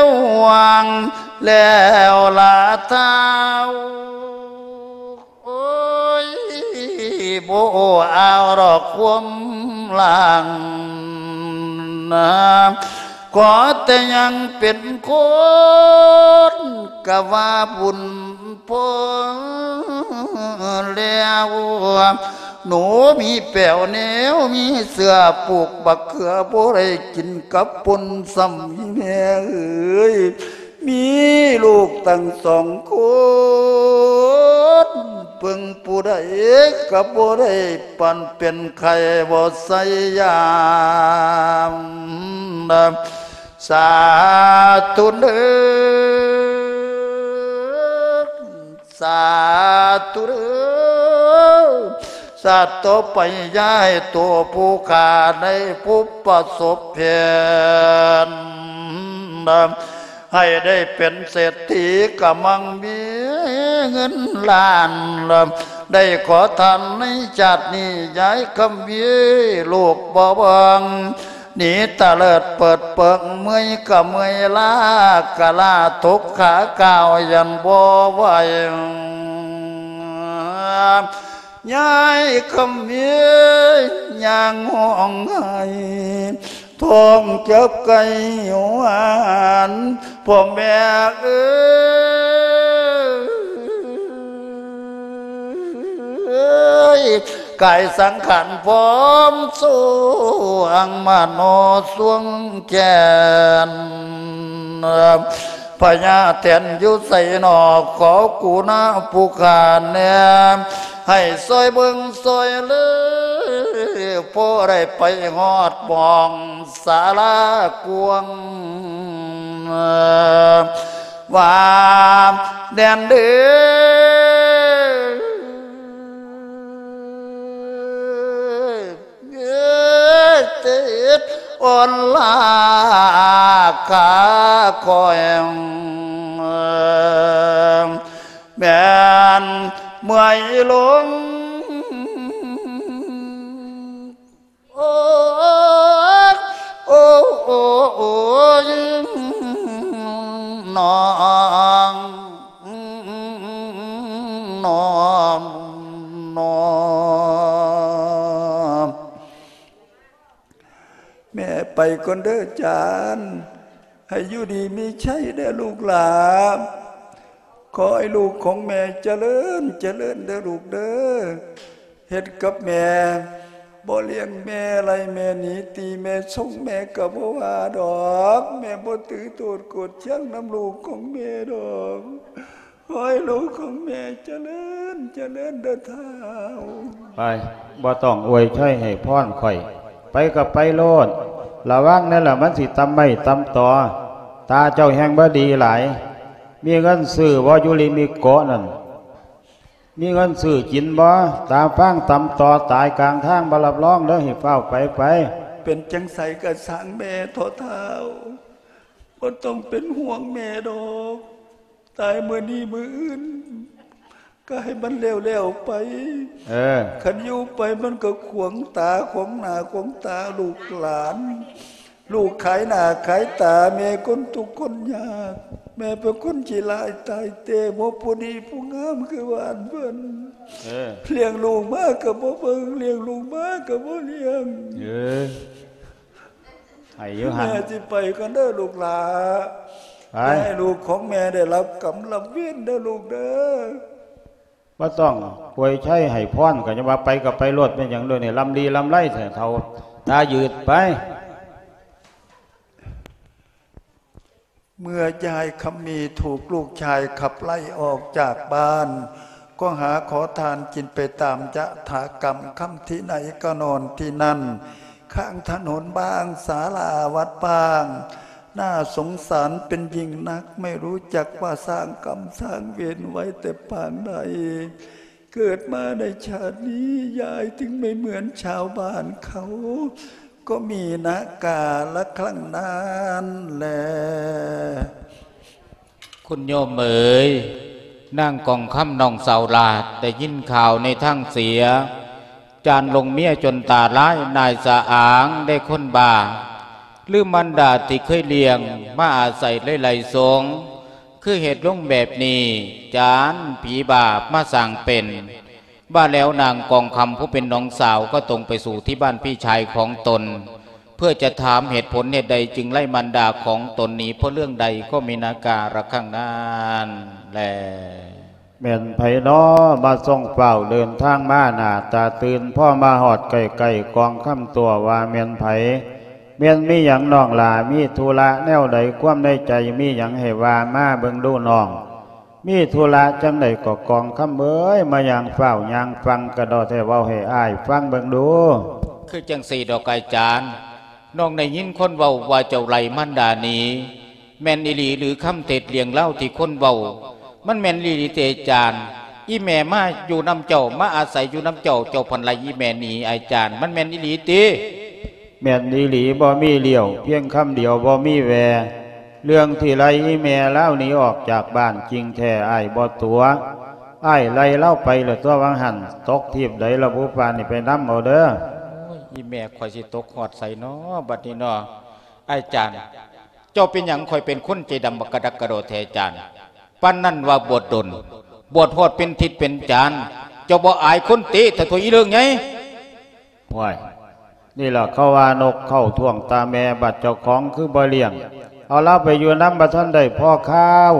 ວຫວັງແລ້ວລະທ້າວ ໂອ້ຍ ບໍ່ເອົາດອກຄວາມຫຼັງ ຂໍແຕ່ຍັງເປັນຄົນ ກະວ່າບຸນພໍແລ້ວ ໜູມີແປ້ວແນວ ມີເສື້ອປູກບັກເຂືອ ບໍ່ໄດ້ກິນກັບປົ່ນຊ້ຳ ອີແມ່ເອີຍ ມີລູກຕັ້ງສອງຄົນ ເບິ່ງຜູ້ໃດກໍບໍ່ໄດ້ ປັນເປັນໄຂ້ບໍ່ໃສ່ຢາ ສາທຸເດີ ສາທຸເດີ ຊາດຕໍ່ໄປຢ່າໃຫ້ຕົວຜູ້ຂ້າໄດ້ພົບປະສົບເຫັນ ໃຫ້ໄດ້ເປັນເສດຖີກະມັ່ງມີເງິນລ້ານ ໄດ້ຂໍທານໃນຊາດນີ້ ຍາຍຄຳມີລູກບໍ່ເບິ່ງ ໜີຕະເລີດເປີດເປິງ ເມື່ອຍກະເມື່ອຍ ລາກະລາ ທົກຂາກ້າວຢັນບໍ່ໄຫວ ຍາຍຄຳມີຍ່າງຮ້ອງໄຫ້ ທ້ອງຈັບໄກ່ຫວານ ພໍ່ແມ່ເອີຍ ກາຍສັງຂານພ້ອມສວງ ມະໂນສວງແກ່ນ ພະຍາແຖນຢູ່ໃສໜໍ ຂໍກຸນາຜູ້ຂ້າແດ່ ໃຫ້ຊ່ອຍເບິ່ງຊ່ອຍເລີ ພໍໄດ້ໄປຮອດໝ່ອງສາລາກວາງ ວ່າແດນເດີ ເອີ ເຈັດອ່ອນລາກາຂ້ອຍ ແມ່ນເມື່ອຍລົງ ໂອ້ ໂອ້ ໂອ້ ໂອ້ຍ ນ້ອງ ນ້ອງ ນ້ອງ. ແມ່ໄປກ່ອນເດີຈານ ໃຫ້ຢູ່ດີມີໄຊເດີລູກຫຼານ ຂໍໃຫ້ລູກຂອງແມ່ຈະເລີນ ຈະເລີນເດີລູກເດີ ເຮັດກັບແມ່ ບໍ່ລ້ຽງແມ່ໄລ່ແມ່ໜີ ຕີແມ່ຊົງ ແມ່ກໍບໍ່ວ່າດອກ ແມ່ບໍ່ຖືໂທດໂກດຫຍັງນຳລູກຂອງແມ່ດອກ. ຂໍໃຫ້ລູກຂອງແມ່ຈະເລີນ ຈະເລີນເດີທ້າວ. ໄປ ບໍ່ຕ້ອງອວຍໄຊໃຫ້ພອນຂ້ອຍ ໄປກໍໄປໂລດ ລະວັງແດ່ລະ ມັນຊິຕຳໄມ້ຕຳຕໍ. ຕາເຈົ້າແຮ່ງບໍ່ດີຫຼາຍ ມີເງິນຊື້ບໍ່ ຢູ່ລິມິໂກະນັ້ນ ມີເງິນຊື້ກິນບໍ່? ຕາຟາງຕຳຕໍຕາຍກາງທາງ ບໍ່ຮັບຮອງເດີ ໃຫ້ຟ້າວໄປ ໄປ. ເປັນຈັ່ງໃດກໍຊ່າງແມ່ເຖາະທ້າວ ບໍ່ຕ້ອງເປັນຫ່ວງແມ່ດອກ. ຕາຍມື້ນີ້ມື້ອື່ນ ກໍໃຫ້ມັນແລ້ວໆໄປ. ເອີ ຄັນຢູ່ໄປມັນກໍຂວາງຕາຂວາງໜ້າຂວາງຕາລູກຫຼານ. ລູກຂາຍໜ້າຂາຍຕາ ແມ່ຄົນທຸກຄົນຍາກ ແມ່ເປັນຄົນຂີ້ຮ້າຍຕາຍແຕ່ ບໍ່ຜູ້ດີຜູ້ງາມຄືບ້ານເພິ່ນ. ເອີ ລ້ຽງລູກມາກໍບໍ່ເບິ່ງ ລ້ຽງລູກມາກໍບໍ່ລ້ຽງ. ເອີ ໃຫ້ຢູ່ຫັ້ນ ແມ່ຊິໄປກ່ອນເດີລູກຫຼ້າ ໄປ ຢ່າໃຫ້ລູກຂອງແມ່ໄດ້ຮັບກຳຮັບເວນເດີລູກເດີ. ບໍ່ຕ້ອງອວຍໄຊໃຫ້ພອນ ກໍຢ່າວ່າໄປກໍໄປໂລດ ແມ່ນຫຍັງໂດຍນີ້ ລຳລີລຳໄລແທ້ເຖົ້າ ຕາຍືດໄປ. ເມື່ອຍາຍຄຳມີຖືກລູກຊາຍຂັບໄລ່ອອກຈາກບ້ານ ກໍຫາຂໍທານກິນໄປຕາມຍະຖາກຳ ຄ່ຳທີ່ໃດກໍນອນທີ່ນັ້ນ ຂ້າງຖະໜົນບ້າງ ສາລາວັດບ້າງ ໜ້າສົງສານເປັນຍິ່ງນັກ ໄມ່ຮູ້ຈັກວ່າສ້າງກຳສ້າງເວນໄວ້ແຕ່ປາງໃດ ເກີດມາໃນຊາດນີ້ ຍາຍຈຶ່ງໄມ່ເໝືອນຊາວບ້ານເຂົາ ກໍມີນາກາລະຄັ້ງນັ້ນແລ. ຄຸນໂຍມເອີຍ, ນາງກອງຄຳນ້ອງສາວຫຼ້າໄດ້ຍິນຂ່າວໃນທາງເສຍ, ຈານຫຼົງເມຍຈົນຕາລາຍ, ນາຍສະອາງໄດ້ຄົນບ້າ, ລືມມານດາທີ່ເຄີຍລ້ຽງ, ມາອາໄສໄຫຼໆສົງ, ຄືເຮັດລົງແບບນີ້, ຈານຜີບ້າມາສ້າງເປັນ. ວ່າແລ້ວນາງກອງຄຳຜູ້ເປັນນ້ອງສາວກໍຕົງໄປສູ່ທີ່ບ້ານພີ່ຊາຍຂອງຕົນ ເພື່ອຈະຖາມເຫດຜົນເຫດໃດຈຶ່ງໄລ່ມານດາຂອງຕົນໜີ ເພາະເລື່ອງໃດກໍມີນາກາລະຄັ້ງນັ້ນແລ. ແມ່ນໃຜນໍ ມາສົ່ງຟ້າວເດີນທາງມາ ໜ້າຕາຕື່ນ ພໍມາຮອດໃກ້ໆ ກອງຄຳຕົວະວ່າແມ່ນໃຜ? ແມ່ນມີຫຍັງນ້ອງຫຼ້າ ມີທຸລະແນວໃດ ຄວາມໃນໃຈມີຫຍັງໃຫ້ວ່າມາເບິ່ງດູນ້ອງ. ມີທຸລະຈັ່ງໃດກໍກອງຄຳເອີຍ ມາຍ່າງຟ້າວຍ່າງຟັ່ງກະດໍແທ້ ເວົ້າໃຫ້ອ້າຍຟັງເບິ່ງດູ. ຄືຈັ່ງຊີ້ດອກອ້າຍຈານ, ນ້ອງໄດ້ຍິນຄົນເວົ້າວ່າເຈົ້າໄລ່ມານດາໜີ, ແມ່ນອີ່ຫຼີຫຼືຄຳເທັດ ເລື່ອງລາວທີ່ຄົນເວົ້າ? ມັນແມ່ນອີ່ຫຼີຕິອ້າຍຈານ? ອີ່ແມ່ມາຢູ່ນຳເຈົ້າ, ມາອາໄສຢູ່ນຳເຈົ້າ, ເຈົ້າພັນໄລ່ອີ່ແມ່ໜີ ອ້າຍຈານ, ມັນແມ່ນອີ່ຫຼີຕິ? ແມ່ນອີ່ຫຼີ ບໍ່ມີລ້ຽວ, ພຽງຄຳດຽວບໍ່ມີແວ່. ເລື່ອງທີ່ໄລ່ອີ່ແມ່ລາວໜີອອກຈາກບ້ານຈິງແທ້ ອ້າຍບໍ່ຕົວະ. ອ້າຍໄລ່ລາວໄປແລ້ວຕົວະ ຫວ່າງຫັ້ນ ຕົກທີບໃດລະບຸ ປ່ານນີ້ໄປນຳເອົາເດີ. ໂອ້ຍ ອີ່ແມ່ຂ້ອຍຊິຕົກຮອດໃສນໍ ບັດນີ້ນໍ ອ້າຍຈານ. ເຈົ້າເປັນຫຍັງ ຂ້ອຍເປັນຄົນໃຈດຳບັກກະດັກກະດໍແທ້ ອາຈານ? ປານນັ້ນວ່າບວດດົນ, ບວດຮອດເປັນທິດເປັນຈານ, ເຈົ້າບໍ່ອາຍຄົນຕິ ທະໂທອີເລື່ອງໃຫຍ່? ຫ້ວຍ ນີ້ລະເຂົາວ່ານົກເຂົ້າທ້ອງຕາແມ່ ບັດເຈົ້າຂອງຄືບໍ່ລ້ຽງ ເອົາລາວໄປຢູ່ນຳ ບໍ່ທັນໄດ້ພໍຄາວ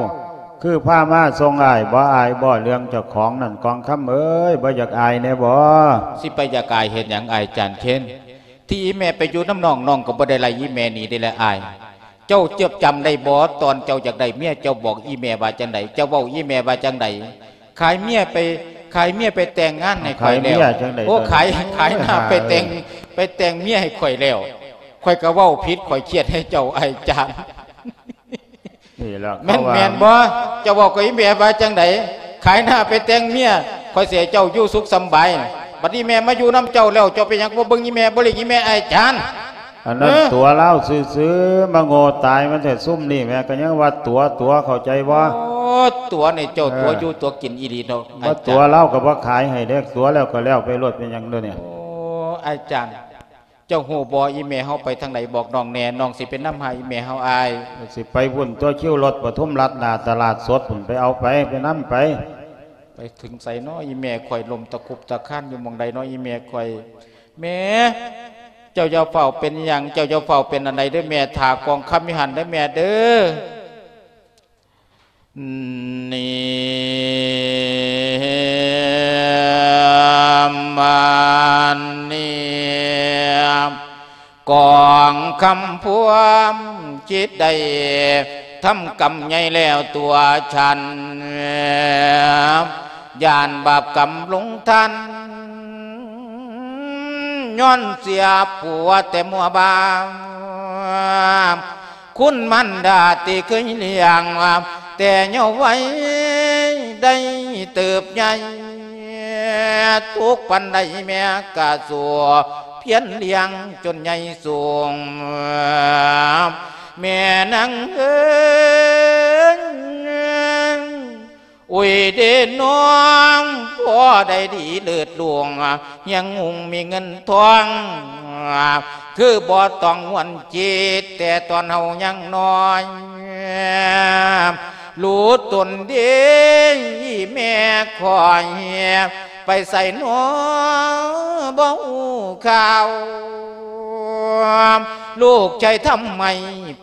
ຄືພາມາສົ່ງອ້າຍ ບໍ່ອາຍບໍ່ເລື່ອງເຈົ້າຂອງນັ້ນ ກອງຄຳເອີຍ ບໍ່ຢາກອາຍແດ່ບໍ? ຊິໄປຢາກອາຍເຮັດຫຍັງ ອ້າຍຈານເຄນ? ທີ່ອີ່ແມ່ໄປຢູ່ນຳນ້ອງ, ນ້ອງກໍບໍ່ໄດ້ໄລ່ອີ່ແມ່ໜີເດ້ລະອ້າຍ. ເຈົ້າເຈັບຈຳໄດ້ບໍ່? ຕອນເຈົ້າຢາກໄດ້ເມຍ ເຈົ້າບອກອີ່ແມ່ວ່າຈັ່ງໃດ? ເຈົ້າເວົ້າອີ່ແມ່ວ່າຈັ່ງໃດ? ຂາຍເມຍໄປ, ຂາຍເມຍໄປແຕ່ງງານໃຫ້ຂ້ອຍແລ້ວ. ຂາຍເມຍຈັ່ງໃດ? ໂອ້ ຂາຍ, ຂາຍໜ້າໄປແຕ່ງ, ເອີ ໄປແຕ່ງເມຍໃຫ້ຂ້ອຍແລ້ວ. ຂ້ອຍກໍເວົ້າຜິດ, ຂ້ອຍຄຽດໃຫ້ເຈົ້າ ອ້າຍຈານ. ນີ້ລະ ແມ່ນ, ເຂົາວ່າ ແມ່ນບໍ່? ເຈົ້າເວົ້າກັບອີ່ແມ່ວ່າຈັ່ງໃດ? ຂາຍໜ້າໄປແຕ່ງເມຍ, ຂ້ອຍຊິໃຫ້ເຈົ້າຢູ່ສຸກສຳບາຍ. ບັດນີ້ແມ່ມາຢູ່ນຳເຈົ້າແລ້ວ, ເຈົ້າເປັນຫຍັງບໍ່ເບິ່ງອີ່ແມ່, ບໍ່ລ້ຽງອີ່ແມ່ ອ້າຍຈານ? ອັນນັ້ນ ເອີ ຕົວະລາວຊື່ໆ ມາໂງ່ຕາຍມັນແທ້ ຊຸມນີ້ແມ່ກໍຍັງວ່າຕົວະ, ຕົວະ ເຂົ້າໃຈບໍ່? ໂອ້ ຕົວະນີ້ເຈົ້າ ເອີ ຕົວະຢູ່ຕົວະກິນອີ່ຫຼີເນາະ ບໍ່ຕົວະ ອ້າຍຈານ. ລາວກໍບໍ່ຂາຍໃຫ້ເດ້, ຕົວະແລ້ວກໍແລ້ວໄປໂລດ ເປັນຫຍັງເດີນີ້? ໂອ້ ອ້າຍຈານ. ເຈົ້າຮູ້ບໍ່ ອີ່ແມ່ເຮົາໄປທາງໃດ? ບອກນ້ອງແດ່, ນ້ອງຊິໄປນຳຫາອີ່ແມ່ເຮົາອ້າຍ. ຊິໄປພຸ້ນຕົວະ, ຄິວລົດປະທຸມລັດ ໜ້າຕະຫຼາດສົດພຸ້ນ, ໄປເອົາໄປ, ໄປນຳໄປ. ໄປເຖິງໃສນໍ ອີ່ແມ່ຂ້ອຍ ລົ້ມຕະຄຸບຕະຄານຢູ່ໝ່ອງໃດນໍ ອີ່ແມ່ຂ້ອຍ? ແມ່ ເຈົ້າຢ່າຟ້າວເປັນຫຍັງ, ເຈົ້າຢ່າຟ້າວເປັນອັນໃດເດີແມ່, ຖ້າກອງຄຳຢູ່ຫັ້ນເດີແມ່ເດີ. ນີ້ ມານີ້ ກອງຄຳພວມຈິດໄດ້ທຳກຳໃຫຍ່ແລ້ວຕົວະສັນ, ຢ້ານບາບກຳລົງທັນ ຍ້ອນເສຍຜົວແຕ່ມົວບາ ຄຸນມານດາທີ່ເຄີຍລ້ຽງ ແຕ່ເຍົາະໄວໄດ້ເຕີບໃຫຍ່ ທຸກປານໃດແມ່ກະສູ້ພຽນລ້ຽງຈົນໃຫຍ່ສູງ ແມ່ນາງເອີຍ. ໂອ້ຍເດນ້ອງ ພໍໄດ້ດີເລີດຫຼວງ ຍັງຮຸ່ງມີເງິນທອງ ຄືບໍ່ຕ້ອງຫວນຈິດ ແຕ່ຕອນເຮົາຍັງນ້ອຍ ຮູ້ຕົນເດ ແມ່ຂ້ອຍ ໄປໃສນໍ ບໍ່ຮູ້ຂ່າວ. ລູກຊາຍທຳໄມ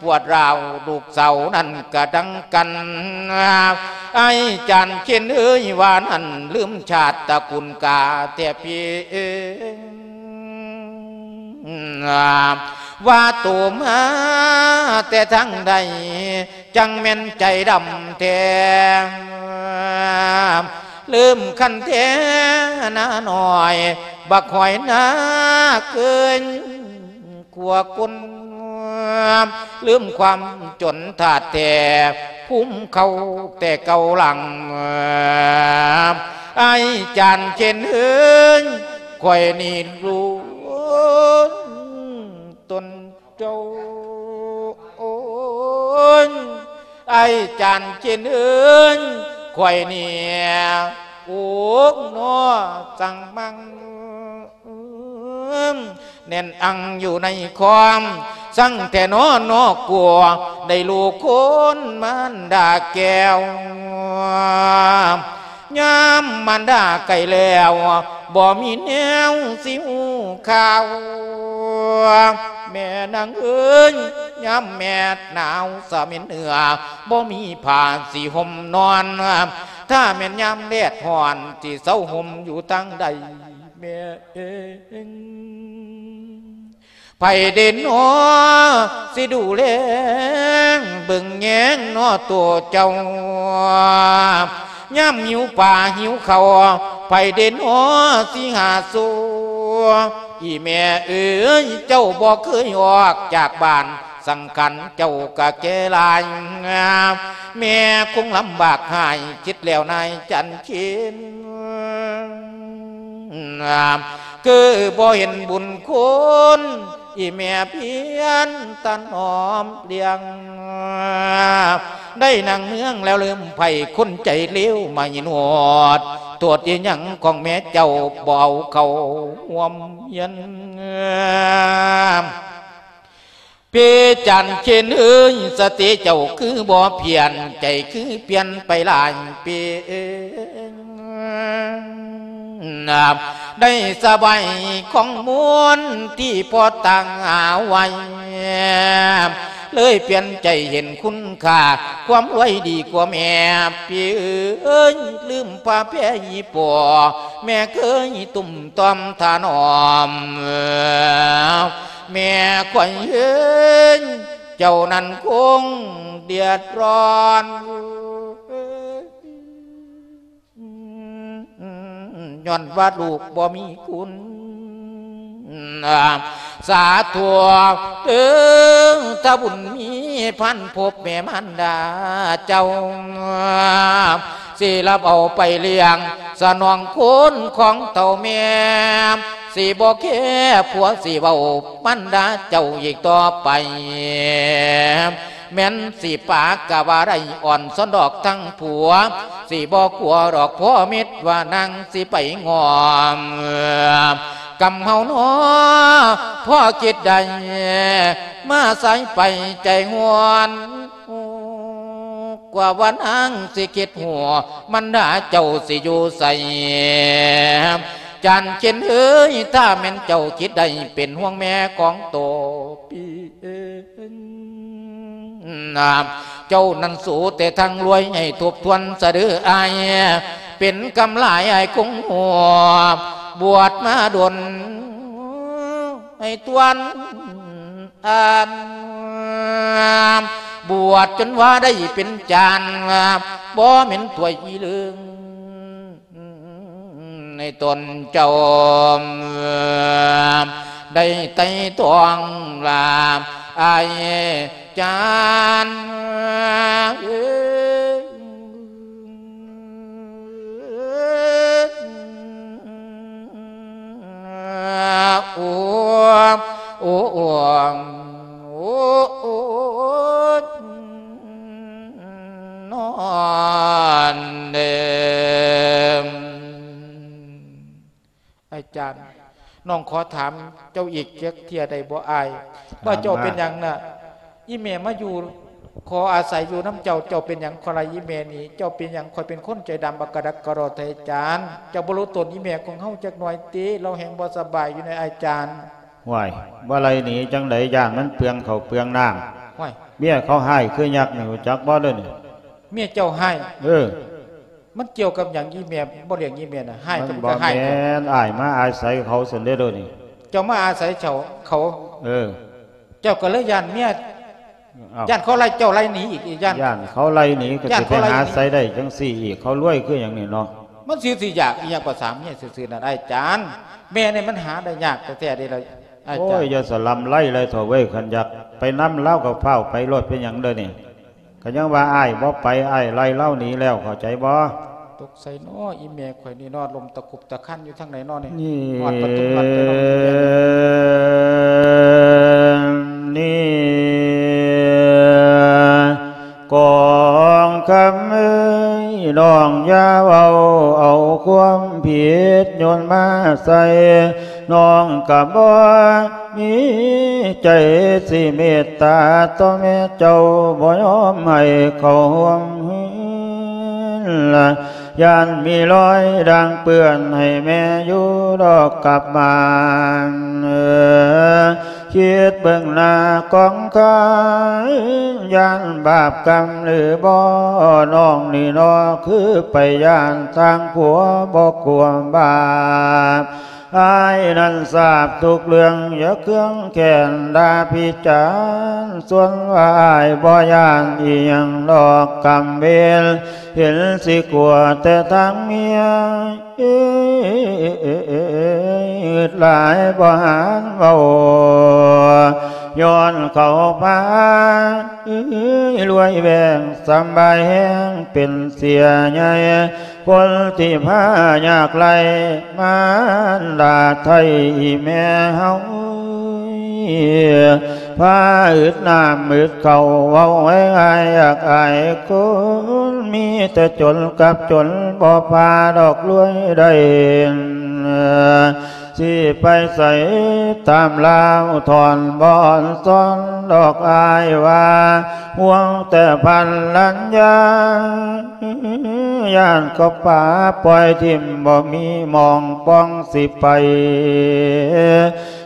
ປວດຮ້າວ ລູກສາວນັ້ນກະດັງກັນ. ອ້າຍຈານເຄນເອີຍ ວ່ານັ້ນລືມຊາດຕະກຸນກາແທ້ພີ່ ວ່າໂຕມາແຕ່ທາງໃດ ຈັ່ງແມ່ນໃຈດຳແທ້ ລືມຄັນແທ້ໜ້ານ້ອຍ ບັກຫອຍນາເກີນກວ່າຄົນ ລືມຄວາມຈົນທາດແທ້ ພູມເຂົາແຕ່ເກົ່າຫຼັງ. ອ້າຍຈານເຄນເອີຍ ຂ້ອຍນີ້ຮູ້ຕົນ ເຈົ້າ ໂອ້ຍ ອ້າຍຈານເຄນເອີຍ ຂ້ອຍນີ້ ໂອ້ ໜໍ່ຈັ່ງມັງ ແໜ້ນອັງຢູ່ໃນຄວາມ ສັງແທ້ໜໍ່ ໜໍ່ກົວ ໄດ້ລູກຄົນມານດາແກ້ວ. ຍາມມານດາໄກແລ້ວ ບໍ່ມີແນວຊິຮູ້ຂ່າວ ແມ່ນາງເອີຍ ຍາມແມ່ໜາວສະເໝັນເໜືອ ບໍ່ມີຜ້າຊິຫົ່ມນອນ ຖ້າແມ່ນຍາມແດດຮ້ອນ ຊິເຊົາຫົ່ມຢູ່ທາງໃດແມ່ເອີຍ? ໃຜເດນໍ ຊິດູແລເບິ່ງແຍງນໍໂຕເຈົ້າ ຍາມຫິວປາຫິວເຂົ້າ ໃຜເດນໍ ຊິຫາສູ່? ອີ່ແມ່ເອີຍ ເຈົ້າບໍ່ເຄີຍອອກຈາກບ້ານ ສັງຂານເຈົ້າກະແກ່ຫຼາຍ ແມ່ຄົງລຳບາກຫາຍ ຄິດແລ້ວນາຍຈັນເຄນ ຄືບໍ່ເຫັນບຸນຄຸນ ອີ່ແມ່ພຽນຕະໜອມລ້ຽງ ໄດ້ນາງເມືອງແລ້ວລືມໃຜ ຄົນໃຈເລວມາຍິນຮອດ ໂທດອີຫຍັງຂອງແມ່ເຈົ້າ ບໍ່ເອົາເຂົ້າຮ່ວມຮຽນ? ພີ່ຈັນເຄນເອີຍ ສະຕິເຈົ້າຄືບໍ່ພຽນ ໃຈຄືປ່ຽນໄປຫຼາຍປີ ໄດ້ສະບາຍຂອງມວນທີ່ພໍຕັ້ງຫາໄວ້ ເລີຍປ່ຽນໃຈເຫັນຄຸນຄ່າ ຄວາມລວຍດີກວ່າແມ່ ພີ່ເອີຍ ລືມພາແພອີ່ພໍ່ ແມ່ເຄີຍຕຸ້ມຕ່ອມຖະໜອມ ແມ່ຂ້ອຍເອີຍ ເຈົ້ານັ້ນຄົງເດືອດຮ້ອນ ຍ້ອນວ່າລູກບໍ່ມີຄຸນ ສາທຸເດີ ຖ້າບຸນມີພັນພົບແມ່ມານດາເຈົ້າ ຊິຮັບເອົາໄປລ້ຽງ ສະໜອງຄຸນຂອງເຖົ້າແມ່ ຊິບໍ່ແຄຜົວ ຊິເວົ້າມັນດາເຈົ້າອີກຕໍ່ໄປ ແມ່ນຊິປາກະວ່າໄດ້ ອ່ອນຊອນດອກທັງຜົວ ຊິບໍ່ກົວດອກພໍ່ມິດວ່ານາງຊິໄປງອມ ກຳເຮົານໍ ພໍຄິດໄດ້ ມາສາຍໄປໃຈຫວນ ກວ່າວ່ານາງຊິຄິດຮູ້ ມັນດາເຈົ້າຊິຢູ່ໃສ? ຈານເຂັນເອີຍ ຖ້າແມ່ນເຈົ້າຄິດໄດ້ ເປັນຫ່ວງແມ່ຂອງໂຕ ເຈົ້ານັ້ນສູ້ແຕ່ທາງລວຍ ໃຫ້ທົບທວນສະເດີອ້າຍ ເປັນກຳຫຼາຍອ້າຍຄົງຮູ້ ບວດມາດົນ ໃຫ້ຕວນອ່ານ ບວດຈົນວ່າໄດ້ເປັນຈານ ບໍ່ແມ່ນຖ້ວຍອີເລີງ ໃນຕົນເຈົ້າ ໄດ້ໄຕ່ຕອງລາອ້າຍຈານ ໂອ້ ໂອ້ ໂອ້ ໂອ້ ນອນເດີ. ອາຈານ ນ້ອງຂໍຖາມເຈົ້າອີກຈັກເທື່ອໄດ້ບໍ່ອ້າຍ ວ່າເຈົ້າເປັນຫຍັງນະ? ອີ່ແມ່ມາຢູ່ ຂໍອາໄສຢູ່ນຳເຈົ້າ ເຈົ້າເປັນຫຍັງຂໍໄລ່ອີ່ແມ່ນີ້? ເຈົ້າເປັນຫຍັງ? ຂ້ອຍເປັນຄົນໃຈດຳ ບັກກະດັກກະດໍ້ແທ້ ອາຈານ. ເຈົ້າບໍ່ຮູ້ຕົນອີ່ແມ່ຂອງເຮົາຈັກໜ່ອຍຕິ? ລາວແຮ່ງບໍ່ສະບາຍຢູ່ໃນ ອາຈານ. ຫ້ວຍ ບໍ່ໄລ່ໜີຈັ່ງໃດ ຢ້ານມັນເປືອງເຂົ້າເປືອງນ້ຳ. ຫ້ວຍ ເມຍເຂົາຮ້າຍຄືຍັກນີ້ ຮູ້ຈັກບໍ່ເດີນີ້? ເມຍເຈົ້າຮ້າຍ? ເອີ ມັນກ່ຽວກັບຫຍັງ? ອີ່ແມ່ບໍ່ລ້ຽງອີ່ແມ່ນະ ຮ້າຍ ມັນ ກໍມີແຕ່ຮ້າຍ ບໍ່ແມ່ນ ອ້າຍມາອາໄສເຂົາຊັ້ນເດ້ໂດນີ້. ເຈົ້າມາອາໄສເຂົາ? ເອີ ເຈົ້າກໍເລີຍຢ້ານເມຍ ອ້າວ ຢ້ານເຂົາໄລ່ເຈົ້າໄລ່ໜີອີກ ຢ້ານ ຢ້ານເຂົາໄລ່ໜີກໍ ຢ້ານ ຊິໄປ ເຂົາໄລ່ໜີ ຫາໃສໄດ້ຈັ່ງຊີ້ອີກ? ເຂົາລວຍຄືຫຍັງນີ້ເນາະ? ມັນຊິ ຊິຢາກອີ່ຫຍັງພາສາເມຍຊື່ໆນັ້ນ ອ້າຍຈານ. ແມ່ນີ້ມັນຫາໄດ້ຍາກແທ້ໆເດ້ລະ ອ້າຍຈານ. ໂອ້ຍ ຢ່າສະລຳໄລເລີຍເຖົ້າເວີຍ ຄັນຢາກໄປນຳລາວກໍຟ້າວໄປໂລດ ເປັນຫຍັງເດີນີ້? ກໍຍັງວ່າອ້າຍບໍ່ໄປ ອ້າຍໄລ່ລາວໜີແລ້ວ ເຂົ້າໃຈບໍ່? ຕົກໃສ່ນໍອີ່ແມ່ຂ້ອຍນີ້ນໍ ລົມຕະຄຸບຕະຄັນຢູ່ທາງໃດນໍນີ້? ຮອດປະຕູວັດໄປນໍອີ່ແມ່. ນີ້ ກອງຄຳເອີຍ ນ້ອງຢ່າເວົ້າເອົາຄວາມຜິດໂຍນມາໃສ່ ນ້ອງກະບໍ່ມີໃຈຊິເມດຕາຕໍ່ແມ່ເຈົ້າ ບໍ່ຍອມໃຫ້ເຂົ້າຮ່ວມເຮືອນລະ ຢ້ານມີລອຍດ່າງເປື້ອນໃຫ້ແມ່ຢູ່ດອກກັບບ້ານ. ຄິດເບິ່ງໜ້າກອງຄຳ ຢ້ານບາບກຳຫຼືບໍ່ ນ້ອງນີ້ນໍ ຄືໄປຢ້ານທາງຜົວ ບໍ່ກົວບາບ. ອ້າຍນັ້ນຊາບທຸກເລື່ອງ ຢ່າເຄືອງແຄ້ນດ່າພິຈານ ສ່ວນວ່າອ້າຍບໍ່ຢ້ານອີ່ຫຍັງດອກກຳເວນ ເຫັນຊິກົວແຕ່ທາງເມຍ ອຶດຫຼາຍບໍ່ຫານເວົ້າ ຍ້ອນເຂົາພາ ລວຍແວງສຳບາຍແຮງ ເປັນເສຍໃຫຍ່ ຄົນທີ່ພາຍາກໄຮ້ ມານດາໄທອີ່ແມ່ເຮົາ ພາອຶດນ້ຳອຶດເຂົ້າ ເວົ້າງ່າຍໆ ຢາກອາຍຄົນ ມີແຕ່ຈົນກັບຈົນ ບໍ່ພາດອກລວຍໄດ້ ຊິໄປໃສຕາມລາວ ທ່ອນບໍ່ອອນຊອນດອກ ອ້າຍວ່າ ຫ່ວງແຕ່ພັນລັນຍາ ຢ້ານເຂົາປາປ່ອຍຖິ້ມ ບໍ່ມີໝ່ອງປ່ອງຊິໄປ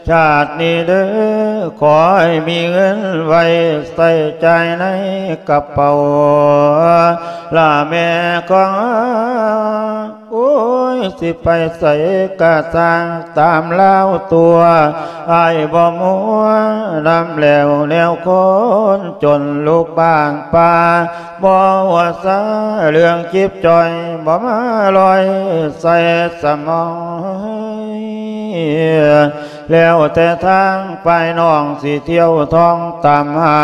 ຊາດນີ້ເດີ ຂໍໃຫ້ມີເງິນໄວ້ໃຊ້ຈ່າຍໃນກະເປົາ ລະແມ່ຂອງ ໂອ້ຍ ຊິໄປໃສກະຊ່າງຕາມລາວຕົວະ ອ້າຍບໍ່ມົວນຳແລ້ວແນວຄົນຈົນ ລູກບ້ານປ່າບໍ່ຫົວຊາ ເລື່ອງຈິບຈ່ອຍບໍ່ມາລອຍໃສ່ສະໝອງ ແລ້ວແຕ່ທາງ ປາຍນ້ອງຊິທ່ຽວທ່ອງຕາມຫາ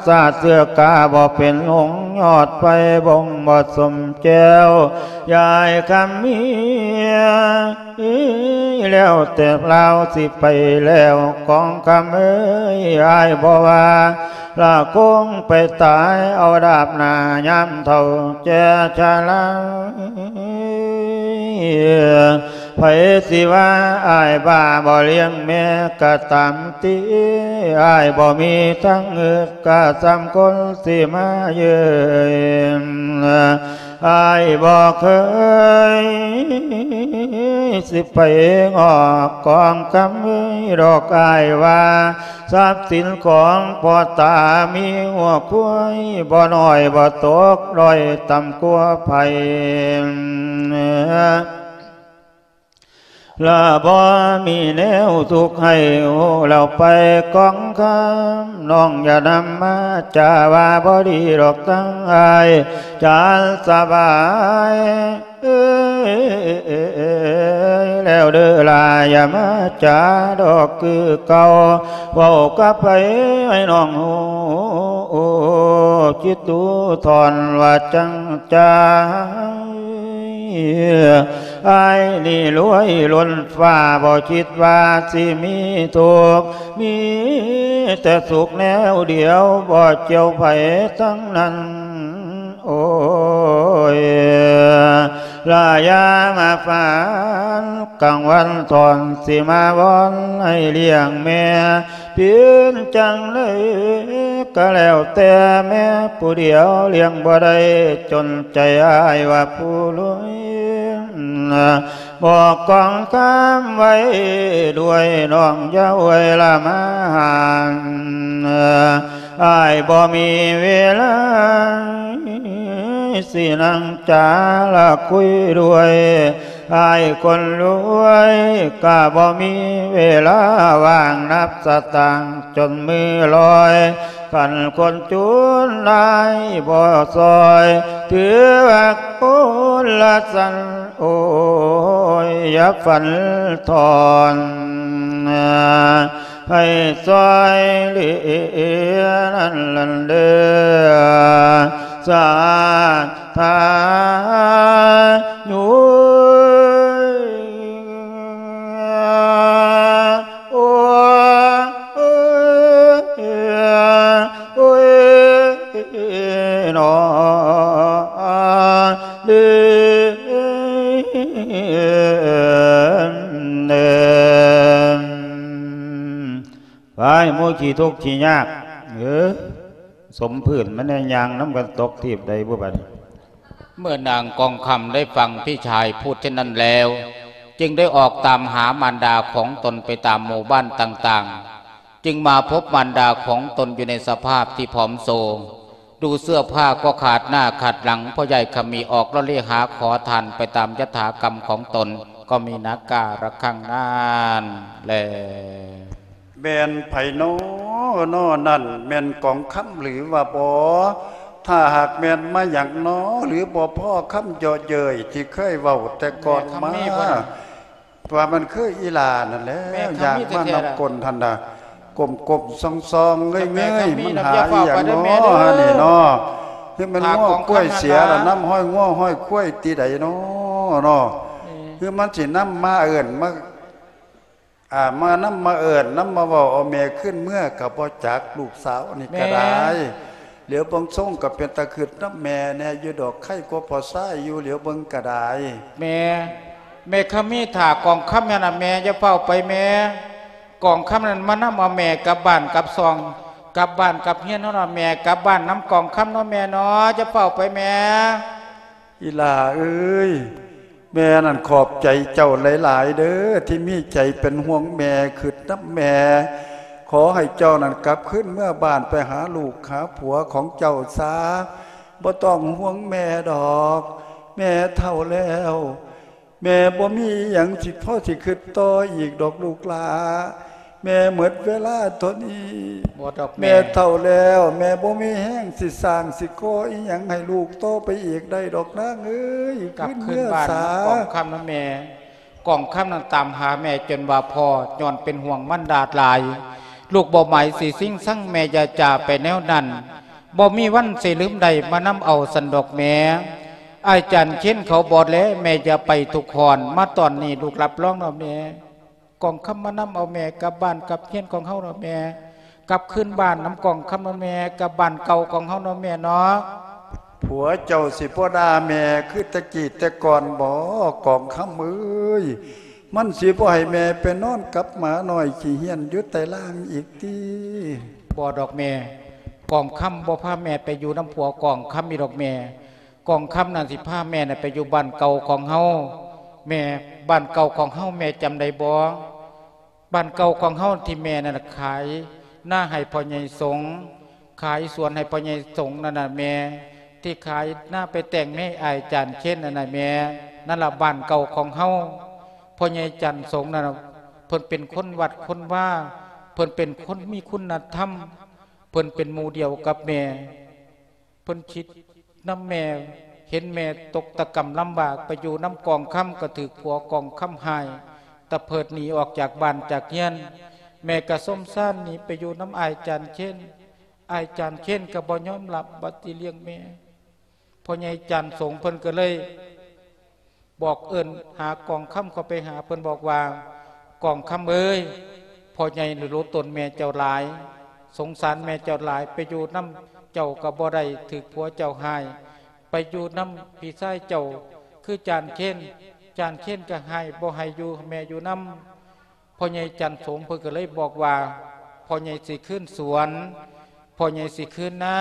ຊາດເຊື້ອກາບໍ່ເປັນຫົງ ຍອດໄຟບົ່ງບໍ່ສົມແກ້ວ ຍາຍຄຳເມຍ ແລ້ວແຕ່ລາວຊິໄປແລ້ວ ກອງຄຳເອີຍ ອ້າຍບໍ່ວ່າ ລະຄົງໄປຕາຍເອົາດາບໜ້າ ຍາມເຖົ້າແກ່ຊະລາ ໃຜຊິວ່າອ້າຍບ້າບໍ່ລ້ຽງແມ່ກະຕາມຕິ ອ້າຍບໍ່ມີທາງອຶດກະສ່ຳຄົນຊິມາເຍີ້ນ ອ້າຍບໍ່ເຄີຍຊິໄປງອກກອງຄຳເອີຍ ດອກອ້າຍວ່າ ຊັບສິນຂອງພໍ່ຕາມີຫົວຄວາຍ ບໍ່ນ້ອຍບໍ່ຕົກດ້ອຍຕ່ຳກວ່າໃຜ ລະບໍ່ມີແນວທຸກໃຫ້ໂອ້ ແລ້ວໄປກອງຄຳ ນ້ອງຢ່ານຳມາຈາວ່າບໍ່ດີດອກ ທັງອ້າຍຈານສະບາຍ ເອີ ແລ້ວເດີລາ ຢ່າມາຈາດອກຄືເກົ່າ ເວົ້າກັບໃຜໃຫ້ນ້ອງຮູ້ ຄິດດູທ່ອນວ່າຈັ່ງໃຈ ອ້າຍນີ້ລວຍລົ້ນຟ້າ ບໍ່ຄິດວ່າຊິມີທຸກ ມີແຕ່ສຸກແນວດຽວ ບໍ່ກ່ຽວໃຜທັງນັ້ນ ໂອ້ຍ ລາຢ່າມາຝັນກາງວັນ ທ່ອນຊິມາວອນໃຫ້ລ້ຽງແມ່ ເປັນຈັ່ງໃດກະແລ້ວແຕ່ແມ່ຜູ້ດຽວ ລ້ຽງບໍ່ໄດ້ຈົນໃຈ ອ້າຍວ່າຜູ້ລວຍ ບອກກອງຄຳໄວ້ດ້ວຍ ນ້ອງຢ່າໂອຍລະມາຫາ ອ້າຍບໍ່ມີເວລາ ຊິນັ່ງຈາລະຄຸຍດ້ວຍ ອ້າຍຄົນລວຍ ກະບໍ່ມີເວລາວ່າງນັບສະຕາງ ຈົນມືລອຍ ຄັນຄົນຈົນນາຍບໍ່ຊ່ອຍ ຖືວ່າຄົນລະສັນ ໂອຍ ຢ່າຝັນທອນ ໃຫ້ຊ່ອຍເຫຼືອນັ້ນເດີ ສາທາຍຸ ໂອ ໂອຍ ໂອຍ ນອ ເດີ ໄປ ໝູ່ຂີ້ທຸກຂີ້ຍາກ ເອີ ສົມພື້ນມັນແນ່ ຍ່າງນຳກັນຕົກທີບໃດບຸບາດນີ້. ເມື່ອນາງກອງຄຳໄດ້ຟັງພີ່ຊາຍພູດເຊັ່ນນັ້ນແລ້ວ ຈຶ່ງໄດ້ອອກຕາມຫາມານດາຂອງຕົນໄປຕາມໝູ່ບ້ານຕ່າງໆ ຈຶ່ງມາພົບມານດາຂອງຕົນຢູ່ໃນສະພາບທີ່ຜອມໂຊ, ດູເສື້ອຜ້າກໍຂາດໜ້າຂາດຫຼັງ, ພໍ່ໃຫຍ່ຂະມີອອກລະເລຫາຂໍທານໄປຕາມຍະຖາກຳຂອງຕົນ ກໍມີນາກາລະຄັງນັ້ນແລ. ແມ່ນໃຜນໍນໍນັ້ນ ແມ່ນກອງຄຳຫຼືວ່າບໍ່? ຖ້າຫາກແມ່ນມາຫຍັງນໍ ຫຼືບໍ່ພໍຄຳເຍາະເຍີ້ຍທີ່ເຄີຍເວົ້າແຕ່ກ່ອນມາ ແມ່ຄຳມີບໍ່ນະ? ວ່າມັນຄືອີ່ຫຼ້ານັ້ນແຫຼະ ແມ່ຄຳມີແທ້ໆ ຢາກມານຳກົ້ນຫັ້ນນະ ກົ້ມໆ ສ່ອງໆ ເງີຍໆ ແມ່ຄຳມີ ມັນຫາອີ່ຫຍັງນໍຫັ້ນນີ້ນໍ? ຄືແມ່ນງົວຄວາຍເສຍລະນຳຮອຍງົວຮອຍຄວາຍຕິໃດນໍນໍ? ເອີ ຄືມັນຊິນຳມາເອີ້ນມາ ອ່າ ມານຳມາເອີ້ນນຳມາເວົ້າເອົາແມ່ຄືນເມືອກະບໍ່ຈັກ ລູກສາວນີ້ກະໄດ້. ແມ່ ຫຼຽວເບິ່ງຊົງກະເປັນຕາຄຶດນຳແມ່ແດ່ຢູ່ດອກ ໄຄກວ່າພໍ່ຊາຍຢູ່ ຫຼຽວເບິ່ງກະໄດ້. ແມ່ ແມ່ຄຳມີຖ້າກອງຄຳຫັ້ນນະແມ່ ຢ່າຟ້າວໄປແມ່. ກອງຄຳນັ້ນມານຳເອົາແມ່ກັບບ້ານກັບຊ່ອງ ກັບບ້ານກັບເຮືອນເຮົາເນາະແມ່. ກັບບ້ານນຳກອງຄຳເນາະແມ່ເນາະ ຢ່າຟ້າວໄປແມ່. ອີ່ຫຼ້າເອີຍ ແມ່ນັ້ນຂອບໃຈເຈົ້າຫຼາຍໆເດີ ທີ່ມີໃຈເປັນຫ່ວງແມ່ ຄຶດນຳແມ່. ຂໍໃຫ້ເຈົ້ານັ້ນກັບຄືນເມືອບ້ານໄປຫາລູກຫາຜົວຂອງເຈົ້າຊາ. ບໍ່ຕ້ອງຫ່ວງແມ່ດອກ ແມ່ເຖົ້າແລ້ວ ແມ່ບໍ່ມີອີ່ຫຍັງຊິພໍຊິຄຶດຕໍ່ອີກດອກລູກຫຼ້າ. ແມ່ໝົດເວລາເທົ່ານີ້ ບໍ່ດອກແມ່ ແມ່ເຖົ້າແລ້ວ ແມ່ບໍ່ມີແຮງຊິສ້າງຊິກໍ່ອີ່ຫຍັງໃຫ້ລູກຕໍ່ໄປອີກໄດ້ດອກນາງເອີຍ. ກັບຄືນບ້ານນຳກອງຄຳນຳແມ່. ກອງຄຳນັ້ນຕາມຫາແມ່ຈົນວ່າພໍ້ ຍ້ອນເປັນຫ່ວງມານດາຫຼາຍ. ລູກບໍ່ໝາຍຊິຊິງຊັງແມ່ ຢ່າຈາໄປແນວນັ້ນ ບໍ່ມີວັນຊິລືມໄດ້ ມານຳເອົາຊັ້ນດອກແມ່. ອ້າຍຈານເຄນເຂົາບອດແລ ແມ່ຢ່າໄປທຸກຮ້ອນ ມາຕອນນີ້ລູກຮັບຮອງເນາະແມ່. ກອງຄຳມານຳເອົາແມ່ກັບບ້ານກັບເຮືອນຂອງເຮົາເນາະແມ່. ກັບຄືນບ້ານນຳກອງຄຳເນາະແມ່ ກັບບ້ານເກົ່າຂອງເຮົາເນາະແມ່ເນາະ. ຜົວເຈົ້າຊິບໍ່ດ່າແມ່ຄືແຕ່ກີ້ແຕ່ກ່ອນບໍ ກອງຄຳເອີຍ? ມັນຊິບໍ່ໃຫ້ແມ່ໄປນອນກັບໝານ້ອຍຂີ້ຫ້ຽນຢູ່ໃຕ້ລ່າງອີກຕິ? ບໍ່ດອກແມ່ ກອງຄຳບໍ່ພາແມ່ໄປຢູ່ນຳຜົວກອງຄຳອີກດອກແມ່. ກອງຄຳນັ້ນຊິພາແມ່ນະໄປຢູ່ບ້ານເກົ່າຂອງເຮົາ. ແມ່ ບ້ານເກົ່າຂອງເຮົາແມ່ຈຳໄດ້ບໍ່? ບ້ານເກົ່າຂອງເຮົາທີ່ແມ່ນັ້ນນະຂາຍນາໃຫ້ພໍ່ໃຫຍ່ສົງ ຂາຍສວນໃຫ້ພໍ່ໃຫຍ່ສົງນັ້ນນະແມ່ ທີ່ຂາຍນາໄປແຕ່ງເມອ້າຍຈານເຄນນັ້ນນະແມ່. ນັ້ນລະບ້ານເກົ່າຂອງເຮົາ. ພໍ່ໃຫຍ່ຈັນສົງນັ້ນນະ ເພິ່ນເປັນຄົນວັດຄົນວາ ເພິ່ນເປັນຄົນມີຄຸນນະທຳ ເພິ່ນເປັນໝູ່ດຽວກັບແມ່. ເພິ່ນຄິດນຳແມ່ ເຫັນແມ່ຕົກຕະກຳລຳບາກ ໄປຢູ່ນຳກອງຄຳກໍຖືກຜົວກອງຄຳຮ້າຍ ຕະເພີດໜີອອກຈາກບ້ານຈາກເຮືອນ. ແມ່ກໍສົມສານໜີໄປຢູ່ນຳອ້າຍຈານເຄນ. ອ້າຍຈານເຄນກໍບໍ່ຍອມຮັບວ່າຊິລ້ຽງແມ່. ພໍ່ໃຫຍ່ຈັນສົງເພິ່ນກໍເລີຍ ບອກເອີ້ນຫາກອງຄຳເຂົ້າໄປຫາ ເພິ່ນບອກວ່າ ກອງຄຳເອີຍ ພໍ່ໃຫຍ່ນີ້ຫຼົງຕົນແມ່ເຈົ້າຫຼາຍ ສົງສານແມ່ເຈົ້າຫຼາຍ ໄປຢູ່ນຳເຈົ້າກໍບໍ່ໄດ້ ຖືກຜົວເຈົ້າຮ້າຍ ໄປຢູ່ນຳພີ່ຊາຍເຈົ້າ ຄືຈານເຄນ ຈານເຄນກໍຮ້າຍ ບໍ່ໃຫ້ຢູ່ ແມ່ຢູ່ນຳ. ພໍ່ໃຫຍ່ຈັນສົງເພິ່ນກໍເລີຍບອກວ່າ ພໍ່ໃຫຍ່ຊິຄືນສວນ ພໍ່ໃຫຍ່ຊິຄືນນາ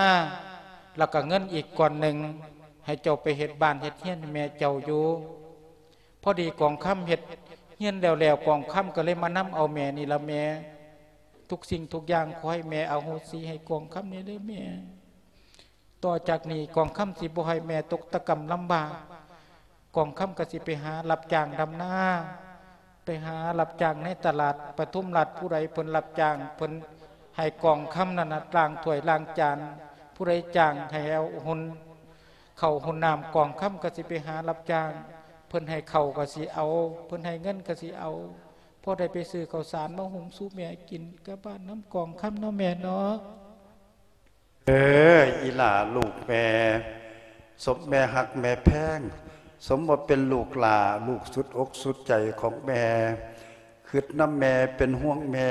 ແລ້ວກໍເງິນອີກກ້ອນໜຶ່ງ ໃຫ້ເຈົ້າໄປເຮັດບ້ານເຮັດເຮືອນໃຫ້ແມ່ເຈົ້າຢູ່. ພໍດີກອງຄຳເຮັດເຮືອນແລ້ວໆ ກອງຄຳກໍເລີຍມານຳເອົາແມ່ນີ້ລະແມ່ ທຸກສິ່ງທຸກຢ່າງ ຂໍໃຫ້ແມ່ອະໂຫສິໃຫ້ກອງຄຳແດ່ເດີແມ່. ຕໍ່ຈາກນີ້ກອງຄຳຊິບໍ່ໃຫ້ແມ່ຕົກຕະກຳລຳບາກ. ກອງຄຳກໍຊິໄປຫາຮັບຈ້າງດຳນາ ໄປຫາຮັບຈ້າງໃນຕະຫຼາດປະທຸມລັດ. ຜູ້ໃດເພິ່ນຮັບຈ້າງ ເພິ່ນໃຫ້ກອງຄຳນັ້ນນະລ້າງຖ້ວຍລ້າງຈານ. ຜູ້ໃດຈ້າງໃຫ້ເອົາຫຸ່ນເຂົ້າຫຸ່ນນ້ຳ ກອງຄຳກໍຊິໄປຫາຮັບຈ້າງ. ເພິ່ນໃຫ້ເຂົ້າກໍຊິເອົາ ເພິ່ນໃຫ້ເງິນກໍຊິເອົາ ພໍໄດ້ໄປຊື້ເຂົ້າສານມາຫຸງສູ່ແມ່ກິນກັບບ້ານນຳກອງຄຳເນາະແມ່ເນາະ. ເອີ ອີຫຼ້າລູກແມ່ ສົມແມ່ຮັກແມ່ແພງ ສົມວ່າເປັນລູກຫຼ້າ ລູກສຸດອົກສຸດໃຈຂອງແມ່ ຄຶດນຳແມ່ ເປັນຫ່ວງແມ່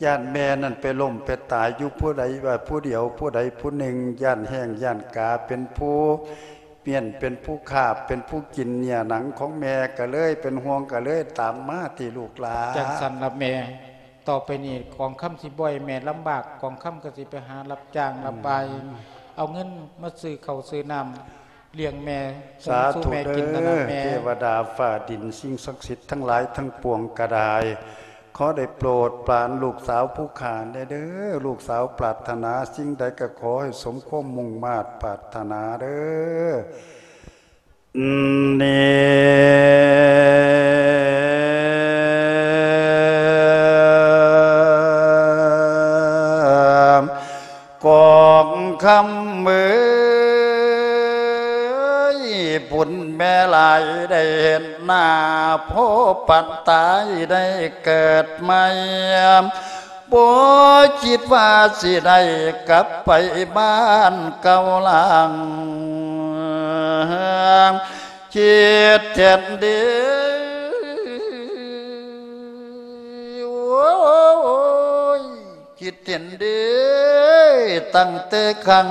ຢ້ານແມ່ນັ້ນໄປລົ້ມໄປຕາຍຢູ່ຜູ້ໃດວ່າຜູ້ດຽວ ຜູ້ໃດຜູ້ໜຶ່ງ ຢ້ານແຫ້ງຢ້ານກາ ເປັນຜູ້ມ້ຽນ ເປັນຜູ້ຄາບ ເປັນຜູ້ກິນເນື້ອໜັງຂອງແມ່ ກໍເລີຍເປັນຫ່ວງ ກໍເລີຍຕາມມາທີ່ລູກຫຼ້າ. ຈັ່ງຊັ້ນລະແມ່ ຕໍ່ໄປນີ້ກອງຄຳຊິບໍ່ໃຫ້ແມ່ລຳບາກ ກອງຄຳກໍຊິໄປຫາຮັບຈ້າງ ອືມ ຮັບບາຍ ເອົາເງິນມາຊື້ເຂົ້າຊື້ນ້ຳລ້ຽງແມ່ ສາທຸ ຫຸງສູ່ແມ່ກິນນັ້ນນະແມ່. ເທວະດາຟ້າດິນ ສິ່ງສັກສິດທັງຫຼາຍທັງປວງກໍໄດ້ ຂໍໄດ້ໂປດປານລູກສາວຜູ້ຂ້າແດ່ເດີ ລູກສາວປາດຖະໜາສິ່ງໃດກໍຂໍໃຫ້ສົມຄວາມມຸ່ງມາດປາດຖະໜາເດີ. ນີ້ ກອງຄຳເອີຍ ບຸນແມ່ຫຼາຍໄດ້ເຫັນໜ້າ ພໍປັນຕາຍໄດ້ເກີດໃໝ່ ບໍ່ຄິດວ່າຊິໄດ້ກັບໄປບ້ານເກົ່າຫຼັງ ຄິດແຕ່ນດີ ໂອ້ຍ ຄິດແຕ່ນດີ ຕັ້ງແຕ່ຄັ້ງ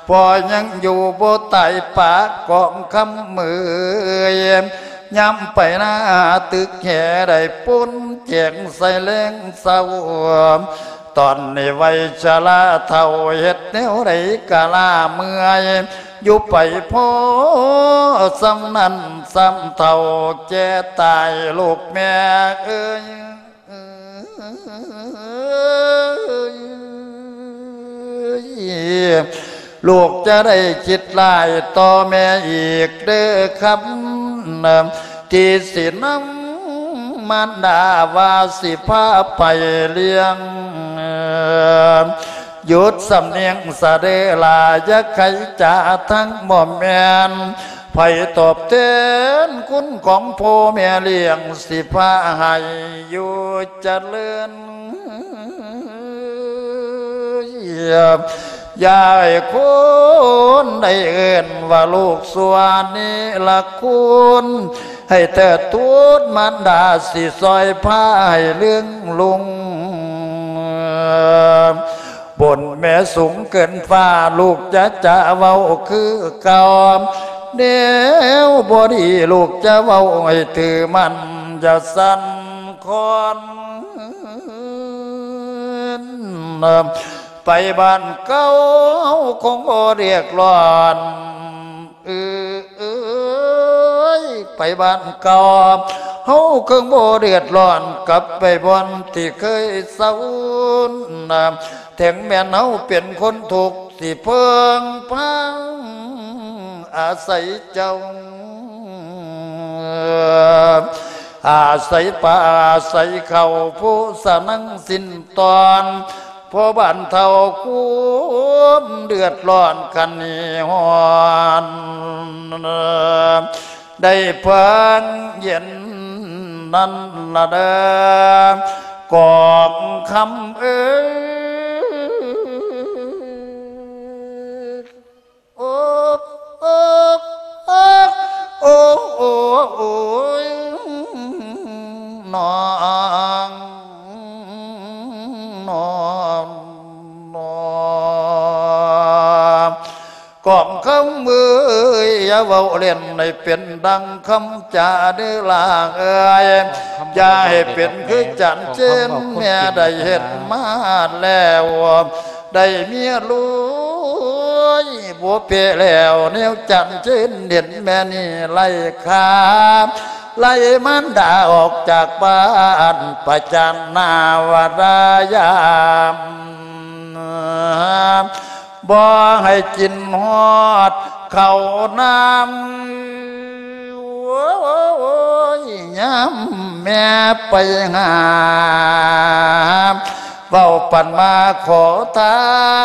ພໍ່ຍັງຢູ່ບໍ່ຕາຍປາກອງຄຳເອີຍ ຍາມໄປນາຕຶກແຫໄດ້ປຸ້ນແຈງໃສ່ແລງເຊົ້າ ຕອນນີ້ໄວຊະລາເຖົ້າ ເຮັດແນວໃດກະລ້າເມື່ອຍ ຢູ່ໄປພໍສ່ຳນັ້ນສ່ຳເຖົ້າ ແກ່ຕາຍລູກແມ່ເອີຍ. ລູກຈະໄດ້ຄິດຫຼາຍຕໍ່ແມ່ອີກເດີຄຳ ທີ່ຊິນຳມານດາວ່າຊິພາໄປລ້ຽງ ຢຸດສຳນຽງສະເດີຫຼ້າ ຢ່າໄຂຈາທັງບໍ່ແມ່ນ ໃຜຕອບແທນຄຸນຂອງພໍ່ແມ່ລ້ຽງ ຊິພາໃຫ້ຢູ່ຈະເລີນ ຢ່າໃຫ້ຄົນໄດ້ເອີ້ນວ່າລູກຊົ່ວນິລະຄຸນ ໃຫ້ເທີດທູນມານດາ ຊິຊ່ອຍພາໃຫ້ເລື່ອງລຸງ ບຸນແມ່ສູງເກີນຟ້າ ລູກຈະຈະເວົ້າຄືເກົ່າ ແນວບໍ່ດີລູກຈະເວົ້າໃຫ້ຖືໝັ້ນ ຢ່າສັ່ນຄອນ ໄປບ້ານເກົ່າຄົງບໍ່ເດືອດຮ້ອນ ເອີຍ ໄປບ້ານເກົ່າ ເຮົາຄົງບໍ່ເດືອດຮ້ອນ ກັບໄປບ່ອນທີ່ເຄີຍເຊົາ ເຖິງແມ່ນເຮົາເປັນຄົນທຸກ ຊິເພິ່ງພາອາໄສເຈົ້າ ອາໄສປາອາໄສເຂົ້າ ຜູ້ສະນັງສິ້ນຕອນ ພໍບັນເທົາຄວາມເດືອດຮ້ອນຄັນນີ້ຮ້ອນ ໄດ້ເພິ່ງເຢັນນັ້ນລະເດີ ກອງຄຳເອີຍ. ໂອ້ ໂອ້ ໂອ້ ໂອ້ ໂອ້ຍ ນ້ອງ ນ້ອງ ນ້ອງ ກອງຄຳເອີຍ ຢ່າເວົ້າເລ່ນໃຫ້ເປັນດັ່ງຄຳຈາເດີຫຼ້າເອີຍ ຢ່າໃຫ້ເປັນຄືຈານເຈນ ແມ່ໄດ້ເຮັດມາແລ້ວ ໄດ້ເມຍລູກ ຍ ບໍ່ແພ້ແລ້ວແນວຈັນເຊີນເຫັນແມ່ນີ້ໄລ່ຂ້າ ໄລ່ມານດາອອກຈາກບ້ານ ປະຈານໜ້າວ່າລາຍາມ ບໍ່ໃຫ້ກິນຮອດເຂົ້ານ້ຳ ໂອ້ຍ ຍາມແມ່ໄປຫາ ເວົ້າປັນມາຂໍທາ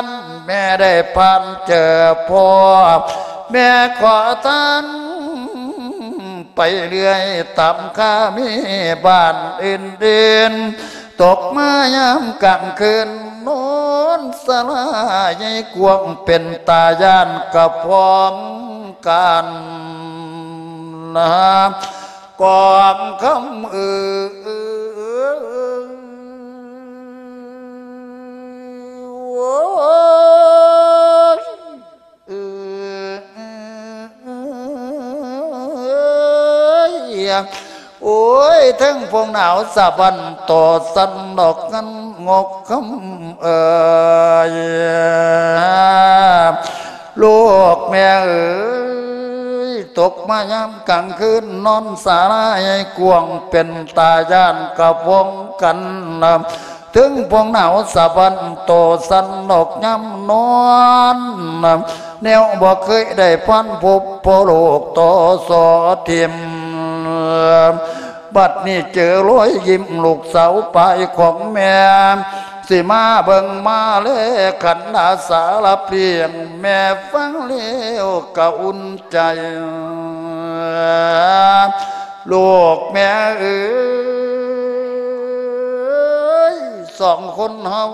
ນ ແມ່ໄດ້ຜ່ານເຈີພໍ່ ແມ່ຂໍທານໄປເລື້ອຍ ຕາມຄາມີບ້ານອື່ນໆ ຕົກມາຍາມກາງຄືນ ນອນສາລາໃຫຍ່ກວ້າງ ເປັນຕາຢ້ານກະພອງກັນນະ ກອງຄຳເອີຍ ໂອ້ຍ ເອີຍ ໂອ້ຍ ເທິງພວງໜາວສະບັນຕໍ່ສັ່ນດອກຫັ້ນ ງອກຄຳເອີຍ ລູກແມ່ເອີຍ ຕົກມາຍາມກາງຄືນ ນອນສາລາໃຫຍ່ກວ້າງ ເປັນຕາຢ້ານກະພອງກັນນະ ເທິງພວງໜາວສະບັນຕໍ່ສັ່ນດອກຍາມນອນ ແນວບໍ່ເຄີຍໄດ້ພອນພົບພໍ່ລູກຕໍ່ສໍຖິ້ມ ບັດນີ້ເຈີລອຍຍິ້ມລູກສາວປາຍຂອງແມ່ ຊິມາເບິ່ງມາແລຂັນດາສາລະພຽງ ແມ່ຟັງແລ້ວກະອຸ່ນໃຈ ລູກແມ່ເອີຍ ສອງຄົນເຮົາ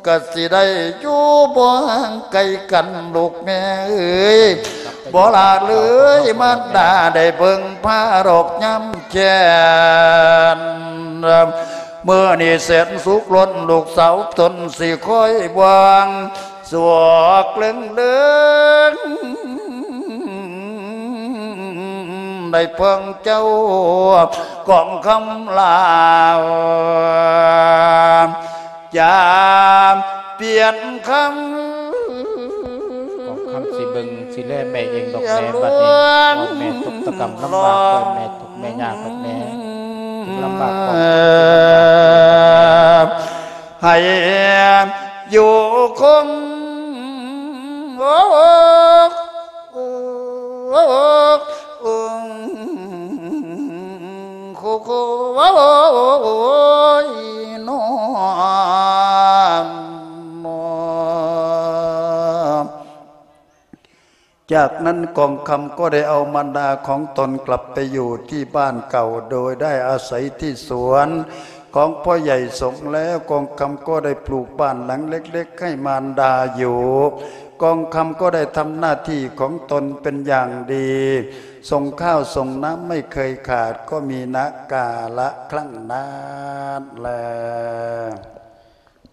ກະຊິໄດ້ຢູ່ບໍ່ຫ່າງໄກກັນ ລູກແມ່ເອີຍ ບໍ່ລະເລີຍມານດາໄດ້ເບິ່ງພາດອກຍາມແຄ້ນ ມື້ນີ້ແສນສຸກລົ້ນ ລູກສາວຕົນຊິຄອຍຫວັງ ສວກເລິງເລີງ ໄດ້ເພິ່ງເຈົ້າ ກອງຄຳລາວ ຈາມປ່ຽນຄຳ ກອງຄຳຊິເບິ່ງຊິແລແມ່ເອງດອກແມ່ ບັດນີ້ ແມ່ທຸກຕະກຳລຳບາກ ແມ່ທຸກແມ່ຍາກ ແມ່ທຸກລຳບາກ ກອງຄຳຊິເບິ່ງ ໃຫ້ຢູ່ຄົງ ໂອ້ ໂອ້ ໂອ້ ໂອ້ ໂຄ ໂຄ ໂອ້ຍ ນອນ ນອນ. ຈາກນັ້ນກອງຄຳກໍໄດ້ເອົາມານດາຂອງຕົນກັບໄປຢູ່ທີ່ບ້ານເກົ່າ ໂດຍໄດ້ອາໄສທີ່ສວນຂອງພໍ່ໃຫຍ່ສົງແລ້ວ ກອງຄຳກໍໄດ້ປູກບ້ານຫຼັງເລັກໆໃຫ້ມານດາຢູ່. ກອງຄຳກໍໄດ້ທຳໜ້າທີ່ຂອງຕົນເປັນຢ່າງດີ ສົ່ງຂ້າວສົ່ງນ້ຳໄມ່ເຄີຍຂາດ ກໍມີນະກາລະຄັ້ງນັ້ນແລ.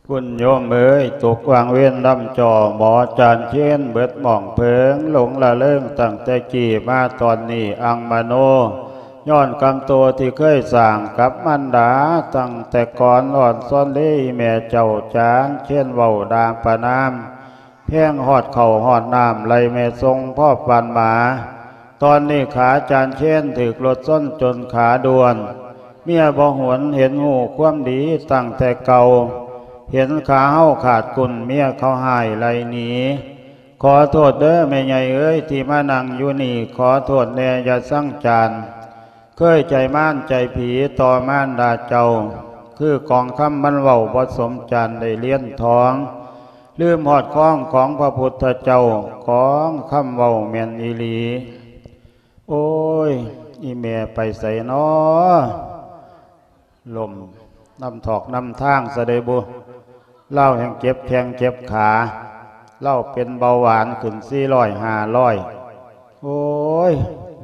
ຄຸນໂຍມເອີຍ ຕົກຫວ່າງເວນລຳຈໍ່ ໝໍຈານເຄນເບິດໝອງເພີງ ຫຼົງລະເລີງຕັ້ງແຕ່ກີ້ ມາຕອນນີ້ອັງມະໂນ ຍ້ອນກຳໂຕທີ່ເຄີຍສ້າງກັບມານດາ ຕັ້ງແຕ່ກ່ອນ ອອນຊອນເລີຍແມ່ເຈົ້າ ຈານເຄນເວົ້າດາປະນາມ ແພງຮອດເຂົ້າຮອດນ້ຳ ໄລ່ແມ່ສົ່ງພໍປານໝາ. ຕອນນີ້ຂາຈານເຄນຖືກລົດຊົນຈົນຂາດ້ວນ ເມຍບໍ່ຫວນເຫັນຮູ້ຄວາມດີຕັ້ງແຕ່ເກົ່າ ເຫັນຂາເຮົາຂາດກຸ້ນ ເມຍເຂົາຮ້າຍໄລ່ໜີ. ຂໍໂທດເດີແມ່ໃຫຍ່ເອີຍ ທີ່ມານັ່ງຢູ່ນີ້ ຂໍໂທດແດ່ຢ່າຊັງຈານ ເຄີຍໃຈມານໃຈຜີຕໍ່ມານດາເຈົ້າ ຄືກອງຄຳມັນເວົ້າບໍ່ສົມຈານໄດ້ລຽນທອງ ລືມຮອດຄອງຂອງພະພຸດທະເຈົ້າ ກອງຄຳເວົ້າແມ່ນອີ່ຫຼີ. ໂອ້ຍ ອີ່ແມ່ໄປໃສນໍ ລົ້ມນຳຖອກນຳທາງຊະເດບຸ ລາວແຮ່ງເຈັບແຂ້ງເຈັບຂາ ລາວເປັນເບົາຫວານຂຶ້ນສີ່ຮ້ອຍຫ້າຮ້ອຍ ໂອ້ຍ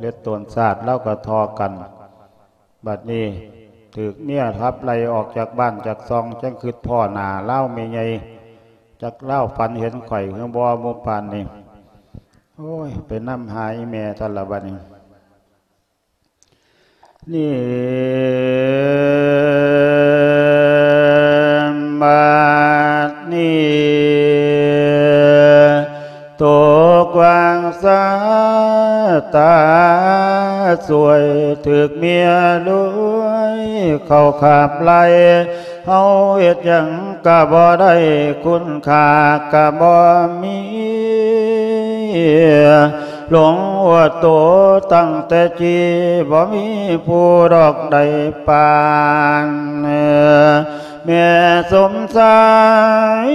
ເລັດໂຕນຊາດລາວກໍທໍ່ກັນ. ບັດນີ້ຖືກເມຍຂັບໄລ່ອອກຈາກບ້ານຈາກຊ່ອງ ຈັ່ງຄິດພໍ້ໜ້າລາວແມ່ໃຫຍ່ ຈັກລາວຝັນເຫັນຂ້ອຍຄືບໍ່ໝູ່ປານນີ້. ໂອ້ຍ ໄປນຳຫາອີ່ແມ່ທັນລະບັດນີ້. ນີ້ ບັດນີ້ ຕາສວຍ ຖືກເມຍລວຍເຂົ້າຂາບໄລ່ ເຮົາເຮັດຫຍັງກະບໍ່ໄດ້ ຄຸນຄ່າກະບໍ່ມີ ຫຼົງຫົວໂຕຕັ້ງແຕ່ກີ້ ບໍ່ມີຜູ້ດອກໃດປານ ແມ່ສົມຊາຍ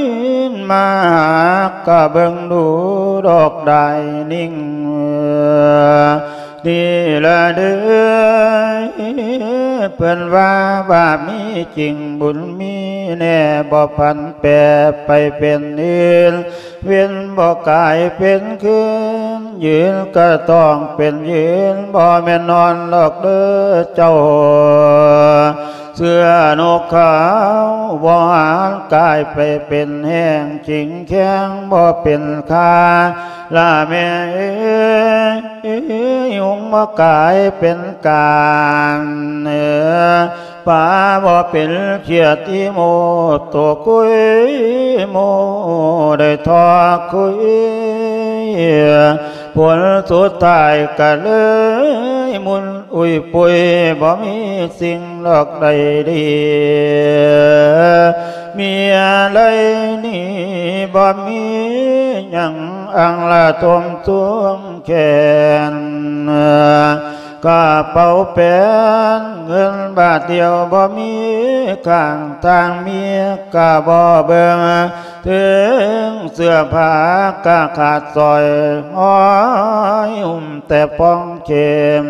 ມາຫາກະເບິ່ງດູດອກດາຍນິ່ງ ນີ້ລະເດີ ເພິ່ນວ່າບາບມີຈິງ ບຸນມີແນ່ ບໍ່ຜັນແປໄປເປັນອື່ນ ເວັນບໍ່ກາຍເປັນຄືນ ຢືນກະຕ້ອງເປັນຢືນ ບໍ່ແມ່ນນອນດອກເດີເຈົ້າ ເສື້ອນົກຂາວບໍ່ຫານກາຍໄປເປັນແຫ້ງ ຈິງແຂງບໍ່ເປັນຄ່າ ລະແມ່ເອີຍ ຍຸງບໍ່ກາຍເປັນການ ປາບໍ່ເປັນຂຽດອີໂມ ໂຕກຸຍໂມໄດ້ທໍ່ຄຸຍ ຜົນສຸດທ້າຍກະເລີຍໝຸ່ນອຸຍປຸຍ ບໍ່ມີສິ່ງດອກໃດດີ ເມຍໄລນີ້ບໍ່ມີຫຍັງ ອັງລະທົມທວງແຂນ ກະເປົາແປນເງິນບາດດຽວບໍ່ມີຂ້າງ ທາງເມຍກະບໍ່ເບິ່ງ ເຖິງເສື້ອຜ້າກະຂາດສອຍ ຫ້ອຍຫຸ້ມແຕ່ປ່ອງເຂັມ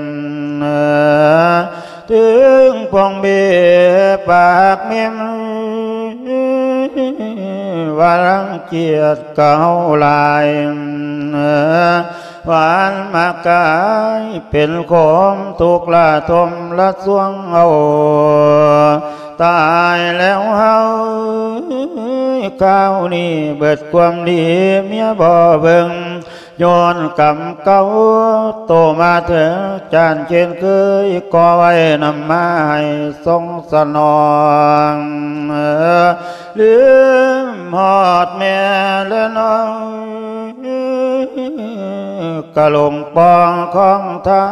ເຖິງປ່ອງເບປາກເມັມ ວ່າລັງກຽດກະເຮົາຫຼາຍ ຫວານມາກາຍເປັນຂົມ ທຸກລະທົມລະຊວງເຮົາ ຕາຍແລ້ວເຮົາ ຄາວນີ້ເບິດຄວາມດີ ເມຍບໍ່ເບິ່ງ ຍ້ອນກຳເກົ່າ ໂຕມາເຖິງຈານເຄນເຄີຍ ກໍໄວ້ນຳມາໃຫ້ຊົງສະໜອງ ລືມຮອດແມ່ແລະນ້ອງ ກະຫຼົງປ່ອງຂອງທຳ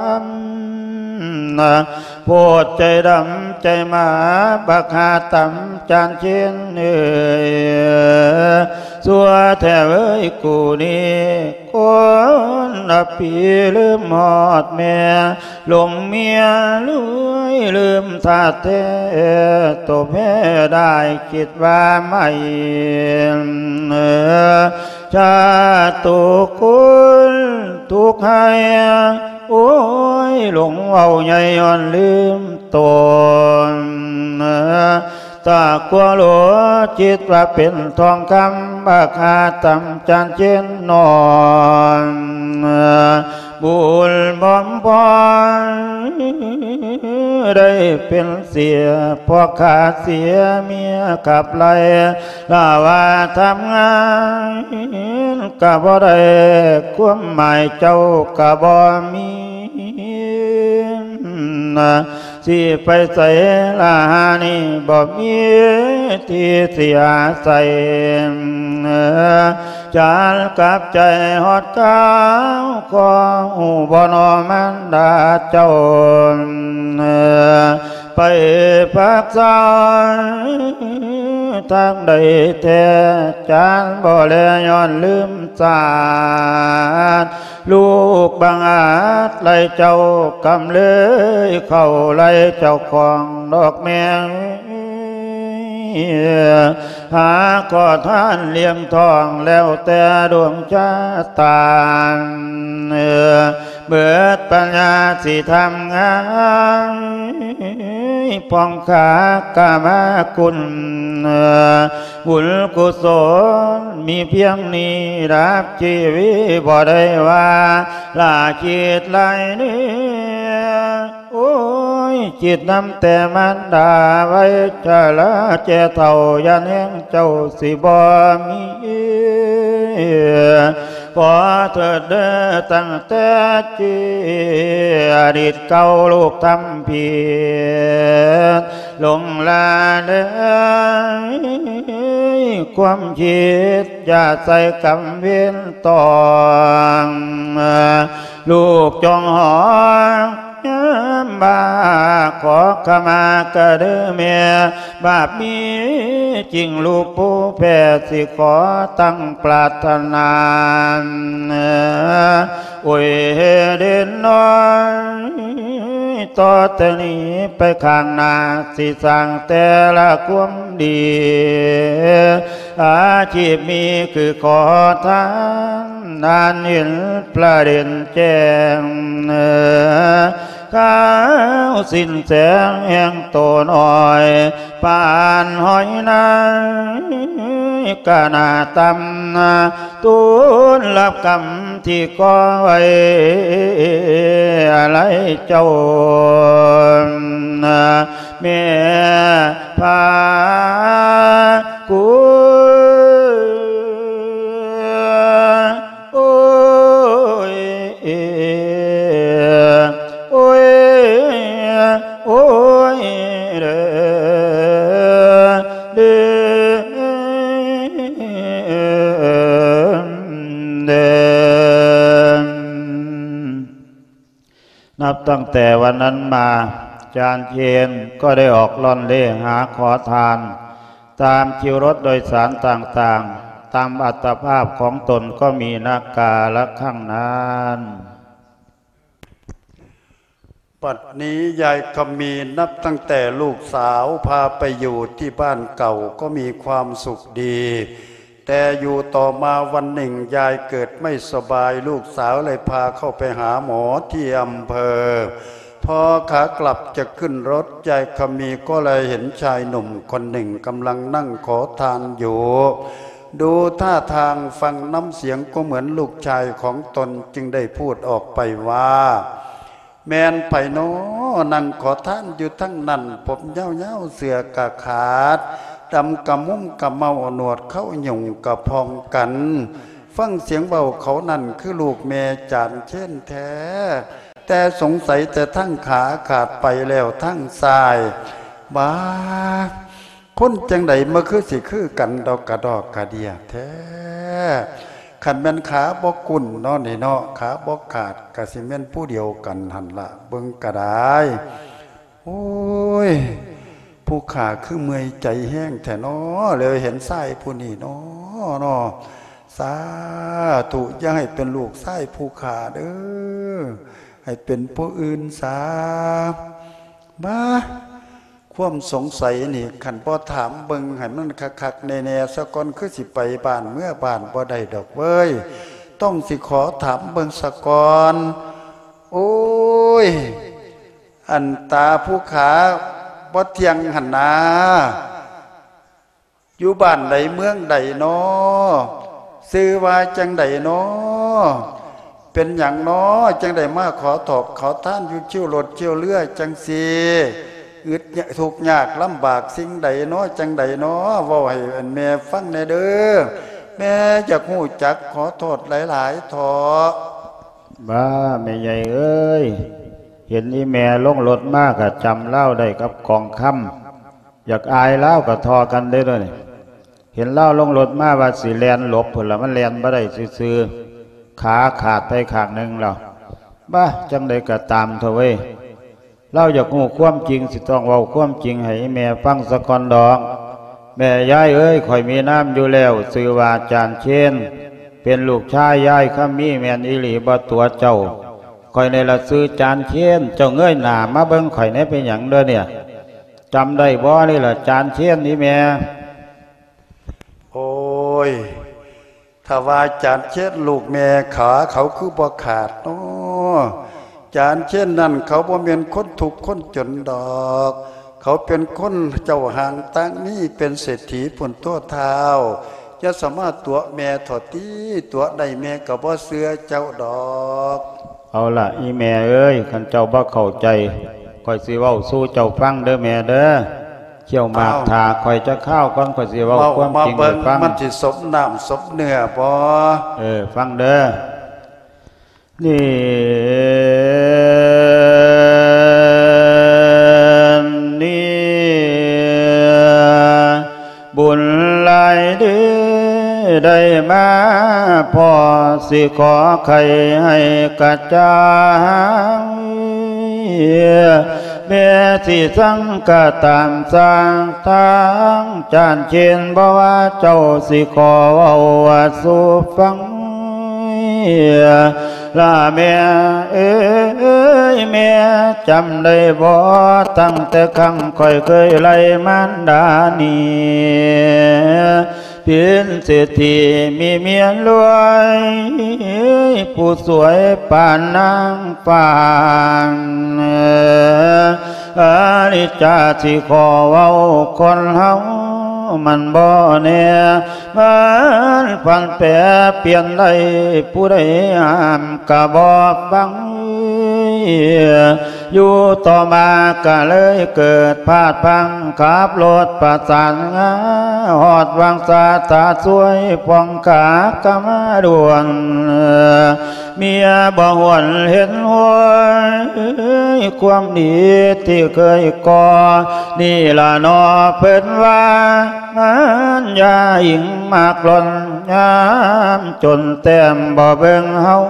ໂພດໃຈດຳໃຈໝາ ບັກຫາຕຳຈານເຄນເອີຍ ຊົ່ວແທ້ເວີຍກູນີ້ ຄົນລະປີລືມຮອດແມ່ ຫຼົງເມຍລວຍລືມທາດແທ້ ໂຕແພ້ໄດ້ຄິດວ່າໃໝ່ ຊາດໂຕຄົນທຸກໄຮ້ ໂອ້ຍ ຫຼົງເວົ້າໃຫຍ່ຍ້ອນລືມຕົນ ຕາກົວໂຫຼ ຄິດວ່າເປັນທອງຄຳ ບັກຫາຕຳຈານເຄນນອນ ບຸນບອມພອນ ໄດ້ເປັນເສຍ ພວກຂ້າເສຍເມຍຂັບໄລ່ ລາວາທຳງານກະບໍ່ໄດ້ ຄວາມໝາຍເຈົ້າກະບໍ່ມີ ຊິໄປໃສລະຫານີ້ ບໍ່ມີທີ່ຊິອາໄສ ຈານກັບໃຈຮອດກາວ ຂໍຮູ້ບໍ່ນໍມານດາເຈົ້າ ໄປພັກສາທາງໃດແທ້ ຈານບໍ່ແລຍ້ອນລືມຊາດ ລູກບັງອາດໄລ່ເຈົ້າ ກຳເລີຍເຂົ້າໄລ່ເຈົ້າຂອງດອກແມ່ ຫາຂໍທານລ້ຽງທ້ອງ ແລ້ວແຕ່ດວງຊະຕາ ເບິດປັນຍາຊິທຳງານ ພອງຂາກະມາຄຸນ ບຸນກຸສົນມີພຽງນີ້ ດັບຊີວິດບໍ່ໄດ້ວ່າ ລາຄິດຫຼາຍເນີ ໂອ້ຍ ຄິດນຳແຕ່ມານດາ ໄວຊະລາແກ່ເຖົ້າ ຢ້ານແຮງເຈົ້າຊິບໍ່ມີ ຂໍເທີດເດີຕັ້ງແຕ່ຈີອະດີດເກົ່າລູກທຳຜິດຫຼົງລະເລີຍຄວາມຄິດ ຢ່າໃສ່ກຳເວນຕ້ອງ ລູກຈົ່ງຮ້ອງບາກ ຂໍຂະມາກະເດີແມ່ ບາບມີຈິງລູກຜູ້ແພ້ ຊິຂໍຕັ້ງປາດຖະໜາ ໂອ້ຍເດນນ້ອຍ ຕໍ່ແຕ່ນີ້ໄປຂ້າງໜ້າ ຊິສ້າງແຕ່ລະຄວາມດີ ອາຊີບມີຄືຂໍທານ ອັນເຫັນພະເດັ່ນແຈ້ງ ຂາວສິ້ນແສງແຫ່ງໂຕນ້ອຍ ປານຫອຍໃນກະໜ້າຕ່ຳ ທູນຮັບກຳທີ່ກໍ່ໄວ້ ອາໄລເຈົ້າ ແມ່ພາກຸ ໂອ້ຍ ໂອ້ຍ ໂອ້ຍ ເດີ ເດີ ເດີ. ນັບຕັ້ງແຕ່ວັນນັ້ນມາ ຈານເຊນກໍໄດ້ອອກລ່ອນເລ່ຫາຂໍທານ ຕາມຄິວລົດໂດຍສານຕ່າງໆ ຕາມອັດຕະພາບຂອງຕົນກໍມີນະກາລະຄັ້ງນັ້ນ. ບັດນີ້ຍາຍຄຳມີນັບຕັ້ງແຕ່ລູກສາວພາໄປຢູ່ທີ່ບ້ານເກົ່າກໍມີຄວາມສຸກດີ. ແຕ່ຢູ່ຕໍ່ມາວັນໜຶ່ງ ຍາຍເກີດໄມ່ສະບາຍ, ລູກສາວເລີຍພາເຂົ້າໄປຫາໝໍທີ່ອຳເພີ. ພໍຂາກັບຈະຂຶ້ນລົດ, ຍາຍຄຳມີກໍແລເຫັນຊາຍໜຸ່ມຄົນໜຶ່ງກຳລັງນັ່ງຂໍທານຢູ່. ດູທ່າທາງ, ຟັງນ້ຳສຽງກໍເໝືອນລູກຊາຍຂອງຕົນ, ຈຶ່ງໄດ້ພູດອອກໄປວ່າ, ແມ່ນໃຜນໍ ນັ່ງຂໍທານຢູ່ທາງນັ້ນ, ຜົມຍາວໆ ເສື້ອກະຂາດ, ດຳກະມຸມກະເມົາ, ໜວດເຂົາຫຍຸ້ງກະພອງກັນ. ຟັງສຽງເວົ້າເຂົານັ້ນ ຄືລູກແມ່ຈານເຊນແທ້, ແຕ່ສົງໄສແຕ່ທັງຂາຂາດໄປແລ້ວທັງຊ້າຍ. ບາ ຄົນຈັ່ງໃດມາຄືຊິຄືກັນດອກກະດອກກະເດຍແທ້. ຄັນແມ່ນຂາບໍ່ກຸ້ນເນາະນີ້ເນາະ, ຂາບໍ່ຂາດກະຊິແມ່ນຜູ້ດຽວກັນຫັ້ນລະ, ເບິ່ງກະດາຍ. ໂອ້ຍ ຜູ້ຂ້າຄືເມື່ອຍໃຈແຮງແທ້ເນາະ, ແລ້ວເຫັນຊາຍຜູ້ນີ້ເນາະ ເນາະ. ສາທຸ, ຢ່າໃຫ້ເປັນລູກຊາຍຜູ້ຂ້າເດີ, ໃຫ້ເປັນຜູ້ອື່ນສາ. ບາ ຄວາມສົງໄສນີ້ ຄັນບໍ່ຖາມເບິ່ງໃຫ້ມັນຄັກໆແນ່ໆສາກ່ອນ ຄືຊິໄປບ້ານເມືອບ້ານບໍ່ໄດ້ດອກເວີຍ. ຕ້ອງຊິຂໍຖາມເບິ່ງສາກ່ອນ. ໂອ້ຍ ອັນຕາຜູ້ຂ້າບໍ່ທ່ຽງຫັ້ນນາ. ຢູ່ບ້ານໃດເມືອງໃດນໍ? ຊື່ວ່າຈັ່ງໃດນໍ? ເປັນຫຍັງນໍ ຈັ່ງໄດ້ມາຂໍຖອກຂໍທານຢູ່ຄິວລົດຄິວເຮືອຈັ່ງຊີ້? ອຶດຍາກທຸກຍາກລຳບາກສິ່ງໃດນໍ ຈັ່ງໃດນໍ? ເວົ້າໃຫ້ອັນແມ່ຟັງແດ່ເດີ. ແມ່ຢາກຮູ້ຈັກ ຂໍໂທດຫຼາຍໆເຖາະ. ບ້າ ແມ່ໃຫຍ່ເອີຍ, ເຫັນອີ່ແມ່ລົງລົດມາກະຈຳລາວໄດ້ກັບກອງຄຳ. ຢາກອາຍລາວກໍທໍ່ກັນເດ້ດຽວນີ້. ເຫັນລາວລົງລົດມາວ່າຊິແລ່ນຫຼົບພຸ້ນລະ, ມັນແລ່ນບໍ່ໄດ້ຊື່ໆ, ຂາຂາດໄປຂ້າງໜຶ່ງແລ້ວ. ບາ ຈັ່ງໃດກໍຕາມເຖາະເວີຍ, ລາວຢາກຮູ້ຄວາມຈິງ ຊິຕ້ອງເວົ້າຄວາມຈິງໃຫ້ອີ່ແມ່ຟັງສາກ່ອນດອກ. ແມ່ຍາຍເອີຍ, ຂ້ອຍມີນາມຢູ່ແລ້ວ, ຊື່ວ່າຈານເຊນ, ເປັນລູກຊາຍຍາຍຄຳມີ. ແມ່ນອີ່ຫຼີບໍ່ຕົວະເຈົ້າ? ຂ້ອຍນີ້ລະຊື່ຈານເຊນ, ເຈົ້າເງີຍໜ້າມາເບິ່ງຂ້ອຍແດ່ ເປັນຫຍັງເດີນີ້? ຈຳໄດ້ບໍ່ນີ້ລະ ຈານເຊນນີ້ແມ່? ໂອ້ຍ ຖ້າວ່າຈານເຊນລູກແມ່ ຂາເຂົາຄືບໍ່ຂາດນໍ? ຈານເຊນນັ້ນເຂົາບໍ່ແມ່ນຄົນທຸກຄົນຈົນດອກ, ເຂົາເປັນຄົນເຈົ້າຫ້າງຕ່າງມີ, ເປັນເສດຖີພຸ້ນຕົວະທ້າວ. ຢ່າສາມາດຕົວະແມ່ເຖາະຕິ, ຕົວະໄດ້ແມ່ກໍບໍ່ເຊື່ອເຈົ້າດອກ. ເອົາລະ ອີ່ແມ່ເອີຍ, ຄັນເຈົ້າບໍ່ເຂົ້າໃຈ, ຂ້ອຍຊິເວົ້າສູ່ເຈົ້າຟັງເດີແມ່ເດີ. ຂ້ຽວໝາກ ເອົ້າ ຖ້າຂ້ອຍຈັກຄາວກ່ອນ ຂ້ອຍຊິເວົ້າ ເວົ້າ ຄວາມຈິງໃຫ້ຟັງ ມາເບິ່ງ ມັນຊິສົມນ້ຳສົມເນື້ອບໍ່? ເອີ ຟັງເດີ້. ນີ້ ນີ້ ບຸນຫຼາຍເດີ້ ໄດ້ມາພໍ້ ຊິຂໍໄຂໃຫ້ກະຈ່າງ ແມ່ຊິສັງກະຕາມສ້າງທາງຈານເຄນ ບໍ່ວ່າເຈົ້າຊິຂໍເວົ້າສູ່ຟັງ ລະແມ່ເອີຍ ແມ່ຈຳໄດ້ບໍ່ ຕັ້ງແຕ່ຄັ້ງຂ້ອຍເຄີຍໄລ່ມານດານີ້ ເປັນເສດຖີມີເມຍລວຍ ຜູ້ສວຍປານນາງຟ້າ ອາລິດຈາຊິຂໍເວົ້າ ຄົນເຮົາມັນບໍ່ແນ່ ມັນຜັນແປປ່ຽນໄດ້ ຜູ້ໃດຫ້າມກະບໍ່ຟັງ ຢູ່ຕໍ່ມາກະເລີຍເກີດພາດພັງ ຂັບລົດປະສານງາ ຮອດວັງສາຕາຊ່ວຍ ພອງຂາກະມາດ່ວນ ເມຍບໍ່ຫວນເຫັນຫ້ວຍ ຄວາມດີທີ່ເຄີຍກໍ່ ນີ້ລະເນາະເພິ່ນວ່າ ມັນຢ່າອີງມາກລ້ອນ ຍາມຈົນແຕ້ມບໍ່ເບິ່ງເຮົາ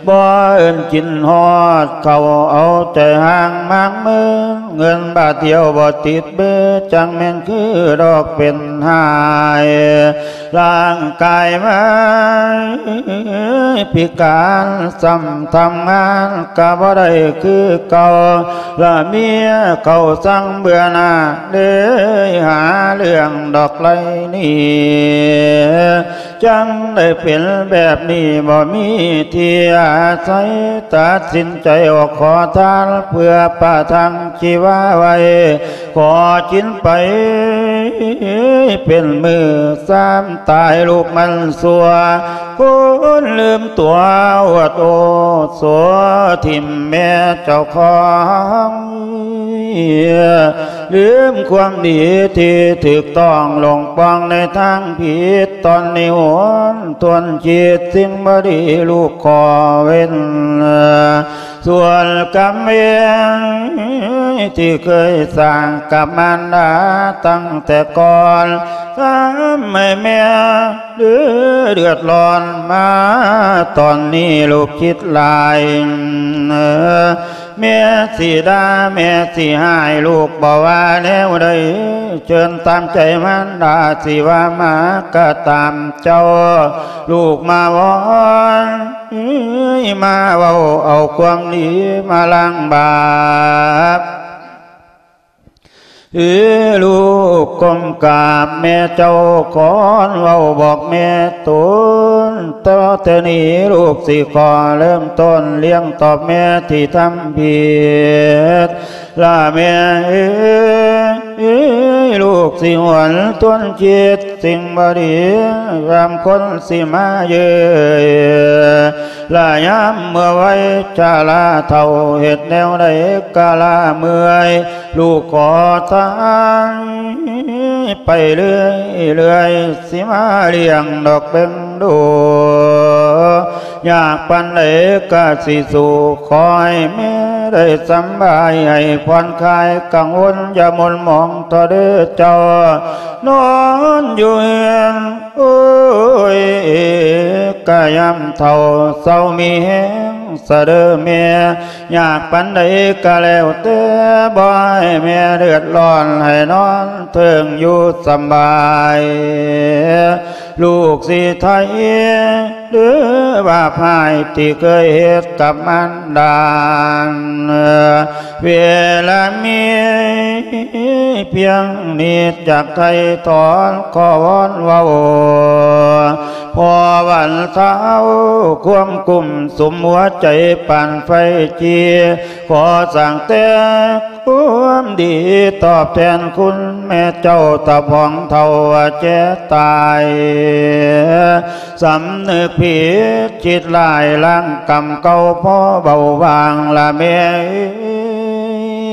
ບໍ່ເອີ້ນກິນຮອດເຂົ້າ ເອົາໃຈຫ່າງມາກເມີ ເງິນບາດດຽວບໍ່ຕິດເບີ ຈັ່ງແມ່ນຄືດອກເປັນຫາຍ ຮ່າງກາຍມາພິການ ຊ້ຳທຳງານກະບໍ່ໄດ້ຄືເກົ່າ ລະເມຍເຂົາສັງເບື່ອໜ້າ ເລີຍຫາເລື່ອງດອກໄລ່ໜີ ຈັ່ງໄດ້ເປັນແບບນີ້ ບໍ່ມີທີ່ອາໄສ ຕັດສິນໃຈອອກຂໍທານ ເພື່ອປະທັງຊີວາໄວ້ ຂໍກິນໄປເປັນມື້ ຊ້ຳຕາຍລູກມັນຊົ່ວ ຄົນລືມຕົວອວດໂອ້ໂສ ຖິ້ມແມ່ເຈົ້າຂອງ ລືມຄວາມດີທີ່ຖືກຕ້ອງ ຫຼົງປ່ອງໃນທາງຜິດ ຕອນນີ້ຫົນທົນຄິດ ສິ່ງບໍ່ດີລູກຂໍເວັ້ນ ສ່ວນກຳເວນທີ່ເຄີຍສ້າງກັບມານດາຕັ້ງແຕ່ກ່ອນ ທຳໃຫ້ແມ່ເດືອດຮ້ອນ ມາຕອນນີ້ລູກຄິດຫຼາຍ ແມ່ຊິດ່າແມ່ຊິຮ້າຍ ລູກບໍ່ວ່າແນວໃດ ເຊີນຕາມໃຈມານດາ ຊິວ່າມາກະຕາມເຈົ້າ ລູກມາວອນ ເອີຍ ມາເວົ້າເອົາຄວາມດີມາລ້າງບາບ ເອີ ລູກກົ້ມກາບແມ່ເຈົ້າ ຄອນເວົ້າບອກແມ່ຕົນ ຕໍ່ແຕ່ນີ້ລູກຊິຂໍເລີ່ມຕົ້ນ ລ້ຽງຕອບແມ່ທີ່ທຳຜິດ ລະແມ່ເອີຍ ລູກຊິຫວນທວນຄິດ ສິ່ງບໍ່ດີ ຍາມຄົນຊິມາເຍີ້ຍ ລະຍາມເມື່ອໄວຊະລາເຖົ້າ ເຮັດແນວໃດກະລາເມື່ອຍ ລູກຂໍທານໄປເລື້ອຍໆ ຊິມາລ້ຽງດອກເບັງດູ ຍາກປານໃດກະຊິສູ້ ຂໍໃຫ້ແມ່ໄດ້ສຳບາຍ ໃຫ້ຜ່ອນຄາຍກັງວົນ ຢ່າມົນໝອງທໍ່ເດີ້ເຈົ້າ ນອນຢູ່ເຮືອນ ໂອ້ຍ ກະຍາມເຖົ້າເຊົາມີແຮງຊະເດີ້ແມ່ ຍາກປານໃດກະແລ້ວແຕ່ ບໍ່ໃຫ້ແມ່ເດືອດຮ້ອນ ໃຫ້ນອນເທິງຢູ່ສຳບາຍ ລູກຊິໄຖ່ເດີ້ບາບຮ້າຍ ທີ່ເຄີຍເຮັດກັບມານດາ ເວລາມີພຽງນິດ ຢາກໄຖ່ຖອນຂໍວອນເວົ້າ ພໍບັນເທົາຄວາມກຸ້ມ ສຸມຫົວໃຈປານໄຟຈີ ຂໍສ້າງແຕ່ຄວາມດີ ຕອບແທນຄຸນແມ່ເຈົ້າ ຕາພອງເຖົ້າແຈຕາຍ ສຳນຶກຜິດຄິດຮ້າຍ ລ້າງກຳເກົ່າພໍເບົາບາງລະແມ່ເອີຍ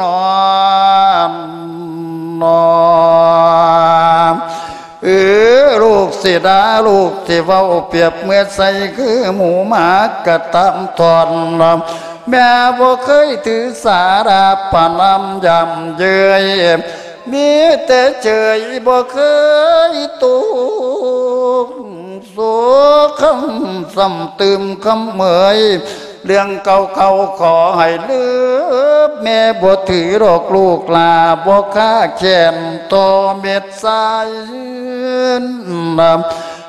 ນອນ ເອີ ລູກຊິດ່າ ລູກຊິເວົ້າ ປຽບເໝືອນໃສ່ຄືໝູໝາກະຕາມທອນ ແມ່ບໍ່ເຄີຍຖືສາລາປະນາມຢາມເຍີ້ຍ ມີແຕ່ເຈີຍ ບໍ່ເຄີຍຕຸກໂສກ ຄຳຊ້ຳຕື່ມຄຳເໝີຍ ເລື່ອງເກົ່າໆຂໍໃຫ້ລືມ ແມ່ບໍ່ຖືດອກລູກຫຼ້າ ບໍ່ຄາແຄ້ນຕໍ່ເມັດຊາຍ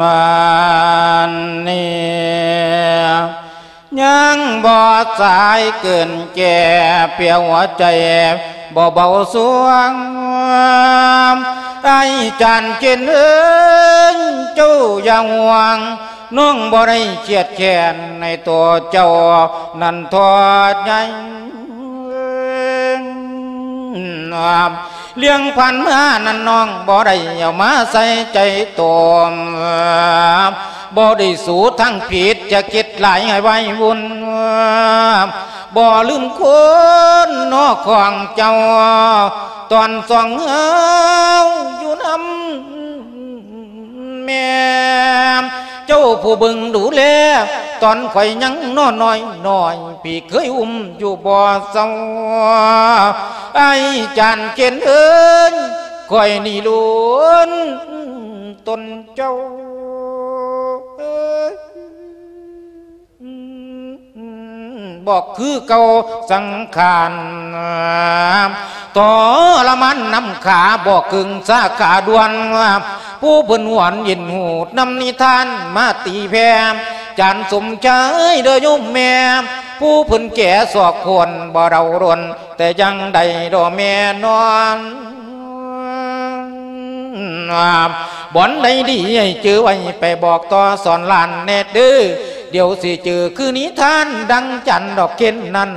ມານນີ້ ຍັງບໍ່ສາຍເກີນແກ່ ເພຍຫົວໃຈບໍ່ເບົາສວງ ອ້າຍຈານເກນເອີຍ ເຈົ້າຢ່າຫ່ວງ ນ້ອງບໍ່ໄດ້ຄຽດແຄ້ນໃນຕົວເຈົ້ານັ້ນທອດໃຫຍ່ ລ່ຽງຜ່ານມານັ້ນນ້ອງບໍ່ໄດ້ເອົາມາໃສ່ໃຈໂຕ ບໍ່ໄດ້ສູ້ທາງຜິດຈະຄິດຫຼາຍໃຫ້ໄວວຸ່ນ ບໍ່ລືມຄຸນນອກຂອງເຈົ້າ ຕອນສອງເຮົາຢູ່ນຳ ແມ່ເຈົ້າຜູ້ເບິ່ງດູແລ ຕອນຂ້ອຍຍັງນ້ອຍນ້ອຍ ພີ່ເຄີຍອຸ້ມຢູ່ບໍ່ເຊົາ ອ້າຍຈານເກນເອີຍ ຂ້ອຍນີ້ລຸນຕົນເຈົ້າ ບໍ່ຄືເກົ່າສັງຂານ ທໍລະມານນຳຂາ ບໍ່ເກິ່ງສາຂາດ່ວນ ຜູ້ເພິ່ນຫວນເຢັນຫູດນຳນິທານມາຕີແຜ່ ຈານສົມຊາຍເດີໂຍມແມ່ ຜູ້ເພິ່ນແກ່ສອກຄົນບໍ່ເດົາດົນ ແຕ່ຍັງໄດ້ດໍແມ່ນອນ ບ່ອນໃດດີໃຫ້ຈື່ໄວ້ ໄປບອກຕໍ່ສອນຫຼານແດ່ເດີ ດຽວຊິຈື່ຄືນິທານດັ່ງຈັນດອກເຂັນນັ້ນ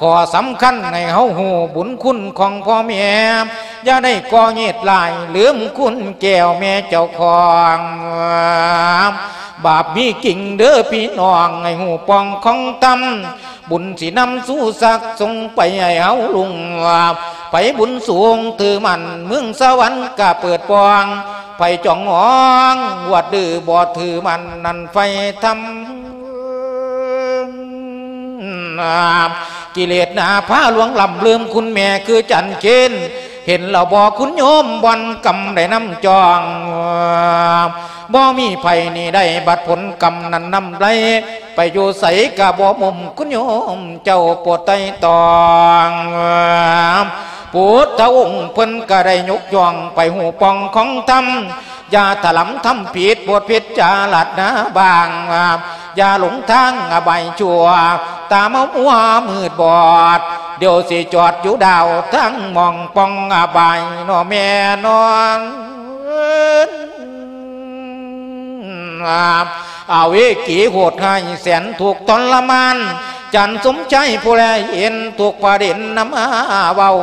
ຂໍ້ສຳຄັນໃຫ້ເຮົາຮູ້ບຸນຄຸນຂອງພໍ່ແມ່ ຢ່າໄດ້ກໍ່ເຫດຫຼາຍ ລືມຄຸນແກ້ວແມ່ເຈົ້າຂອງ ບາບມີຈິງເດີພີ່ນ້ອງ ໃຫ້ຮູ້ປ່ອງຂອງທຳ ບຸນຊິນຳສູ່ສັກສົ່ງໄປໃຫ້ເຮົາລຸງ ໃຜບຸນສູງຖືໝັ້ນ ເມືອງສະຫວັນກະເປີດປ່ອງ ໃຜຈອງຫອງຫວດດື້ບໍ່ຖືໝັ້ນ ນັ້ນໄຟທຳ ກິເລດໜ້າພາຫຼວງລຳ ລືມຄຸນແມ່ຄືຈັນເຄນ ເຫັນແລ້ວບໍ່ຄຸນໂຍມ ບ່ອນກຳໄດ້ນຳຈອງ ບໍ່ມີໃຜໜີໄດ້ ບັດຜົນກຳນັ້ນນຳໄຫຼ ໄປຢູ່ໃສກະບໍ່ມຸມ ຄຸນໂຍມເຈົ້າໂປດໄຕ່ຕອງ ພຸດທະອົງເພິ່ນກະໄດ້ຍົກຍ້ອງ ໄປຮູ້ປ່ອງຂອງທຳ ຢ່າຖະຫຼຳທຳຜິດ ໂປດພິຈາລະນາບ້າງ ຢ່າຫຼົງທາງອະບາຍຊົ່ວ ຕາມາມົວມືດບອດ ດຽວຊິຈອດຢູ່ດາວ ທາງໝ່ອງປ່ອງອະບາຍ ນໍແມ່ນອນ. ອາເວກີໂຫດຮ້າຍແສນທຸກທໍລະມານ ຈັນສົມໄຊຜູ້ແລເຫັນທຸກປະເດັນນຳມາເວົ້າ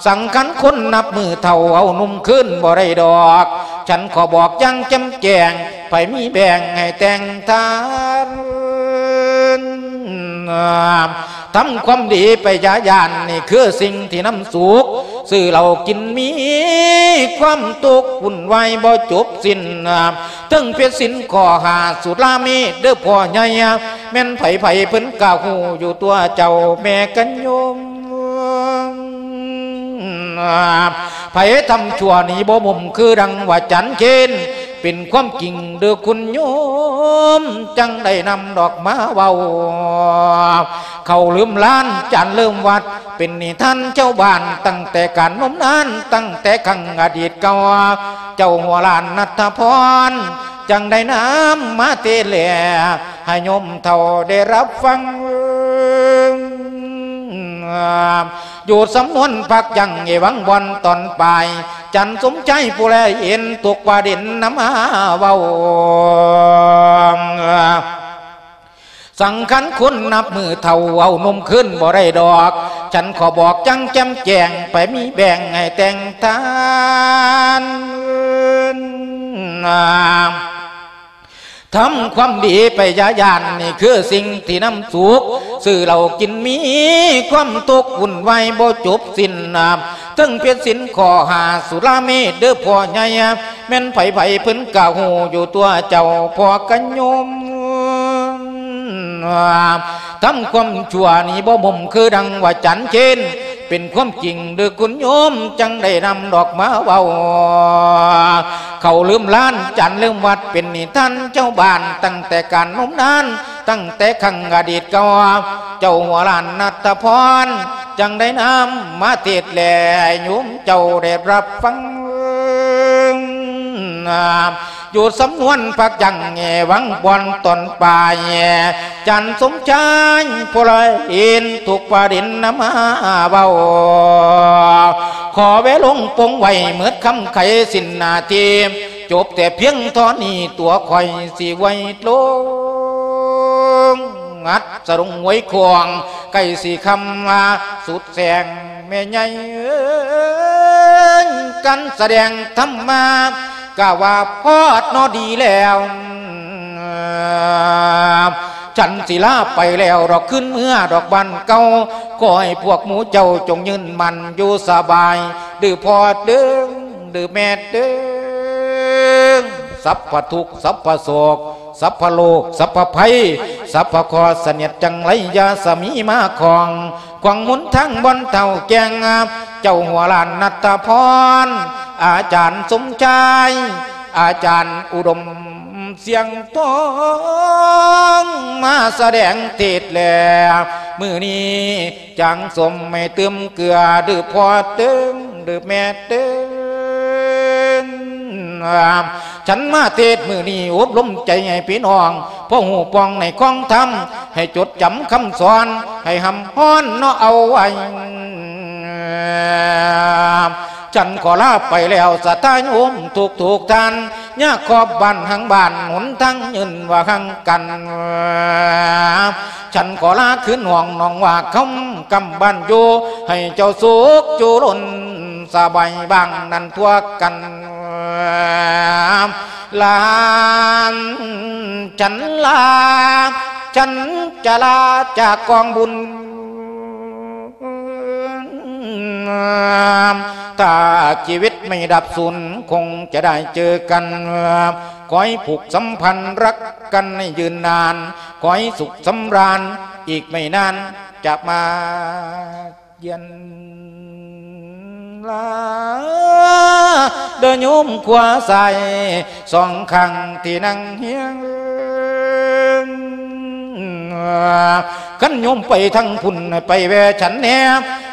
ສັງຂານຄົນນັບມື້ເຖົ້າ ເອົາໜຸ່ມຄືນບໍ່ໄດ້ດອກ ສັນຂໍບອກຢ່າງແຈ່ມແຈ້ງ ໃຜມີແບ່ງໃຫ້ແຕ່ງທານ ທຳຄວາມດີໄປຢ່າຢ້ານ ນີ້ຄືສິ່ງທີ່ນຳສຸກ ຊື້ເຫຼົ້າກິນມີຄວາມທຸກວຸ່ນວາຍບໍ່ຈົບສິ້ນ ເຖິງຜິດສິນຂໍ້ຫ້າສຸລາເມດເດີພໍ່ໃຫຍ່ ແມ່ນໃຜໆເພິ່ນກະຮູ້ຢູ່ຕົວເຈົ້າແມ່ກັນໂຍມ ໃຜທຳຊົ່ວນີ້ບໍ່ມຸມ ຄືດັ່ງວ່າຈັນເຄນ ເປັນຄວາມຈິງເດີຄຸນໂຍມ ຈັ່ງໄດ້ນຳດອກມາເວົ້າ ເຂົາລືມລ້ານ ຈັນລືມວັດ ເປັນນິທານຊາວບ້ານ ຕັ້ງແຕ່ການນົມນານ ຕັ້ງແຕ່ຄັ້ງອະດີດເກົ່າ ເຈົ້າຫົວລ້ານນັດທະພອນ ຈັ່ງໄດ້ນຳມາເທດແລ ໃຫ້ໂຍມເຖົ້າໄດ້ຮັບຟັງ ຢູ່ສຳນວນພັກຢັ້ງ ເອວັງບ່ອນຕອນປາຍ ຈັນສົມໄຊຜູ້ແລເຫັນທຸກປະເດັນນຳມາເວົ້າ ສັງຂານຄົນນັບມື້ເຖົ້າ ເອົາໜຸ່ມຄືນບໍ່ໄດ້ດອກ ສັນຂໍບອກຢ່າງແຈ່ມແຈ້ງ ໃຜມີແບ່ງໃຫ້ແຕ່ງທານ ທຳຄວາມດີໄປຢ່າຢ້ານ ນີ້ຄືສິ່ງທີ່ນຳສຸກ ຊື້ເຫຼົ້າກິນມີຄວາມທຸກວຸ່ນວາຍບໍ່ຈົບສິ້ນ ເຖິງຜິດສິນຂໍ້ຫ້າສຸລາເມດເດີພໍ່ໃຫຍ່ ແມ່ນໃຜໆເພິ່ນກະຮູ້ຢູ່ຕົວເຈົ້າພໍ່ກັນໂຍມ ທຳຄວາມຊົ່ວນີ້ບໍ່ມຸມ ຄືດັ່ງວ່າຈັນເຄນ ເປັນຄວາມຈິງເດີຄຸນໂຍມ ຈັ່ງໄດ້ນຳດອກມາເວົ້າ ເຂົາລືມລ້ານ ຈັນລືມວັດ ເປັນນິທານຊາວບ້ານ ຕັ້ງແຕ່ການນົມນານ ຕັ້ງແຕ່ຄັ້ງອະດີດເກົ່າ ເຈົ້າຫົວລ້ານນັດທະພອນ ຈັ່ງໄດ້ນຳມາເທດແລ ໃຫ້ໂຍມເຈົ້າໄດ້ຮັບຟັງ ຢູ່ສຳນວນພັກຢັ້ງ ເອວັງບ່ອນຕອນປາຍ ຈັນສົມໄຊຜູ້ລະເຫັນທຸກປະເດັນນຳມາເວົ້າ ຂໍແວລົງປົງໄວ້ ໝົດຄຳໄຂສິ້ນໜ້າທີ່ ຈົບແຕ່ພຽງທໍ່ນີ້ ຕົວຂ້ອຍຊິໄວ້ລົງ ອັດສະດົງຫວຍຂອງ ໃກ້ຊິຄ່ຳວ່າສຸດແສງ ແມ່ໃຫຍ່ເອີຍ ການສະແດງທຳມາ ກະວ່າພອດເນາະ ດີແລ້ວ ສັນສິລາໄປແລ້ວດອກ ຄືນເມືອດອກບ້ານເກົ່າ ຂໍໃຫ້ພວກໝູ່ເຈົ້າຈົ່ງຍືນໝັ້ນຢູ່ສະບາຍ ເດີພໍ່ເດີ ເດີແມ່ເດີ ສັບພະທຸກ ສັບພະໂສກ ສັບພະໂລກ ສັບພະໄພ ສັບພະເຄາະສະເໜັດຈັງໄລ ຢ່າສະມີມາຂອງ ຂວາງຫົນທາງບ່ອນເຖົ້າແກ່ງ ເຈົ້າຫົວລ້ານນັດທະພອນ ອາຈານສົມຊາຍ ອາຈານອຸດົມ ສຽງທອງ ມາສະແດງເທດແລ ມື້ນີ້ ຈາງສົມໃຫ້ຕື່ມເກືອ ເດີພໍ່ເຕີງ ເດີແມ່ເຕີງ ສັນມາເທດມື້ນີ້ ອົບລົມໃຈໃຫ້ພີ່ນ້ອງ ພໍຮູ້ປ່ອງໃນຄອງທຳ ໃຫ້ຈົດຈຳຄຳສອນ ໃຫ້ຮ່ຳຮອນເນາະເອົາໄວ້ ສັນຂໍລາໄປແລ້ວ ສະທາໂຍມທຸກໆທ່ານ ຍາຂອບບ້ານຫາງບ້ານ ຫົນທາງຍືນວ່າຫ່າງກັນ ສັນຂໍລາຄືນຫ້ອງໜອງວ່າຄຳ ກຳບ້ານຢູ່ ໃຫ້ເຈົ້າສຸກຈຸລົນ ສະບາຍບ້າງນັ້ນທົ່ວກັນ ລາ ສັນລາ ສັນຈະລາຈາກກອງບຸນ ຖ້າຊີວິດໄມ່ດັບສູນ ຄົງຈະໄດ້ເຈີກັນ ຂໍໃຫ້ຜູກສຳພັນ ຮັກກັນໃຫ້ຍືນນານ ຂໍໃຫ້ສຸກສຳລານ ອີກໄມ່ນານຈະມາຢຽນ. ລາ ເດີໂຍມຂວາຊ້າຍສອງຂ້າງທີ່ນັ່ງຮຽງ ຄັນໂຍມໄປທາງພຸ້ນ ໃຫ້ໄປແວ່ສັນແດ່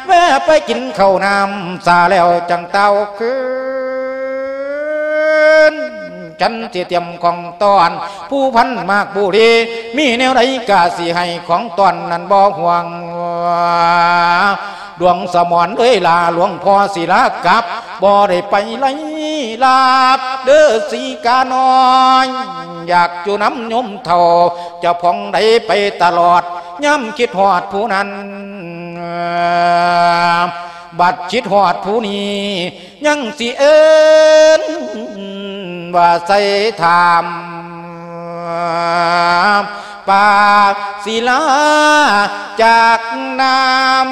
ແວ່ໄປກິນເຂົ້ານ້ຳຊາແລ້ວຈັ່ງຕ່າວຄືນ. ຈັນຊິຕຽມຂອງຕ້ອນ ພູພັນໝາກບູລີ ມີແນວໃດກະຊິໃຫ້ຂອງຕ້ອນນັ້ນບໍ່ຫ່ວງ. ດວງສະໝອນເອີຍຫຼາ ຫຼວງພໍ່ສິລາກັບ ບໍ່ໄດ້ໄປໄລລາບເດີສີການ້ອຍ ຢາກຢູ່ນຳໂຍມເຖົ້າ ເຈົ້າຂອງໃດໄປຕະຫຼອດ ຍາມຄິດຮອດຜູ້ນັ້ນ ບັດຄິດຮອດຜູ້ນີ້ ຍັງຊິເອີ້ນວ່າໃສ່ຖາມ ປາກສິລາຈາກນ້ຳ